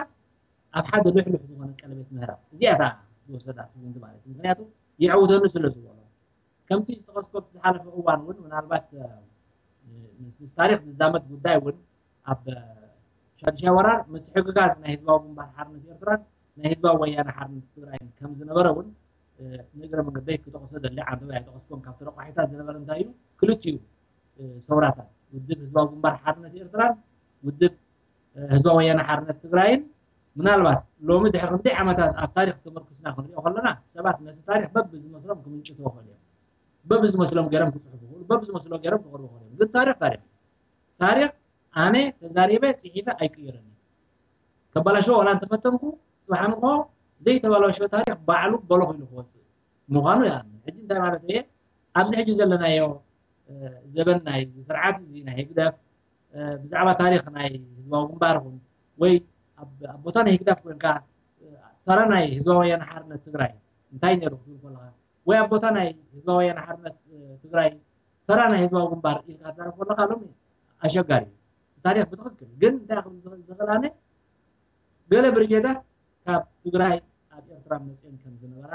ኣብ ሓደ ልሕልሕ ዝኾነ ቀለቤት ምህራም እዚኣ እታ ዝወሰዳ ስጉምቲ ማለት እዩ። ምክንያቱ የዕውተኒ ስለ ዝበሎ ከምቲ ዝጠቐስኮ ዝሓለፈ እዋን እውን ምናልባት ምስ ታሪክ ዝዛመድ ጉዳይ እውን ኣብ ሻድሻይ ወራር ምትሕግጋዝ ናይ ህዝባዊ ግንባር ሓርነት ኤርትራን ናይ ህዝባዊ ወያነ ሓርነት ትግራይን ከም ዝነበረ እውን ንእግረ መንገደይ ክጠቕሶ ደሊ ዓንተወይ ኣይጠቐስኮን ካብ ተረቋሒታት ዝነበረ እንታይ እዩ ክልቲኡ ሰውራታት ውድብ ህዝባዊ ግንባር ሓርነት ኤርትራን ውድብ ህዝባዊ ወያነ ሓርነት ትግራይን ምናልባት ሎሚ ድሕሪ ክንደይ ዓመታት ኣብ ታሪክ ተመርኩስና ክንሪኦ ከለና ሰባት ነቲ ታሪክ በብዝመስሎም ክምንጭትዎ ይኽእሉ እዮም። በብዝመስሎም ገይሮም ክፅሕፉ ይኽእሉ፣ በብዝመስሎ ገይሮም ክቕርቡ ይኽእሉ እዮም። ግን ታሪክ ታሪክ ታሪክ ኣነ ተዛሪበ ፅሒፈ ኣይቅይርን። ከባላሸዎ ዋላ እንተፈተንኩ ፅባሕ ንግሆ ዘይተባላሸወ ታሪክ ባዕሉ በሎ ኮይኑ ክወፅእ ምዃኑ ይኣምን። ሕጂ እንታይ ማለት እየ ኣብዚ ሕጂ ዘለናዮ ዘበን ናይ ስርዓት እዚ ናይ ህግደፍ ብዛዕባ ታሪክ ናይ ህዝባዊ ግንባር ይኹን ወይ ኣብ ቦታ ናይ ህግደፍ ኮይንካ ተራ ናይ ህዝባዊ ወያነ ሓርነት ትግራይ እንታይ ነይሩ ክትብል ከለካ ወይ ኣብ ቦታ ናይ ህዝባዊ ወያነ ሓርነት ትግራይ ተራ ናይ ህዝባዊ ግንባር ኢልካ ትዛረብ ከለካ ሎሚ ኣሸጋሪ እዩ። ታሪክ ብትክክል ግን እንታይ ክብል ዝኽእል ኣነ ገለ ብርጌዳት ካብ ትግራይ ኣብ ኤርትራ መፅአን ከም ዝነበራ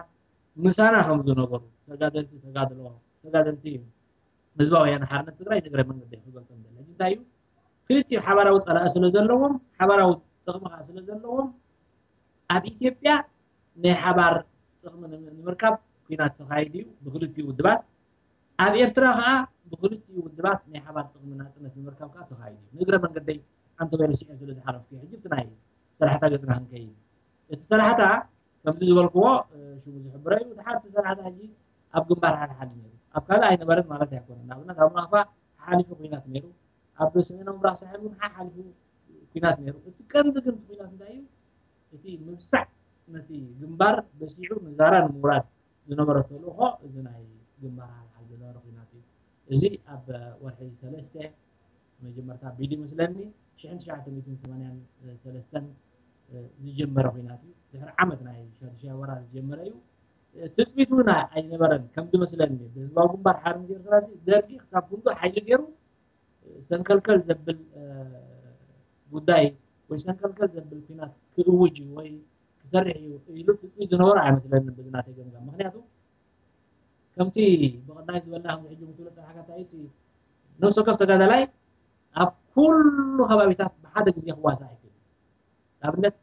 ምሳና ከም ዝነበሩ ተጋደልቲ ተጋድሎ ተጋደልቲ ህዝባዊ ወያነ ሓርነት ትግራይ ንእግረ መንገዲ ክገልፆም ደለ እንታይ እዩ ክልቲኡ ሓባራዊ ፀላኢ ስለ ዘለዎም ሓባራዊ ጥቕሚ ከዓ ስለ ዘለዎም ኣብ ኢትዮጵያ ናይ ሓባር ጥቕሚ ንምርካብ ኩናት ተኻይዱ እዩ ብክልቲኡ ውድባት ኣብ ኤርትራ ከዓ ብክልቲኡ ውድባት ናይ ሓባር ጥቕሚ ናፅነት ንምርካብ ከዓ ተኻይዱ እዩ ንእግረ መንገደይ ሓንቲ ወይለ ስዒ ስለ ዝሓለፍኩ ሕጂ እቲ ናይ ሰላሕታ ገፅና ክንከይድ እቲ ሰላሕታ ከምዚ ዝበልክዎ ሽሙ ዝሕብረ እዩ እቲ ሓንቲ ሰላሕታ ሕጂ ኣብ ግንባር ሓድሓድ ነይሩ ኣብ ካልእ ኣይነበረን ማለት ኣይኮነን ንኣብነት ኣብ ናቕፋ ሓሓሊፉ ኩናት ነይሩ ኣብ ሰሜናዊ ምብራቕ ሳሕል እውን ሓሓሊፉ ኩናት ነይሩ እቲ ቀንዲ ግን ኩናት እንታይ እዩ እቲ ምብሳዕ ነቲ ግንባር በሲዑ ንዛራ ንምውራድ ዝነበረ ተልእኾ እዚ ናይ ግንባር ሓልሓል ዝነበረ ኩናት እዩ። እዚ ኣብ ወርሒ ሰለስተ መጀመርታ ቢሉ ይመስለኒ ሽሕን ትሽዓተ ሚእትን ሰማንያን ሰለስተን ዝጀመረ ኩናት እዩ። ድሕሪ ዓመት ናይ ሻድሻይ ወራር ዝጀመረ እዩ። ትፅቢት እውን ኣይነበረን ከም ዝመስለኒ ብህዝባዊ ግንባር ሓርነት ኤርትራ ደርጊ ክሳብ ክንዱ ሓይሊ ገይሩ ሰንከልከል ዘብል ጉዳይ ወይ ሰንከልከል ዘብል ኩናት ክእውጅ እዩ ወይ ክሰርሕ እዩ ኢሉ ትፅቢት ዝነበሮ ኣይመስለንን ብዝናተይ ገምጋም ምክንያቱ ከምቲ ብቐዳይ ዝበልና ከምዚ ሕጂ ክትብሎ ፀናሕካ እንታይ እቲ ነፍሲ ወከፍ ተጋዳላይ ኣብ ኩሉ ከባቢታት ብሓደ ግዜ ክዋሳእ ኣይክእል ንኣብነት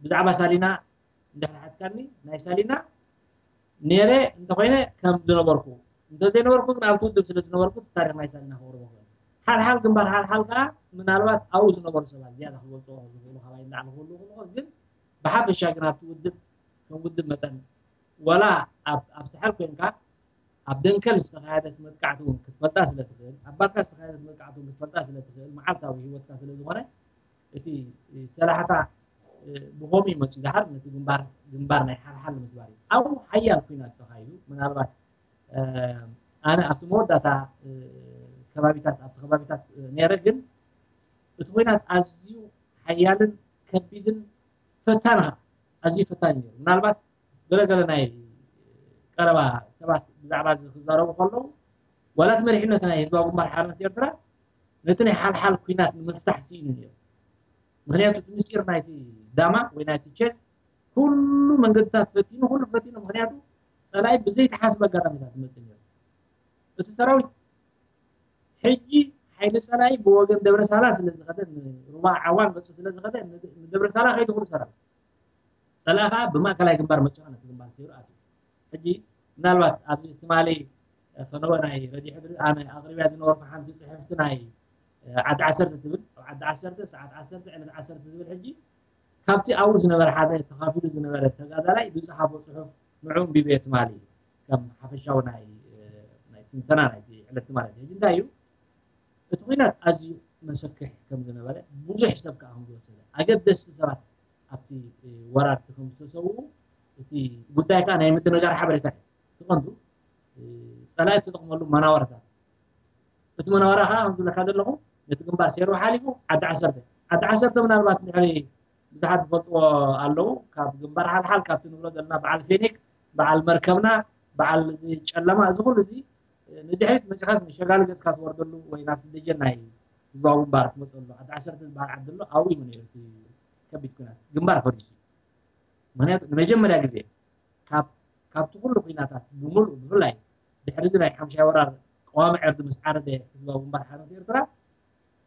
ብዛዕባ ሳሊና እንድሕር ሓትካኒ ናይ ሳሊና ነይረ እንተኮይነ ከም ዝነበርኩ እንተዘይነበርኩ ግን ኣብቲ ውድብ ስለ ዝነበርኩ እቲ ታሪክ ናይ ሳሊና ክቕርቦ ክእል ሓልሓል ግንባር ሓልሓል ከዓ ምናልባት ኣብኡ ዝነበሩ ሰባት ዝያዳ ክገልፅዎ ዝኽእሉ ካባይ ንላዕሊ ክህሉ ክልኾን ግን ብሓፈሻ ግን ኣብቲ ውድብ ከም ውድብ መጠን ወላ ኣብ ሳሕል ኮይንካ ኣብ ደንከል ዝተኻየደት መጥቃዕቲ እውን ክትፈልጣ ስለ ትኽእል ኣብ ባርካ ዝተኻየደት መጥቃዕቲ እውን ክትፈልጣ ስለ ትኽእል መዓልታዊ ህይወትካ ስለ ዝኾነ እቲ ሰላሕታ ብኸምኡ ይመፅኡ ደሓር ነቲ ግንባር ግንባር ናይ ሓልሓል ንምስባር እዩ ኣብኡ ሓያል ኩናት ተኻይዱ ምናልባት ኣነ ኣብቲ መወዳእታ ከባቢታት ኣብቲ ከባቢታት ነይረ ግን እቲ ኩናት ኣዝዩ ሓያልን ከቢድን ፈታን ኣዝዩ ፈታን እዩ ነይሩ ምናልባት ገለገለ ናይ ቀረባ ሰባት ብዛዕባ እዚ ክዛረቡ ከለዉ ዋላ እቲ መሪሕነት ናይ ህዝባዊ ግንባር ሓርነት ኤርትራ ነቲ ናይ ሓልሓል ኩናት ንምፍታሕ ስኢኑ ነይሩ ምክንያቱ እቲ ምስጢር ናይቲ ዳማ ወይ ናይቲ ቸስ ኩሉ መንገድታት ፈቲኑ ኩሉ ፈቲኑ ምክንያቱ ፀላኢ ብዘይተሓስበ ኣጋጣሚታት ይመፅእ ነይሩ እቲ ሰራዊት ሕጂ ሓይሊ ፀላኢ ብወገን ደብረሳላ ስለ ዝኸደ ንሩባ ዓዋን መፁ ስለ ዝኸደ ንደብረሳላ ከይዱ ኩሉ ሰራዊት ፀላኢ ከዓ ብማእከላይ ግንባር መፅኡ ነቲ ግንባር ሰይሩ ኣትዩ ሕጂ ምናልባት ኣብዚ ትማሊ ፈነወ ናይ ረድዮ ሕድሪ ኣነ ኣቕሪብያ ዝነበርኩ ሓንቲ ፅሕፍቲ ናይ ዓዲ ዓሰርተ ትብል፣ ኣብ ዓዲ ዓሰርተ ሰዓት ዓሰርተ ዕለት ዓሰርተ ትብል። ሕጂ ካብቲ ኣብኡ ዝነበረ ሓደ ተኻፊሉ ዝነበረ ተጋዳላይ ዝፀሓፎ ፅሑፍ ንዑ ኣንቢበዮ ትማሊ፣ ከም ሓፈሻዊ ናይ ናይ ትንተና ናይቲ ዕለት ትማሊ። ሕጂ እንታይ እዩ እቲ ኩናት ኣዝዩ መሰክሕ ከም ዝነበረ፣ ብዙሕ ሰብ ከዓ ከም ዝወሰደ፣ ኣገደስቲ ሰባት ኣብቲ ወራርቲ ከም ዝተሰውኡ፣ እቲ ጉዳይ ከዓ ናይ ምድንጋር ሓበሬታ እዩ። እቲ ቀንዱ ፀላኢ እተጠቕመሉ መናወርታት፣ እቲ መናወራ ከዓ ከም ዝብለካ ዘለኹ ነቲ ግንባር ሴሩ ሓሊፉ ዓዲ ዓሰርተ፣ ዓዲ ዓሰርተ ምናልባት እንድሕሪ ብዙሓት ዝፈልጥዎ ኣለዉ። ካብ ግንባር ሓልሓል ካብቲ ንብሎ ዘለና በዓል ፌኒክ፣ በዓል መርከብና፣ በዓል እዚ ጨለማ፣ እዚ ኩሉ እዚ ንድሕሪት መፂኻስ ንሸጋሊ ገፅካ ትወርደሉ ወይ ናብቲ ደጀን ናይ ህዝባዊ ግንባር ትመፀሉ ዓዲ ዓሰርተ ዝበሃል ዓዲ ኣሎ። ኣብኡ እዩ ነይሩ እቲ ከቢድ ኩናት ግንባር ፈሪሱ። ምክንያቱ ንመጀመርያ ግዜ ካብ ካብቲ ኩሉ ኩናታት ብምሉእ ብፍላይ ድሕሪ እዚ ናይ ሓምሻይ ወራር ቀዋሚ ዕርዲ ምስ ዓረደ ህዝባዊ ግንባር ሓርነት ኤርትራ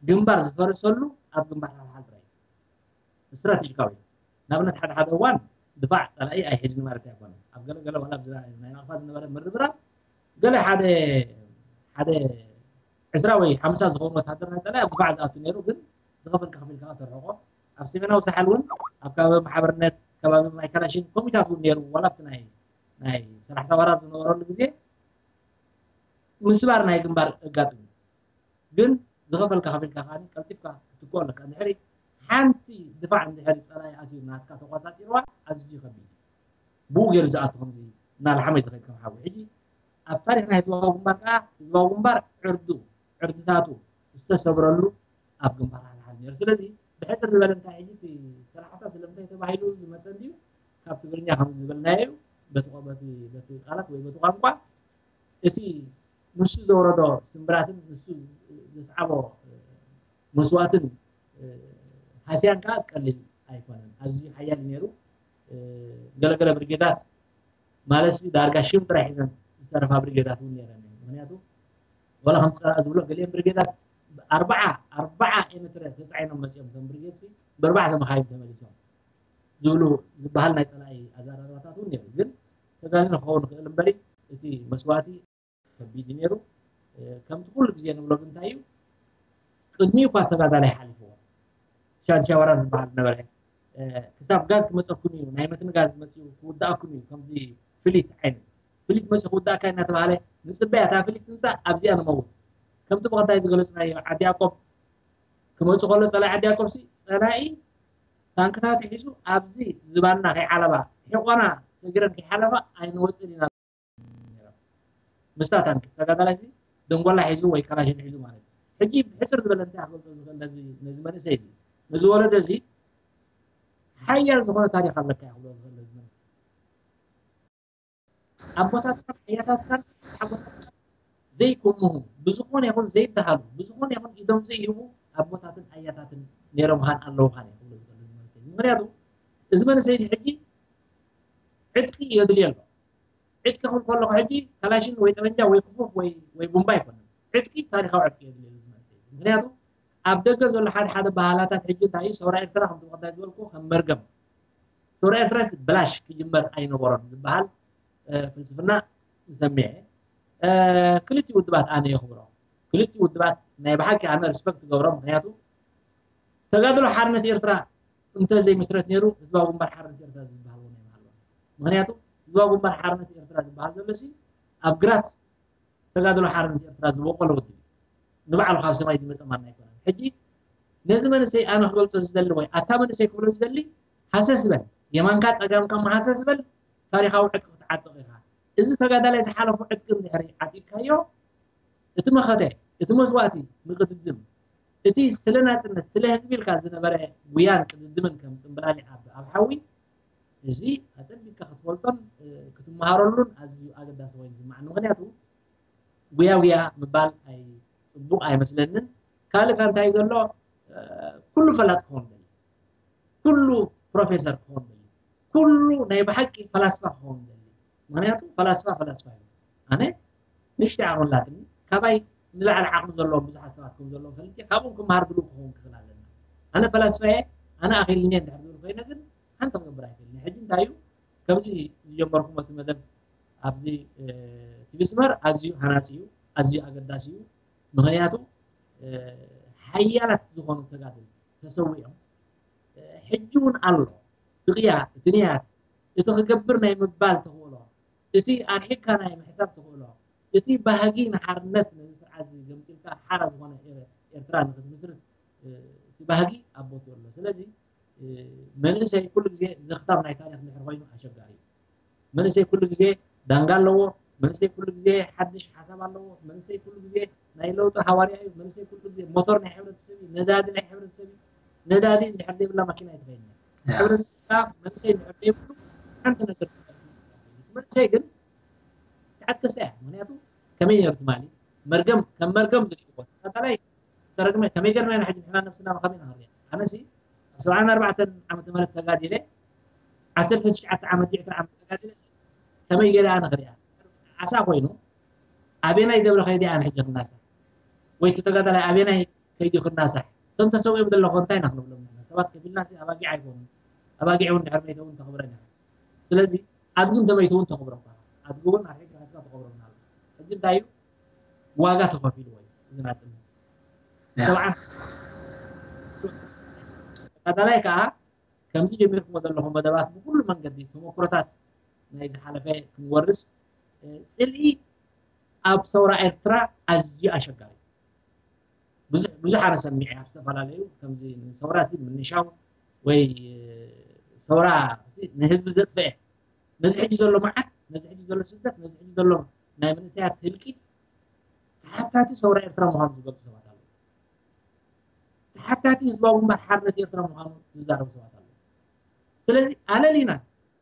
ግንባር ዝፈረሰሉ ኣብ ግንባር ሓልሓል ጥራይ እዩ። ስትራቴጂካዊ እዩ። ንኣብነት ሓደ ሓደ እዋን ድፋዕ ፀላኢ ኣይሕዝን ማለት ኣይኮነን። ኣብ ገለ ገለ ዋላ ኣብዚ ናይ ናቕፋ ዝነበረ ምርብራብ ገለ ሓደ ሓደ ዕስራ ወይ ሓምሳ ዝኸውን ወታደር ናይ ፀላኢ ኣብ ድፋዕ ዝኣቱ ነይሩ፣ ግን ዝኸፈልካ ከፊልካ ተርሕቆ። ኣብ ሰሜናዊ ሳሕል እውን ኣብ ከባቢ ማሕበርነት ከባቢ ማይ ካላሽን ኮሚታት እውን ነይሩ። ዋላ ኣብቲ ናይ ናይ ሰላሕታ ወራር ዝነበረሉ ግዜ ምስባር ናይ ግንባር ኣጋጥሙ፣ ግን ዝኸፈልካ ከፊልካ ከኣ ቀልጢፍካ ክትክኦ ኣለካ። እንድሕሪ ሓንቲ ድፋዕ እንድሕሪ ጸላኢ ኣትዩ ናትካ ተቆጻጺርዋ ኣዝዩ ከቢድ እዩ። ብኡ ገይሩ ዝኣቱ ከምዚ እናልሓመ እዩ ዝኸይድ ከም ሓዊ። ሕጂ ኣብ ታሪኽ ናይ ህዝባዊ ግንባር ከኣ ህዝባዊ ግንባር ዕርዱ ዕርድታቱ ዝተሰብረሉ ኣብ ግንባር ሓልሓል ነይሩ። ስለዚ ብሕጽር ዝበለ እንታይ ሕጂ እቲ ሰላሕታ ስለምንታይ ተባሂሉ ዝመጸ እንድዩ ካብ ትግርኛ ከም ዝበልናዮ እዩ። በቲ በቲ በቲ ቃላት ወይ በቲ ቋንቋ እቲ ንሱ ዘውረዶ ስምብራትን ንሱ ዘስዓቦ መስዋእትን ሃስያን ከዓ ቀሊል ኣይኮነን። ኣዝዩ ሓያል ነይሩ። ገለገለ ብርጌዳት ማለት ዳርጋ ሽም ጥራይ ሒዘን ዝተረፋ ብርጌዳት እውን ነይረን። ምክንያቱ ወላ ከም ፀላእ ዝብሎ ገሊኦም ብርጌዳት ኣርባዓ ኣርባዓ ኤመትረ ተፃዒኖም መፂኦም እቶም ብርጌድ ሲ ብኣርባዕተ መካይን ተመሊሶም ዝብሉ ዝበሃል ናይ ፀላኢ ኣዘራርባታት እውን ነይሩ። ግን ተጋኒኑ ክኸውን ይኽእል እምበሪ እቲ መስዋእቲ ከቢድ እዩ ነይሩ። ከምቲ ኩሉ ግዜ ንብሎ ግን እንታይ እዩ ቅድሚኡ እኳ ተጋዳላይ ሓሊፍዎ ሻንሻ ወራር ዝበሃል ነበረ። ክሳብ ጋዝ ክመፀኩም እዩ፣ ናይ መትኒ ጋዝ መፅኡ ክውዳእኩም እዩ፣ ከምዚ ፍሊት ዓይነት ፍሊት መፅኡ ክውዳእካ እናተባሃለ ንፅበያ እታ ፍሊት ትምፃእ ኣብዚኣ ንመውት። ከምቲ ብቐዳይ ዝገለፅናዮ ዓዲ ያቆብ ክመፁ ከሎ ፀላኢ ዓዲ ያቆብ ሲ ፀላኢ ታንክታት ሒዙ ኣብዚ ዝባና ከይዓለባ ሒቆና ሰጊረን ከይሓለፋ ኣይንወፅን ኢና። ምስታ ታንክ ተጋዳላይ ሲ ደንጎላ ሒዙ ወይ ካላሽን ሒዙ ማለት እዩ። ሕጂ ብሕፅር ዝበለ እንታይ ክገልፆ ዝኽእል ነዚ ነዚ መንእሰይ እዚ ነዚ ወለዶ እዚ ሓያል ዝኾነ ታሪኽ ኣለካ እየ ክብሎ ዝኽእል ነዚ መንእሰይ። ኣቦታትካን ኣያታትካን ሓጎታትካን ዘይክምሁ ብዝኾነ ይኹን ዘይበሃሉ ብዝኾነ ይኹን ኢዶም ዘይህቡ ኣቦታትን ኣያታትን ነይሮምኻን ኣለውኻን እየ ክብሎ ዝኽእል ነዚ መንእሰይ። ምክንያቱ እዚ መንእሰይ እዚ ሕጂ ዕጥቂ የድልዮ ኣሎ። ዕጥቂ ክብል ከለኹ ሕጂ ካላሽን ወይ ጠመንጃ ወይ ክፉፍ ወይ ወይ ቡምባ ኣይኮነን። ዕጥቂ ታሪኻዊ ዕጥቂ የድልዮ እዚ መንእሰይ። ምክንያቱ ኣብ ደገ ዘሎ ሓደ ሓደ ባህላታት ሕጂ እንታይ እዩ ሰውራ ኤርትራ ከምቲ ብቐዳይ ዝበልኩ ከም መርገም ሰውራ ኤርትራስ ብላሽ ክጅመር ኣይነበሮን ዝበሃል ፍልስፍና ሰሚዐ። ክልቲኡ ውድባት ኣነ የኽብሮ። ክልቲኡ ውድባት ናይ ብሓቂ ኣነ ሪስፐክት ትገብሮ። ምክንያቱ ተጋድሎ ሓርነት ኤርትራ እንተዘይምስረት ነይሩ ህዝባዊ ግንባር ሓርነት ኤርትራ ዝበሃል እውን ኣይምሃለወን። ምክንያቱ ህዝባዊ ግንባር ሓርነት ኤርትራ ዝበሃል ዘሎ ሲ ኣብ ግራት ተጋድሎ ሓርነት ኤርትራ ዝበቆለ ውድብ እዩ። ንባዕሉ ካብ ሰማይ ዝመፀ ማና ኣይኮነን። ሕጂ ነዚ መንእሰይ ኣነ ክገልፆ ዝደሊ ወይ ኣታ መንእሰይ ክብሎ ዝደሊ ሃሰስ በል፣ የማንካ ፀጋምካ መሃሰስ በል፣ ታሪኻዊ ዕጥቂ ክትዓጥቕ ኢኻ። እዚ ተጋዳላይ ዝሓለፎ ዕጥቂ እንድሕሪ ዓጢቕካዮ እቲ መኸተ፣ እቲ መስዋእቲ ንቅድድም፣ እቲ ስለ ናፅነት ስለ ህዝቢ ኢልካ ዝነበረ ጉያን ቅድድምን ከም ፅምብላሊዕ ኣብ ኣብ ሓዊ እዚ ኣፀቢቕካ ክትፈልጦን ክትመሃረሉን ኣዝዩ ኣገዳሲ ኮይኑ ዝስማዓኒ። ምክንያቱ ጉያ ጉያ ምባል ኣይ ፅቡቕ ኣይመስለንን። ካልእ ካብ እንታይ ዘሎ ኩሉ ፈላጥ ክኸውን ደሊ፣ ኩሉ ፕሮፌሰር ክኸውን ደሊ፣ ኩሉ ናይ ብሓቂ ፈላስፋ ክኸውን ደሊ። ምክንያቱ ፈላስፋ ፈላስፋ እዩ። ኣነ ንእሽተይ ዓቕሚ ኣላትኒ፣ ካባይ ንላዕሊ ዓቕሚ ዘለዎም ብዙሓት ሰባት ከም ዘለዎም ፈሊጠ ካብኦም ክመሃር ድሉው ክኸውን ክኽእል ኣለና። ኣነ ፈላስፋ እየ፣ ኣነ ኣኺልኒ እየ እንድሕር ዝብል ኮይነ ግን ሓንቲ ክገብር ኣይክእልን እየ። ሕጂ እንታይ እዩ ከምዚ ዝጀመርኩም እቲ መደብ ኣብዚ ቲቪ ስመር ኣዝዩ ሃናፂ እዩ፣ ኣዝዩ ኣገዳሲ እዩ። ምክንያቱ ሓያላት ዝኾኑ ተጋደልቲ ተሰዊኦም፣ ሕጂ እውን ኣሎ። እቲ ቅያ፣ እቲ ንያት፣ እቲ ክገብር ናይ ምባል ተኽእሎ፣ እቲ ኣርሒቕካ ናይ ምሕሳብ ተኽእሎ፣ እቲ ባህጊ ንሓርነት፣ ነዚ ስርዓት እዚ ገምጢልካ ሓራ ዝኾነ ኤረ-፣ ኤርትራ ንክትምስርት፣ እ፣ እቲ ባህጊ ኣብ ቦትኡ ኣሎ። ስለዚ፣ እ፣ መንእሰይ ኩሉ ግዜ ዘኽታም ናይ ታሪኽ እንድሕር ኮይኑ ኣሸጋሪ እዩ። መንእሰይ ኩሉ ግዜ ዳንጋ ኣለዎ። መንእሰይ ኩሉ ግዜ ሓድሽ ሓሳብ ኣለዎ። መንእሰይ ኩሉ ግዜ ናይ ለውጢ ሃዋርያ እዩ። መንእሰይ ኩሉ ግዜ ሞቶር ናይ ሕብረተሰብ እዩ። ነዳዲ ናይ ሕብረተሰብ እዩ። ነዳዲ እንድሕር ዘይብላ ማኪና ኣይትኸይድን እያ። ያ። ሕብረተሰብካ መንእሰይ እንድሕር ዘይብሉ ሓንቲ ነገር ትኸይድ። መንእሰይ ግን ትዓጥቀሰ እያ። ምኽንያቱ ከመይ ነይሩ ትማሊ? መርገም፣ ከም መርገም ዝርእይዎ። ተጋዳላይ ዝተረግመ ከመይ ገርና ኢና ሕጂ ንሕና ነብስና ብኸመይ ኢና ንሪኣ? ኣነሲ ኣብ ሰብዓን ኣርባዕተን ዓመተ ምህረት ተጋዲለ፣ ዓሰርተ ትሽዓተ ዓመት፣ ዕስራ ዓመት ተጋዲለ፣ ከመይ ገይረ ኣነ ክሪኣ? ዓሳ ኮይኑ ኣበየናይ ደብረ ከይደ ኣነ ሕጂ ክናሳሕ? ወይ እቲ ተጋዳላይ ኣበየናይ ከይዱ ክናሳሕ? እቶም ተሰዊኦም ዘለኹ እንታይ ኢና ክንብሎም ንሕና? ሰባት ከፊልናሲ ኣባጊዕ ኣይኮኑን። ኣባጊዕ እውን ድሕሪ መይተ እውን ተኽብረን ኢኻ። ስለዚ ኣድጊ እንተመይቱ እውን ተኽብረካ። ኣድጊ እውን ኣርሒቕካ ተኽብረና ኣሎ። ሕጂ እንታይ እዩ? ዋጋ ተኸፊልዎ እዩ እዚ ናጽነት። ያ። ሰብዓን ተጋዳላይ ከኣ ከምዚ ጀሚርኩሞ ዘለኹም መደባት ብኩሉ መንገዲ ተመኩሮታት ናይ ዝሓለፈ ክንወርስ፣ እ፣ ጽልኢ ኣብ ሰውራ ኤርትራ ኣዝዩ ኣሸጋሪ እዩ። ብዙሕ፣ ብዙሕ ኣነ ሰሚዐ ኣብ ዝተፈላለዩ ከምዚ ንሰውራ ሲ ምንሻው ወይ፣ እ፣ ሰውራ ሲ ንህዝቢ ዘጥፍአ፣ ነዚ ሕጂ ዘሎ መዓት፣ ነዚ ሕጂ ዘሎ ስደት፣ ነዚ ሕጂ ዘሎ ናይ መንእሰያት ህልቂት ተሓታቲ ሰውራ ኤርትራ ምዃኑ ዝገልጹ ሰባት ኣለዉ። ተሓታቲ ህዝባዊ ግንባር ሓርነት ኤርትራ ምዃኑ ዝዛረቡ ሰባት ኣለዉ። ስለዚ ኣለሊና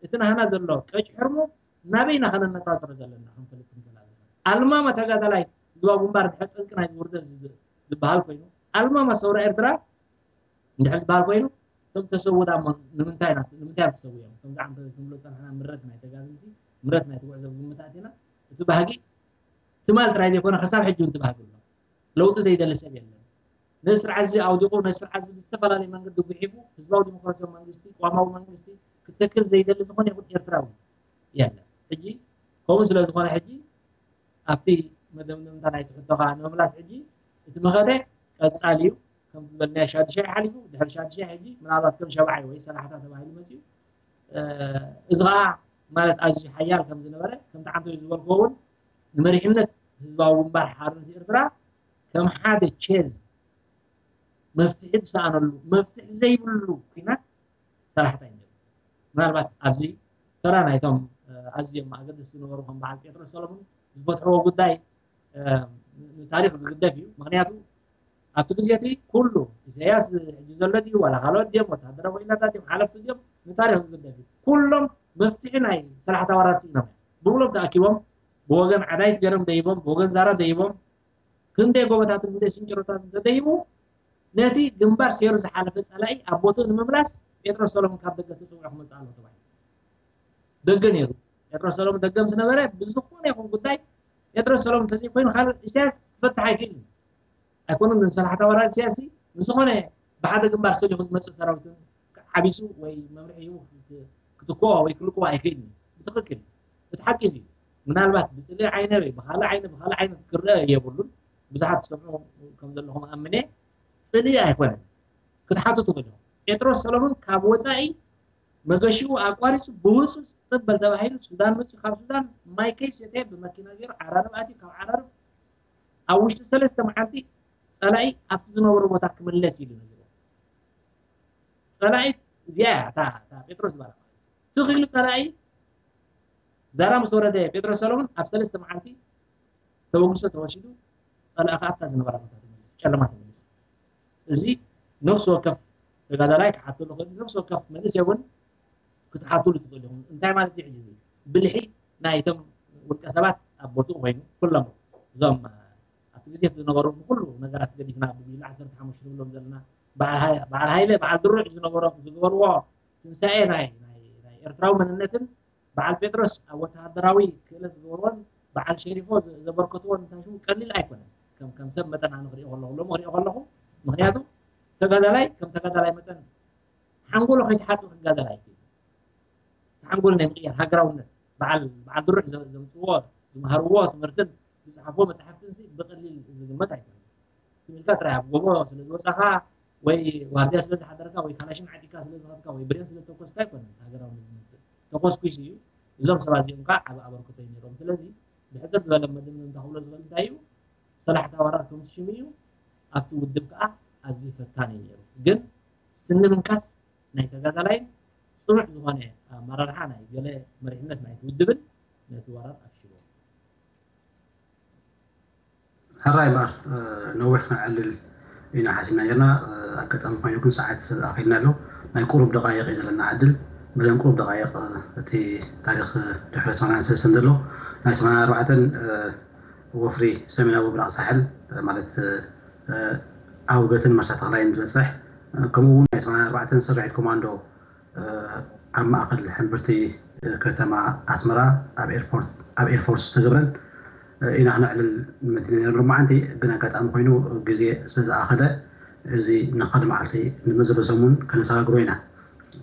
እቲ ናህና ዘሎ ቀጭ ሕርሙ ናበይና ከነነጻጽሮ ዘለና ክንፈልጥ ንኽእል ኣለና። ኣልማማ ተጋዳላይ ህዝባዊ ግንባር ድሕሪ ጠንቂ ናይዚ ውርደት ዝብ-፣ ዝበሃል ኮይኑ፣ ኣልማማ ሰውራ ኤርትራ እንድሕር ዝበሃል ኮይኑ፣ እቶም ተሰዉ ደኣ እሞ ንምንታይ ኢና፣ ንምንታይ እዮም ተሰዊኦም? ከምዚ ዓንተ ክንብሎ ዝጸናሕና ምረት ናይ ተጋደልቲ፣ ምረት ናይቲ ጉዕዞ ብግምት ኣቲና፣ እቲ ባህጊ ትማል ጥራይ ዘይኮነ፣ ክሳብ ሕጂ እውን እቲ ባህጊ ኣሎ። ለውጢ ዘይደሊ ሰብ የለን። ነዚ ስርዓት እዚ ኣውዲቑ፣ ነዚ ስርዓት እዚ ብዝተፈላለየ መንገዲ ጉሒፉ፣ ህዝባዊ ዲሞክራሲያዊ መንግስቲ፣ ቅዋማዊ መንግስቲ ክትተክል ዘይደሊ ዝኾነ ይኹን ኤርትራዊ የለን። ሕጂ ከምኡ ስለ ዝኾነ፣ ሕጂ ኣብቲ መደምደምታ ናይቲ ሕቶኻ ንምምላስ፣ ሕጂ እቲ መኸተ ቀጻሊ እዩ። ከም ዝበልናዮ ሻዱሻይ ሓሊፉ፣ ድሕሪ ሻዱሻይ ሕጂ ምናልባት ከም ሻብዓይ ወይ ሰላሕታ ተባሂሉ መጺኡ። እ፣ እዚ ኸኣ ማለት ኣዝዩ ሓያል ከም ዝነበረ፣ ከምቲ ዓንተዩ ዝበልክዎ እውን ንመሪሕነት ህዝባዊ ግንባር ሓርነት ኤርትራ ከም ሓደ ቼዝ መፍትሒ ዝሰኣነሉ፣ መፍትሒ ዘይብሉ ኲናት ሰላሕታ እዩ ነይሩ። ምናልባት ኣብዚ ተራ ናይቶም፣ እ፣ ኣዝዮም ኣገደስቲ ዝነበሩ ከም በዓል ጴጥሮስ ሰሎሞን ዝፈትሕዎ ጉዳይ፣ እ፣ ንታሪኽ ዝግደፍ እዩ። ምኽንያቱ ኣብቲ ግዜ እቲ ኩሉ ኢሳያስ ሕጂ ዘሎ ድዩ ዋላ ካልኦት ድዮም ወታደራዊ ኢላታት ድዮም ሓለፍቲ ድዮም ንታሪኽ ዝግደፍ እዩ። ኩሎም መፍትሒ ናይ ሰላሕታ ወራር ስኢኖም እዮም። ብብሎም ተኣኪቦም ብወገን ዓዳይት ገረም ደይቦም ብወገን ዛራ ደይቦም ክንደይ ጎቦታትን ክንደይ ስንጭሮታትን ተደይቡ ነቲ ግንባር ሴሩ ዝሓለፈ ጸላኢ ኣብ ቦትኡ ንምምላስ ጴጥሮስ ሰሎሞን ካብ ደገ ተሰዊዑ ክመጽእ ኣለዎ ተባሂሉ። ደገ ነይሩ። ጴጥሮስ ሰሎሞን ደገ ምስ ነበረ ብዝኾነ ይኹን ጉዳይ ጴጥሮስ ሰሎሞን እንተዘይኮይኑ ካልእ ኢሳያስ ክፈትሕ ኣይክእልን። ኣይኮነን ንሰላሕታ ወራር ኢሳያስ ንዝኾነ ብሓደ ግንባር ሰሊኹ ዝመጽእ ሰራዊት ዓቢሱ ወይ መምርሒ ሂቡ ክት-፣ ክትክኦ ወይ ክልክዎ ኣይክእልን እዩ። ብትኽክል እዩ። እቲ ሓቂ እዚ እዩ። ምናልባት ብጽልኢ ዓይነ ወይ ብኻልእ ዓይነ፣ ብኻልእ ዓይነት ክረአ የብሉን። ብዙሓት ትሰምዑ ከም ዘለኹም ኣምነ፣ ጽልኢ ኣይኮነን። ክትሓቱ ትኽእሉ ኢኹም። ጴጥሮስ ሰሎሞን ካብ ወጻኢ መገሽኡ ኣቋሪጹ ብህጹጽ ጥበል ተባሂሉ ሱዳን መጺኡ፣ ካብ ሱዳን ማይ ከይሰተየ ብመኪና ገይሩ ዓራርብ ኣትዩ፣ ካብ ዓራርብ ኣብ ውሽጢ ሰለስተ መዓልቲ ጸላኢ ኣብቲ ዝነበሮ ቦታ ክምለስ ኢሉ ነጊርዎ። ጸላኢ እዚኣ እያ፣ እታ፣ እታ ጴጥሮስ ዝበላ ማለት እዩ። ትኽ ኢሉ ጸላኢ ዛራ ምስ ወረደ ጴጥሮስ ሰሎሞን ኣብ ሰለስተ መዓልቲ ተበግሶ ተወሲዱ፣ ጸላኢ ከኣ ኣብታ ዝነበራ ቦታ ተመሊሱ፣ ጨለማ ተመሊሱ። እዚ ነፍሲ ወከፍ ተጋዳላይ ክሓተሉ ክእል፣ ነፍሲ ወከፍ መንእሰይ እውን ክትሓትሉ ትኽእሉ ኢኹም። እንታይ ማለት እዩ? ሕጂ እዚ ብልሒ ናይቶም ውልቀ ሰባት ኣብ ቦትኡ ኮይኑ፣ ኩሎም እዞም ኣብቲ ግዜ ዝነበሩ ንኩሉ ነገራት ገዲፍና ብጉጅለ ዓሰርተ ሓሙሽተ ንብሎም ዘለና በዓል ሃይ-፣ በዓል ሃይለ፣ በዓል ድሩዕ ዝነበሮም ዝገበርዎ ትንሳኤ ናይ፣ ናይ፣ ናይ ኤርትራዊ መንነትን በዓል ጴጥሮስ ኣብ ወተሃደራዊ ክእለት ዝገበርዎን በዓል ሸሪፎ ዘ-፣ ዘበርከትዎን እንታይ ሽሙ ቀሊል ኣይኮነን። ከም፣ ከም ሰብ መጠን ኣነ ክሪኦ ከለኹ፣ ሎሚ ክሪኦ ከለኹ፣ ምኽንያቱ ተጋዳላይ ከም ተጋዳላይ መጠን ሓንጎሎ ከይተሓጽበ ክጋደል ኣይክእልን። እቲ ሓንጎል ናይ ምቕያር ሃገራውነት በዓል፣ በዓል ድሩዕ ዘ-፣ ዘምጽዎ፣ ዝመሃርዎ ትምህርትን ዝጸሓፍዎ መጻሕፍትን ሲ ብቐሊል ዝግመት ኣይኮነን። ኢልካ ጥራይ ኣብ ጎቦ ስለ ዝወፃኻ ወይ ዋርድያ ስለ ዝሓደርካ ወይ ካላሽን ዓዲካ ስለ ዝኸድካ ወይ ብሬን ስለ ተኮስካ ኣይኮነን ሃገራውነት ዝመፅእ። ተኮስኩስ እዩ። እዞም ሰባት እዚኦም ከዓ ዓብ ኣበርክቶ እዩ ነይሮም። ስለዚ ብሕፅር ዝበለ መደምደምታ ክብሎ ዝኽእል እንታይ እዩ? ሰላሕታ ወራር ከምቲ ሽሙ እዩ። ኣብቲ ውድብ ከዓ ኣዝዩ ፈታኒ እዩ ነይሩ። ግን ስኒ ምንካስ ናይ ተጋዳላይን ፅኑዕ ዝኾነ ኣመራርሓ ናይ ገለ መሪሕነት ናይቲ ውድብን ነቲ ወራር ኣፍሽዎ። ሕራይ እምበኣር ነዊሕ ክነዕልል ኢና ሓሲብና ነርና። ኣጋጣሚ ኮይኑ ግን ሰዓት ኣኺልና ኣሎ። ናይ ቁሩብ ደቓይቕ እዩ ዘለና ዕድል። በዘን ቁሩብ ደቓይቕ እቲ ታሪኽ ድሕሪ ሰማንያን ሰለስተን ዘሎ ናይ ሰማንያን ኣርባዕተን ወፍሪ ሰሜናዊ ምብራቕ ሳሕል ማለት ኣውገትን መርሳ ተኽላይን ዝበፅሕ ከምኡ እውን ናይ ሰማንያን ኣርባዕተን ስርሒት ኮማንዶ ኣብ ማእኸል ሕምብርቲ ከተማ ኣስመራ ኣብ ኤርፖርት ኣብ ኤርፎርስ ዝተገብረን ኢና ክነዕልል መዲና ነይሩ ሎማዓንቲ። ግን ኣጋጣሚ ኮይኑ ግዜ ስለ ዝኣኸለ እዚ ንኻልእ መዓልቲ ንመዘሎ ሰሙን ከነሰጋግሮ ኢና።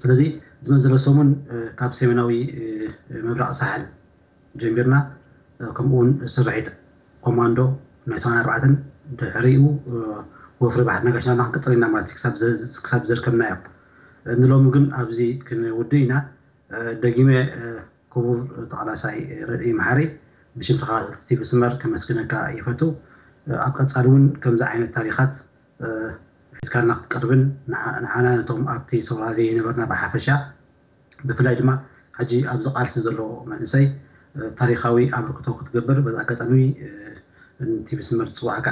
ስለዚ ዝመዘሎ ሰሙን ካብ ሰሜናዊ ምብራቕ ሳሕል ጀሚርና ከምኡ እውን ስርሒት ኮማንዶ ናይ ሰማንያን ኣርባዕተን ድሕሪኡ ወፍሪ ባሕሪ ነጋሽ ናብና ክንቅፅል ኢና ማለት እዩ ክሳብ ዘርከብናዮ። ንሎሚ ግን ኣብዚ ክንውድእ ኢና። ደጊመ ክቡር ተቓላሳይ ረድኢ መሓሪ ብሽም ተኸታተልቲ ቲቪ ስመር ከመስግነካ ይፈቱ። ኣብ ቀፃሊ እውን ከምዚ ዓይነት ታሪኻት ሒዝካልና ክትቀርብን ንዓና ነቶም ኣብቲ ሰውራ ዘይነበርና ብሓፈሻ ብፍላይ ድማ ሕጂ ኣብዚ ቃልሲ ዘሎ መንእሰይ ታሪኻዊ ኣበርክቶ ክትገብር በዚ ኣጋጣሚ ቲቪ ስመር ዝፅዋዕካ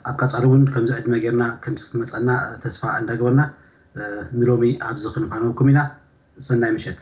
ኣብ ቀፃሊ እውን ከምዚ ዕድመ ጌርና ከምዚ ክትመፀና ተስፋ እንዳገበርና ንሎሚ ኣብዚ ክንፋነወኩም ኢና። ሰናይ ምሸት።